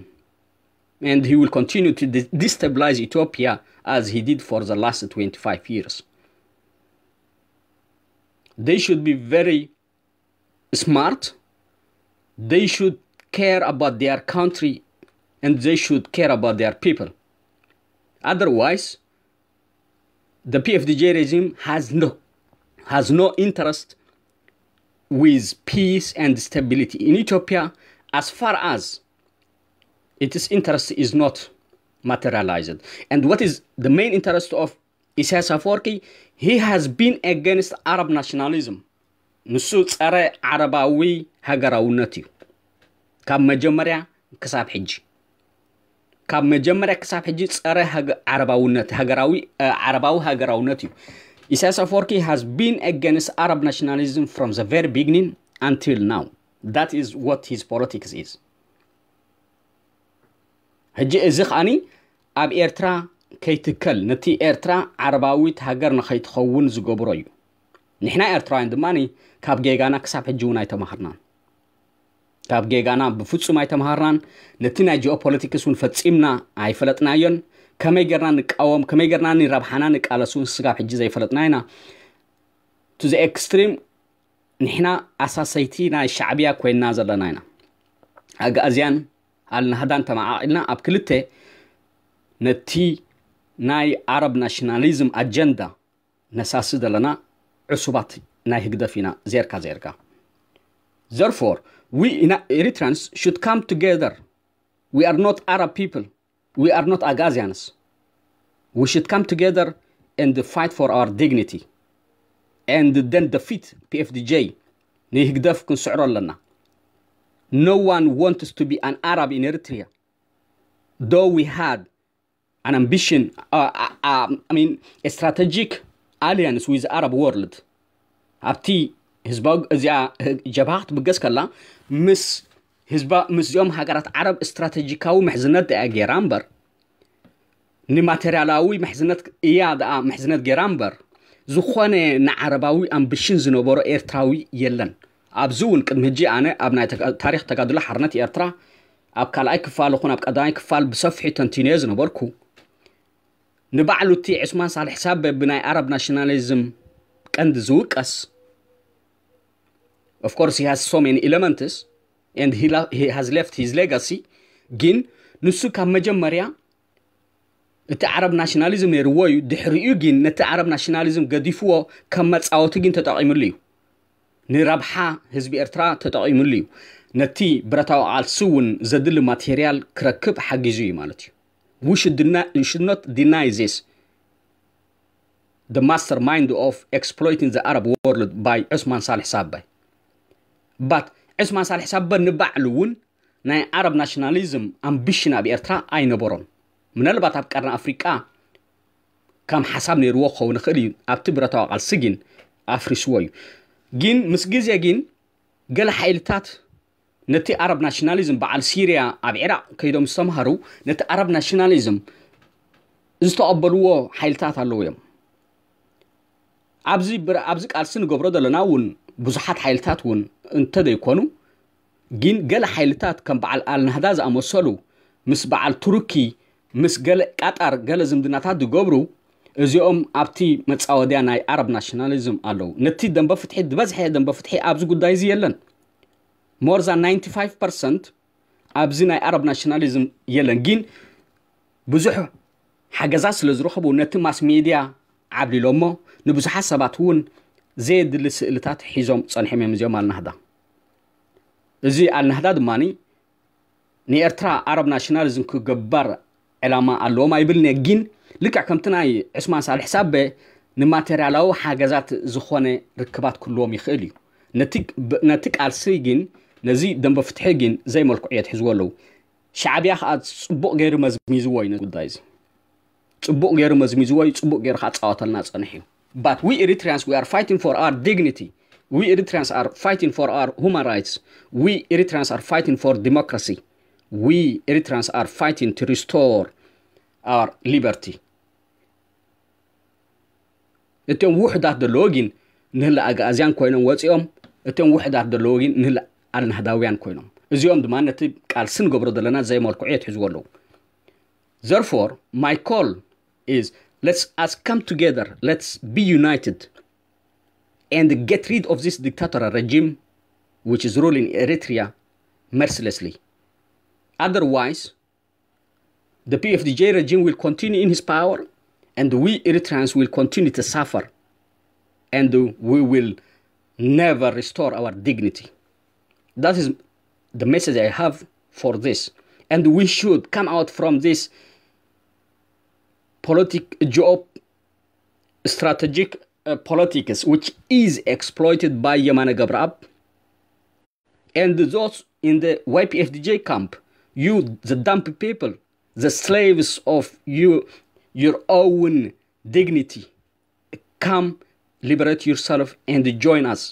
And he will continue to de- destabilize Ethiopia as he did for the last twenty-five years. They should be very smart. They should care about their country and they should care about their people. Otherwise, the P F D J regime has no has no interest with peace and stability in Ethiopia as far as its interest is not materialized. And what is the main interest of Isaias Afwerki? He has been against Arab nationalism. ንሱ ጸረ ዓረባዊ ሃገራውነት እዩ። ካብ መጀመርያ ክሳብ ሕጂ ካብ መጀመርያ ክሳብ ሕጂ ጸረ ሃገ- ዓረባውነት ሃገራዊ እ፣ ዓረባዊ ሃገራውነት እዩ። Isaias Afwerki has been against Arab nationalism from the very beginning until now. That is what his politics is. ሕጂ እዚ ከኣኒ ኣብ ኤርትራ ከይትከል፣ ነቲ ኤርትራ ዓረባዊት ሃገር ንኸይትኸውን ዝገብሮ እዩ። ንሕና ኤርትራውያን ድማ ካብ ጌጋና ክሳብ ሕጂ እውን ኣይተማሃርናን። ካብ ጌጋና ብፍጹም ኣይተማሃርናን። ነቲ ናይ ጂኦፖለቲክስ እውን ፈጺምና ኣይፈለጥናዮን። ከመይ ጌርና ንቃወም፣ ከመይ ጌርና ንረብሓና ንቃለስ እውን ስጋብ ሕጂ ዘይፈለጥና ኢና። To the extreme ንሕና ኣሳሰይቲ ናይ ሻዕብያ ኮይንና ዘለና ኢና። ኣግኣዝያን ኣልናህዳን ተመዓቒልና ኣብ ክልተ ነቲ ናይ ዓረብ ናሽናሊዝም ኣጀንዳ ነሳሲ ዘለና ዕሱባት ናይ ህግደፍ ኢና ዜርካ ዜርካ። Therefore, we Ina- Eritreans should come together. We are not Arab people. We are not Agazians. We should come together and fight for our dignity and then defeat P F D J. ንህግደፍ ክንስዕሮ ኣለና። No one wants to be an Arab in Eritrea. Though we had an ambition, uh, uh, uh, I mean, a strategic alliance with the Arab world. ኣብቲ ህዝባዊ እዚኣ ጀብሃ ክትብገስ ከላ ምስ ህዝባ ምስዚኦም ሃገራት ዓረብ ስትራቴጂካዊ ምሕዝነት ደኣ ገይራ እምበር ንማቴሪያላዊ ምሕዝነት እያ ደኣ ምሕዝነት ገይራ እምበር ዝኾነ ንዓረባዊ ኣምብሽን ዝነበሮ ኤርትራዊ የለን። ኣብዚ እውን ቅድሚ ሕጂ ኣነ ኣብ ናይ ተጋ- ታሪክ ተጋድሎ ሓርነት ኤርትራ ኣብ ካልኣይ ክፋል ይኹን ኣብ ቀዳማይ ክፋል ብሰፊሑ ተንቲነዮ ዝነበርኩ ንባዕሉ እቲ ዕስማን ሳልሕ ሳበ ብናይ ኣረብ ናሽናሊዝም ቀንዲ ዝውቀስ of course he has so many elements and he, la- he has left his legacy ግን ንሱ ካብ መጀመርያ እቲ ዓረብ ናሽናሊዝም ነይርዎ እዩ ድሕሪኡ ግን ነቲ ዓረብ ናሽናሊዝም ገዲፍዎ ከም መፃወቲ ግን ተጠቒምሉ እዩ ንረብሓ ህዝቢ ኤርትራ ተጠቒምሉ እዩ ነቲ ብረታዊ ቃልሲ እውን ዘድሊ ማቴርያል ክረክብ ሓጊዙ እዩ ማለት እዩ we should, deny, we should not deny this the mastermind of exploiting the Arab world by Usman Saleh Sabbe. But Usman Saleh Sabbe ንባዕሉ እውን ናይ ዓረብ ናሽናሊዝም ኣምቢሽን ኣብ ኤርትራ ኣይነበሮን። ምናልባት ኣብ ቀርኒ ኣፍሪቃ ከም ሓሳብ ነይርዎ ክኸውን ይኽእል እዩ። ኣብቲ ብረታዊ ቃልሲ ግን ኣፍሪስዎ እዩ። ግን ምስ ግዜ ግን ገለ ሓይልታት ነቲ ኣረብ ናሽናሊዝም በዓል ሲርያ ኣብ ዒራቕ ከይዶም ዝተምሃሩ ነቲ ኣረብ ናሽናሊዝም ዝተቐበልዎ ሓይልታት ኣለዉ እዮም ኣብዚ ብር- ኣብዚ ቃልሲ ንገብሮ ዘለና እውን ብዙሓት ሓይልታት እውን እንተዘይኮኑ ግን ገለ ሓይልታት ከም በዓል ኣልናህዳ ዝኣመሰሉ ምስ በዓል ቱርኪ ምስ ገለ ቃጣር ገለ ዝምድናታት ዝገብሩ እዚኦም ኣብቲ መፃወድያ ናይ ኣረብ ናሽናሊዝም ኣለዉ ነቲ ደንበ ፍትሒ ዝበዝሐ ደንበ ፍትሒ ኣብዚ ጉዳይ እዚ የለን more than ninety-five percent ኣብዚ ናይ ኣረብ ናሽናሊዝም የለን ግን ብዙሕ ሓገዛት ስለ ዝረኸቡ ነቲ ማስ ሜድያ ዓብሊሎሞ ንብዙሓት ሰባት እውን ዘየድሊ ስእልታት ሒዞም ፀንሖም እዮም እዚኦም ኣልናህዳ እዚ ኣልናህዳ ድማ ንኤርትራ ኣረብ ናሽናሊዝም ክገበር ዕላማ ኣለዎም ኣይብልን እየ ግን ልክዕ ከምቲ ናይ ዕስማን ሳልሕ ሳበ ንማቴርያላዊ ሓገዛት ዝኾነ ርክባት ክህልዎም ይኽእል እዩ ነቲ ብ- ነቲ ቃልሲ ግን ነዚ ደንበ ፍትሒ ግን ዘይመልክዑ እየ ትሕዝዎ ኣለዉ ሻዕብያ ከዓ ፅቡቕ ገይሩ መዝሚዝዎ እዩ ነዚ ጉዳይ እዚ ፅቡቕ ገይሩ መዝሚዝዎ እዩ ፅቡቕ ገይሩ ከዓ ፃወተልና ፀንሕ እዩ but we Eritreans we are fighting for our dignity we Eritreans are fighting for our human rights we Eritreans are fighting for democracy we Eritreans are fighting to restore our liberty እቶም ውሕዳት ዘለዎ ግን ንህለ ኣግኣዝያን ኮይኖም ወፂኦም እቶም ውሕዳት ዘለዎ ግን ንህለ ኣልናህዳውያን ኮይኖም እዚኦም ድማ ነቲ ቃልሲ ንገብሮ ዘለና ዘይመልክዑ የትሕዝዎ ኣለዉ therefore my call is, let's us come together, let's be united and get rid of this dictatorial regime which is ruling Eritrea mercilessly. Otherwise, the P F D J regime will continue in his power, and we Eritreans will continue to suffer, and we will never restore our dignity. That is the message I have for this. And we should come out from this politic, geo-, strategic uh, politics, which is exploited by Yemane Gebrab and those in the Y P F D J camp. You, the dumb people, the slaves of you, your own dignity, come liberate yourself and join us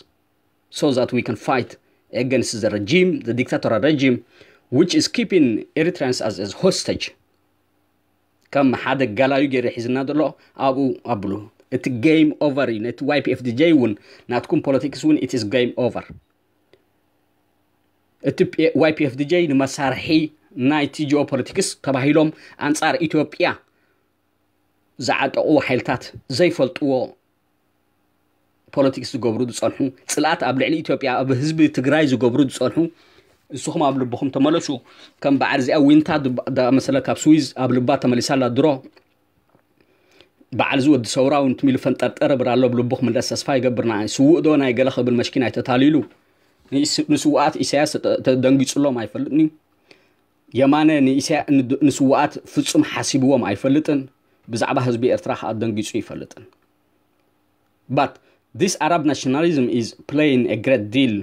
so that we can fight against the regime, the dictatorial regime, which is keeping Eritreans as, as hostage. ከም ሓደ ጋላዩ ገይሩ ሒዝና ዘሎ ኣብኡ ኣብሉ። እቲ game over እዩ። ነቲ Y P F D J እውን ናትኩም ፖለቲክስ እውን it is game over። እቲ Y P F D J ንመሳርሒ ናይቲ ጂኦፖለቲክስ ተባሂሎም ኣንጻር ኢትዮጵያ ዝዓጠቑ ሓይልታት ዘይፈልጥዎ ፖለቲክስ ዝገብሩ ዝጸንሑ፣ ጽልኣት ኣብ ልዕሊ ኢትዮጵያ ኣብ ህዝቢ ትግራይ ዝገብሩ ዝጸንሑ፣ ንስኹም ኣብ ልብኹም ተመለሱ። ከም በዓል እዚኣ ዊንታ ዝኣመሰለ ካብ ስዊዝ ኣብ ልባ ተመሊሳ ኣላ ድሮ። በዓል እዚ ወዲ ሰውራ እውን ትም ኢሉ ፈንጠርጠር እብል ኣሎ። ኣብ ልቡ ክምለስ ተስፋ ይገብር። ንዓይ ስዉእ ዶ ናይ ገለ ክብል መሽኪን ኣይተታሊሉ። ንስውኣት ኢሳያስ ተደንጊጹሎም ኣይፈልጥን እዩ። የማነ ንስውኣት ፍጹም ሓሲብዎም ኣይፈልጥን። ብዛዕባ ህዝቢ ኤርትራ ከዓ ደንጊጹ ይፈልጥን። But this Arab nationalism is playing a great deal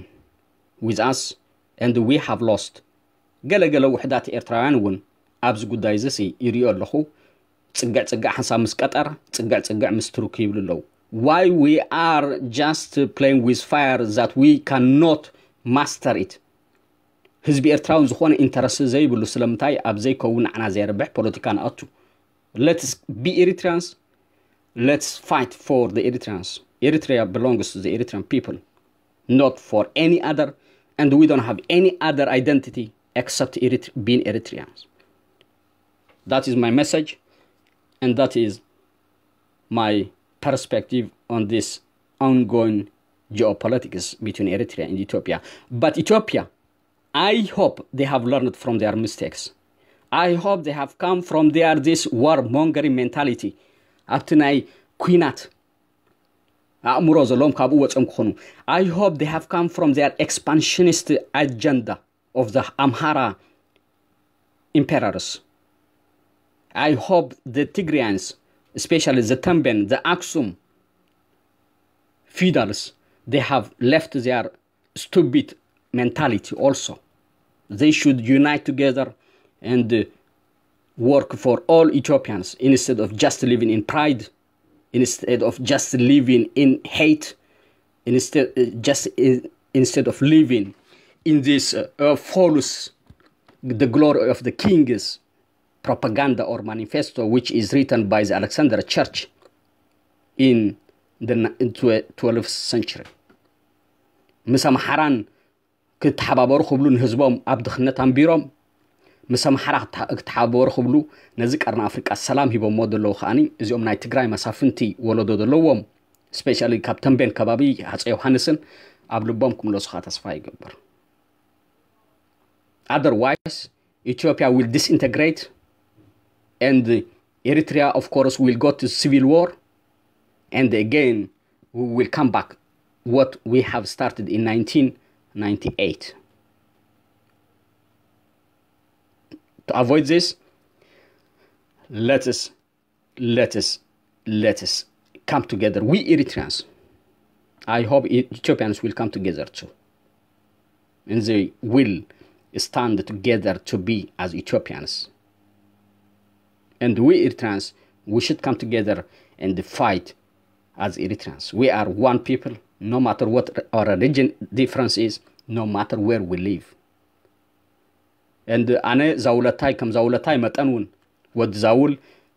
with us and we have lost. ገለ ገለ ውሕዳት ኤርትራውያን እውን ኣብዚ ጉዳይ እዚ ይሪኦ ኣለኹ። ጽግዕ ጽግዕ ሓንሳብ ምስ ቀጠር፣ ጽግዕ ጽግዕ ምስ ቱርክ ይብሉ ኣለዉ። Why we are just playing with fire that we cannot master it? ህዝቢ ኤርትራውን ዝኾነ ኢንተረስት ዘይብሉ ስለምንታይ ኣብ ዘይከውን ንዓና ዘየርብሕ ፖለቲካ ንኣቱ። Let's be Eritreans. Let's fight for the Eritreans. Eritrea belongs to the Eritrean people, not for any other, and we don't have any other identity except Erit- being Eritreans. That is my message, and that is my perspective on this ongoing geopolitics between Eritrea and Ethiopia. But Ethiopia, I hope they have learned from their mistakes. I hope they have come from their this warmongering mentality. ኣብቲ ናይ ኩናት ኣእምሮ ዘለዎም ካብኡ ወፅኦም ክኾኑ። I hope they have come from their expansionist agenda of the Amhara emperors. I hope the Tigrayans, especially the Temben, the Aksum feudals, they have left their stupid mentality also. They should unite together and uh, work for all Ethiopians instead of just living in pride, instead of just living in hate, instead uh, just in, instead of living in this uh, uh, false, the glory of the kings propaganda or manifesto, which is written by the Alexander Church in the twelfth century. ምስ ኣምሓራን ክተሓባበሩ ክብሉ ንህዝቦም ኣብ ድኽነት ኣንቢሮም፣ ምስ ኣምሓራ ክተሓባበሩ ክብሉ ነዚ ቀርኒ ኣፍሪቃ ሰላም ሂቦሞ ዘለዉ ከዓኒ እዚኦም ናይ ትግራይ መሳፍንቲ ወለዶ ዘለዎም፣ ስፔሻሊ ካብ ተንቤን ከባቢ ሃፀ ዮሃንስን ኣብ ልቦም ክምለሱ ከዓ ተስፋ ይገብር። Otherwise, Ethiopia will disintegrate, and Eritrea, of course, will go to civil war, and again, we will come back what we have started in nineteen ninety-eight. To avoid this, let us let us let us come together. We Eritreans, I hope Ethiopians will come together too, and they will stand together to be as Ethiopians. And we Eritreans, we should come together and fight as Eritreans. We are one people, no matter what our religion difference is, no matter where we live. And ኣነ ዛውለታይ ከም ዛውለታይ መጠን እውን ወዲ ዛውል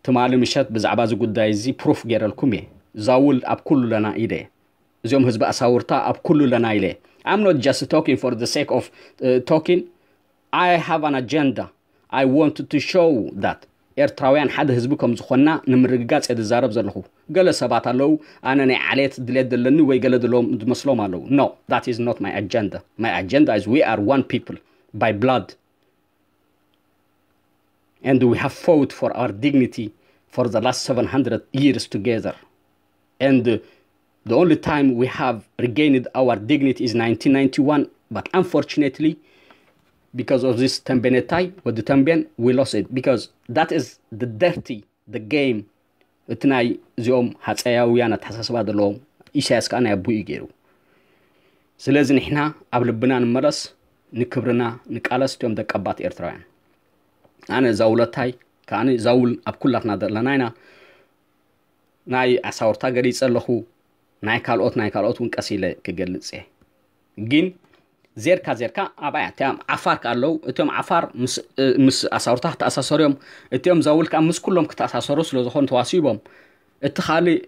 ትማሊ ምሸት ብዛዕባ እዚ ጉዳይ እዚ ፕሩፍ ገይረልኩም እየ። ዛውል ኣብ ኩሉ ለና ኢለ እዚኦም ህዝቢ ኣሳውርታ ኣብ ኩሉ ለና ኢለ I'm not just talking for the sake of uh, talking. I have an agenda. I want to show that ኤርትራውያን ሓደ ህዝቢ ከም ዝኾንና ንምርግጋጽ እየ ዝዛረብ ዘለኹ። ገለ ሰባት ኣለዉ፣ ኣነ ናይ ዓሌት ድሌት ዘለኒ ወይ ገለ ዘለዎም ዝመስሎም ኣለዉ። No, that is not my agenda. My agenda is we are one people by blood. And we have fought for our dignity for the last seven hundred years together. And the only time we have regained our dignity is nineteen ninety-one. But unfortunately, because of this Tembenetai, with the Temben, we lost it. Because that is the dirty, the game. እቲ ናይ እዚኦም ሃፀያውያን ኣተሓሳስባ ዘለዎም ኢሳያስ ከዓ ናይ ኣቦኡ ገይሩ። ስለዚ ንሕና ኣብ ልብና ንመለስ፣ ንክብርና ንቃለስ። እቲኦም ደቀባት ኤርትራውያን፣ ኣነ ዛውለታይ ከዓኒ ዛውል ኣብ ኩላትና ዘለና ኢና። ናይ ኣሳውርታ ገሊጸ ኣለኹ። ናይ ካልኦት ናይ ካልኦት እውን ቀስ ኢለ ክገልጽ እየ። ግን ዜርካ ዜርካ ኣብኣያ እቲኦም ዓፋር ከ ኣለዉ። እቲኦም ዓፋር ምስ ኣሳውርታ ክተኣሳሰሩ እዮም። እቲኦም ዛውል ከዓ ምስ ኩሎም ክተኣሳሰሩ ስለ ዝኾኑ ተዋሲቦም። እቲ ካልእ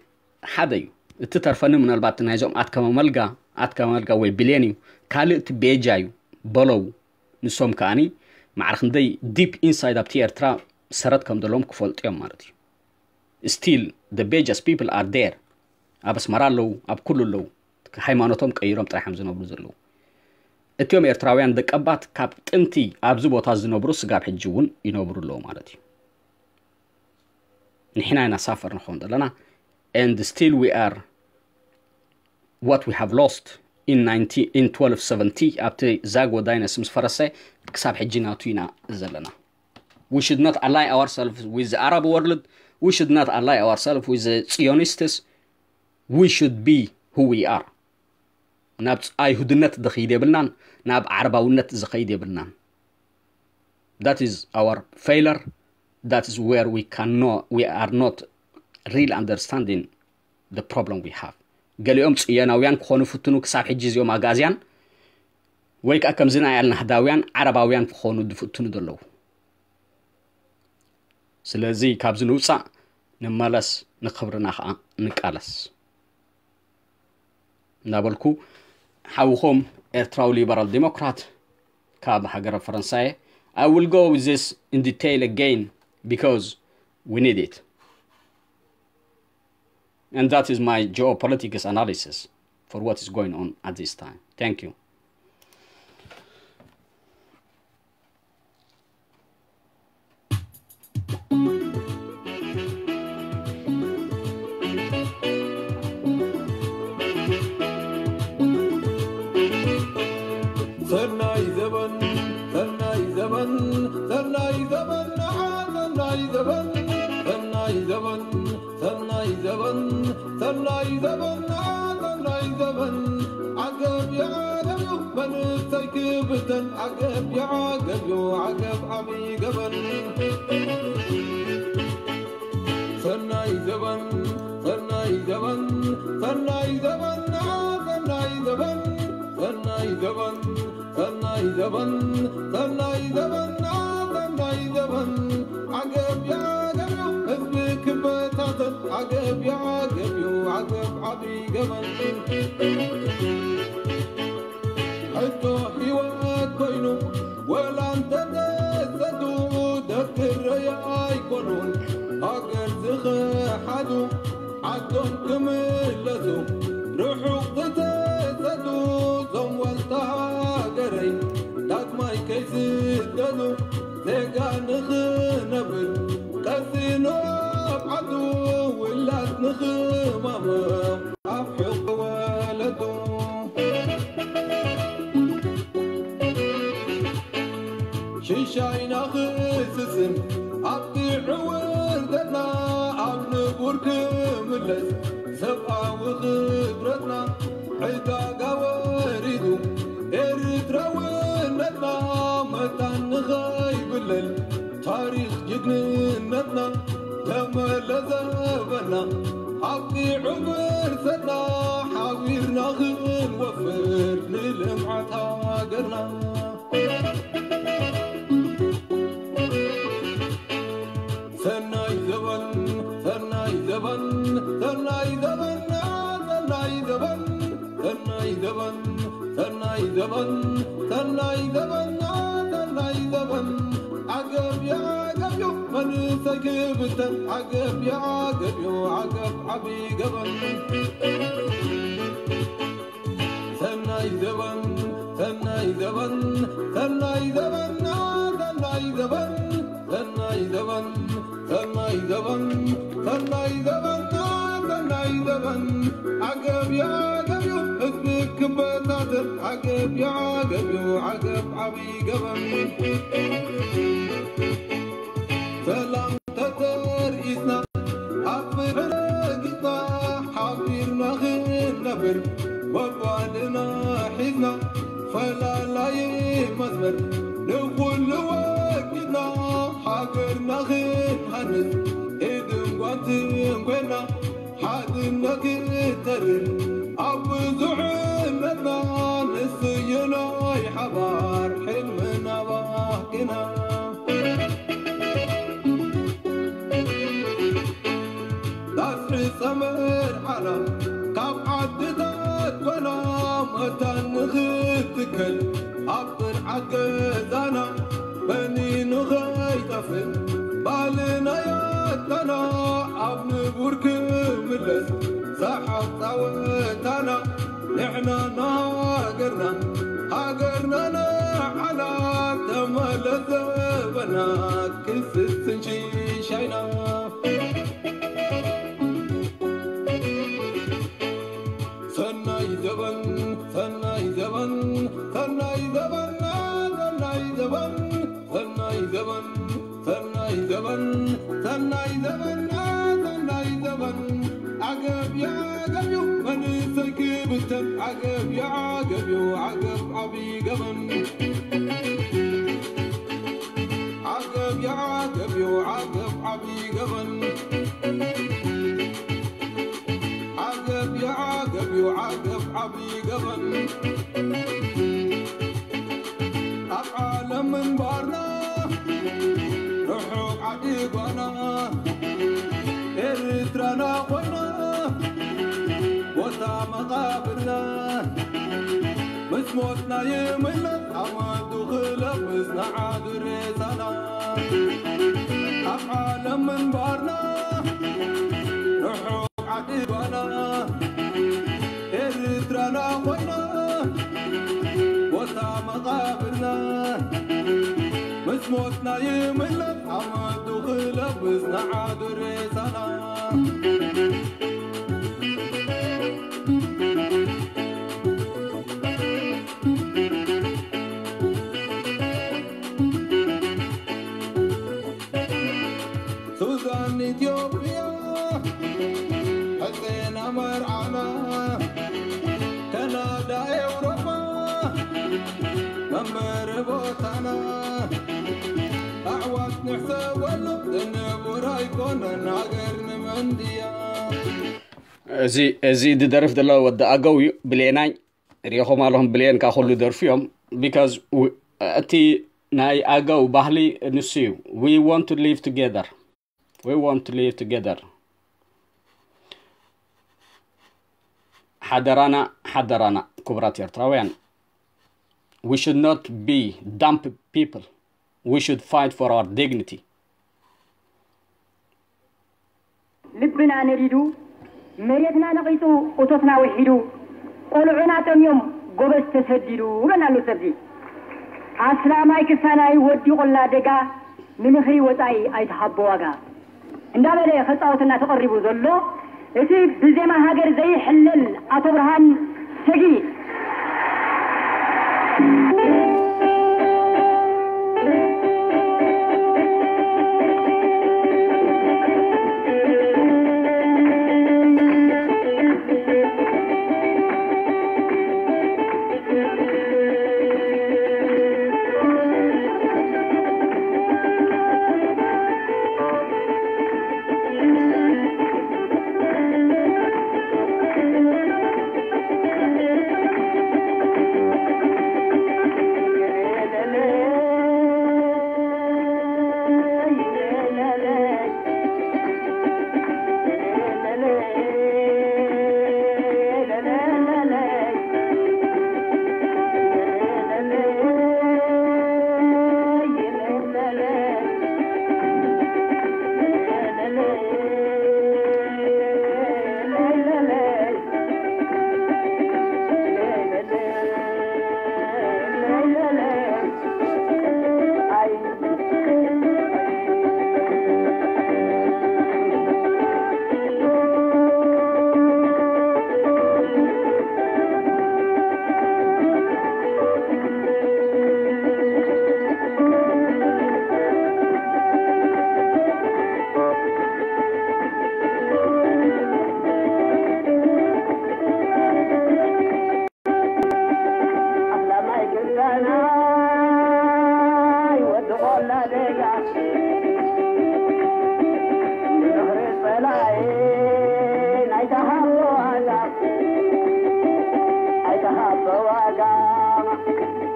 ሓደ እዩ። እቲ ተርፈኒ ምናልባት ናይዞም ኣትከመ መልጋ ኣትከመ መልጋ ወይ ብሌን እዩ። ካልእ እቲ ቤጃ እዩ። በለው። ንሶም ከዓኒ ማዕረ ክንደይ ዲፕ ኢንሳይድ ኣብቲ ኤርትራ ሰረት ከም ዘለዎም ክፈልጡ እዮም ማለት እዩ። Still the Bejas people are there። ኣብ ኣስመራ ኣለዉ፣ ኣብ ኩሉ ኣለዉ። ሃይማኖቶም ቀይሮም ጥራሕም ዝነብሩ ዘለዉ። እቲኦም ኤርትራውያን ደቀባት ካብ ጥንቲ ኣብዚ ቦታ ዝነብሩ ስጋብ ሕጂ እውን ይነብሩ ኣለዉ ማለት እዩ። ንሕና ኢና ሳፈር ንኸውን ዘለና። And still we are what we have lost in nineteen in twelve seventy ኣብቲ ዛጎ ዳይነስ ምስ ፈረሰ ክሳብ ሕጂ ናቱ ኢና ዘለና። We should not ally ourselves with the Arab world. We should not ally ourselves with the Zionists. We should be who we are. ናብ ኣይሁድነት ዝኸይድ የብልናን፣ ናብ ዓረባውነት ዝኸይድ የብልናን። That is our failure. That is where we cannot, we are not real understanding the problem we have. ገሊኦም ጽዮናውያን ክኾኑ ፍትኑ ክሳብ ሕጂ እዚኦም ኣጋዝያን ወይ ከዓ ከምዚ ናይ ኣልናህዳውያን ዓረባውያን ክኾኑ ዝፍትኑ ዘለዉ። ስለዚ ካብዚ ንውፃእ ንመለስ፣ ንክብርና ከዓ ንቃለስ እናበልኩ ሓውኹም ኤርትራዊ ሊበራል ዲሞክራት ካብ ሃገረ ፈረንሳየ I will go with this in detail again because we need it. And that is my geopolitics analysis for what is going on at this time. Thank you. ሰናይ ዘበን ሰናይ ዘበን ሰናይ ዘበን ንዓ ሰናይ ዘበን ሰናይ ዘበን ሰናይ ዘበን ሰናይ ዘበን ንዓ ሰናይ ዘበን ዓገብ ይዓገብ እዩ መንእሰይ ክብተን ዓገብ ይዓገብ እዩ ዓገብ ዓብዪ ገበን ሰናይ ዘበን ሰናይ ዘበን ሰናይ ዘበን ንዓ ሰናይ ዘበን ሰናይ ዘበን ሰናይ ዘበን ሰናይ ዘበን ንዓ ሰናይ ዘበን ዓገብ ይዓገብ እዩ ህዝቢ ክበታተን ዓገብ ይዓገብ እዩ ዓገብ ዓብዪ ገበን ሕቶ ህይወት ኮይኑ ወላ እንተተሰዱ ደክረይ ኣይኮኑን ሃገር ዝኸሓዱ ዓዶም ክምለሱ ርሑቕ ዝተሰዱ ዞም ዋልታ ሃገረይ ዳግማይ ከይስደዱ ዜጋ ንኽነብል ቀሲኑ ኣብ ዓዱ ውላድ ንኽማመቕ ኣብ ሕቕ ወለዱ ሽሻይና ክስስን ኣብቲ ዕውርደትና ኣብ ንቡር ክምለስ ሰብኣዊ ክብረትና ዕዳጋ ወሪዱ ኤርትራውነትና መታን ንኸይብለል ታሪኽ ጅግንነትና ተመለሰበና ሓቂ ዕብርሰና ሓቢርና ክንወፍር ንልምዓት ሃገርና ሰናይ ዘበን ሰናይ ዘበን ሰናይ ዘበን ሰናይ ዘበን ሰናይ ዘበን ሰናይ ዘበን ሰናይ ዘበን ሰናይ ዘበን ዓገብ የዓገብ ዩ መንእሰይ ክብተን፣ ዓገብ የዓገብ ዩ ዓገብ ዓብዪ ገበን። ሰናይ ዘበን፣ ሰናይ ዘበን፣ ሰናይ ዘበን፣ ሰናይ ዘበን፣ ሰናይ ዘበን፣ ሰናይ ዘበን፣ ሰናይ ዘበን፣ ሰናይ ዘበን። ዓገብ የዓገብ ዩ ህዝቢ ክበታተን፣ ዓገብ የዓገብ ዩ ዓገብ ዓብዪ ገበን። ሰላም ተተርኢስና፣ ኣብ ፍቕሪ ረጊጽና፣ ሓቢርና ክንነብር፣ ወጓልና ሒዝና፣ ፈላላይ መስመር ንኹሉ ወጊድና፣ ሃገርና ክንሃንጽ፣ ኢድን ጓንትን ኮይና፣ ሓድነት ክተርር፣ ኣብ ብዙሕነትና ንስዮ ናይ ሓባር ሕልምና ባህግና። ዳስ ጸመር ዓላ ካብ ዓድታት ጓና መታን ንኽትከል ኣብ ጥርዓት ገዛና በኒ ንኸይጠፍእ ባልና ያጣና ኣብ ንቡር ክምለስ ሰሓቕ ጻወታና ንሕና ንሃገርና ሃገርና ንዓና ተመለስ ዘበና ክስስን ሽሻይና። ሰናይ ዘበን ሰናይ ዘበን ሰናይ ዘበን ሰናይ ዘበን ሰናይ ዘበን ሰናይ ዘበን ሰናይ ዘበን ሰናይ ዘበን። ዓገብ የዓገብ ዩ መንእሰይ ክብተን፣ ዓገብ የዓገብ ዩ ዓገብ ዓብዪ ገበን። ዓገብ የዓገብ ዩ ዓገብ ዓብዪ ገበን። ዓገብ የዓገብ ዩ ዓገብ ዓብዪ ገበን። ኣብ ዓለም ምንባርና ርሑቕ ዓዲ ጓና ኤርትራና ኮይና ቦታ መቓብርና ምስ ሞትና ይምለስ ኣመቱ ክለብስ ንዓዱ ሬሳና። ኣብ ዓለም ምንባርና ርሑቕ ዓዲ ጓና ኤርትራና ኮይና ቦታ መቓብርና ምስ ሞትና ይምለስ ኣመቱ ክለብስ ንዓዱ ሬሳና። ሱዳን ኢትዮጵያ ሕፅና መርዓና ካናዳ ኤውሮጳ መንበሪ ቦታና ኣዕዋት ንሕሰበሉ ንቡር ኣይኮነን ሃገር ንመንድያ። እዚ እዚ ዝደርፍ ዘሎ ወዲ ኣገው እዩ። ብሌናይ ሪኢኹም ኣለኹም። ብሌን ካብ ኩሉ ደርፉ እዮም። Because እቲ ናይ ኣገው ባህሊ ንሱ እዩ። We want to live together. We want to live together. ሓደራና ሓደራና ክቡራት ኤርትራውያን፣ we should not be dumb people. We should fight for our dignity. ልብና ነዲዱ መሬትና ነቒጹ እቶትና ውሒዱ ቆልዑና ጠምዮም ጎበዝ ተሰዲዱ በና ኣሎ ሰብዚ ኣስላማይ ክሳናይ ወዲቑላ ደጋ ንምኽሪ ወጻኢ ኣይትሃቦ ዋጋ እንዳበለ ከጻወተና ተቐሪቡ ዘሎ እቲ ብዜማ ሃገር ዘይሕለል ኣቶ ብርሃን ሰጊድ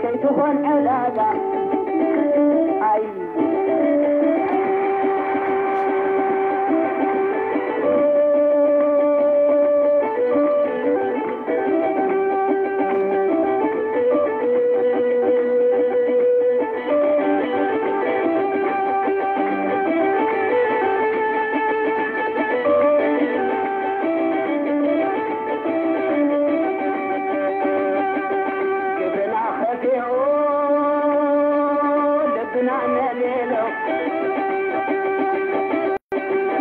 ከይትኾን ዕዳጋ ኣይ ግብርና ኸፊኡ ልብና ነሊሉ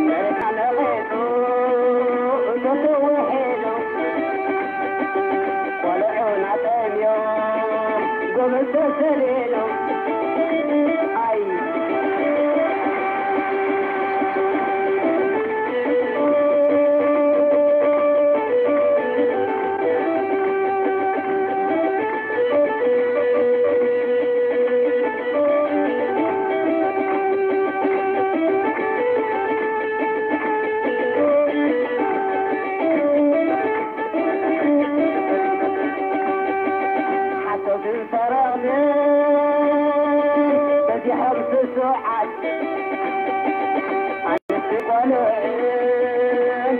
መሬትና ነቒጹ እቶቱ ውሒዱ ቆልዑና ጠምዮም ጎበዝ ተሰሊሉ ኣይ ሓሰብትን ሰረቕትን በዚሖም ስሱዓት ኣንስቲ ቆልዑን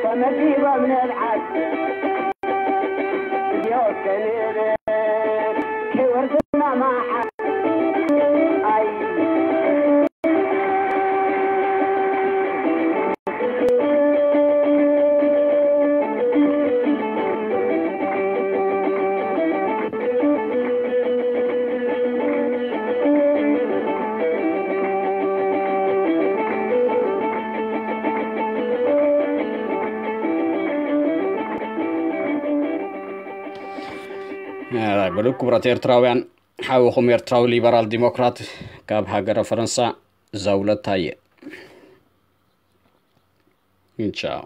ተመዲቦም ንብዓት እዚኦም ከንብል ከይወርድና መዓት ኣይ ብሉ ክቡራት ኤርትራውያን፣ ሓውኹም ኤርትራዊ ሊበራል ዲሞክራት ካብ ሃገረ ፈረንሳ ዘውለታየ። ቻው።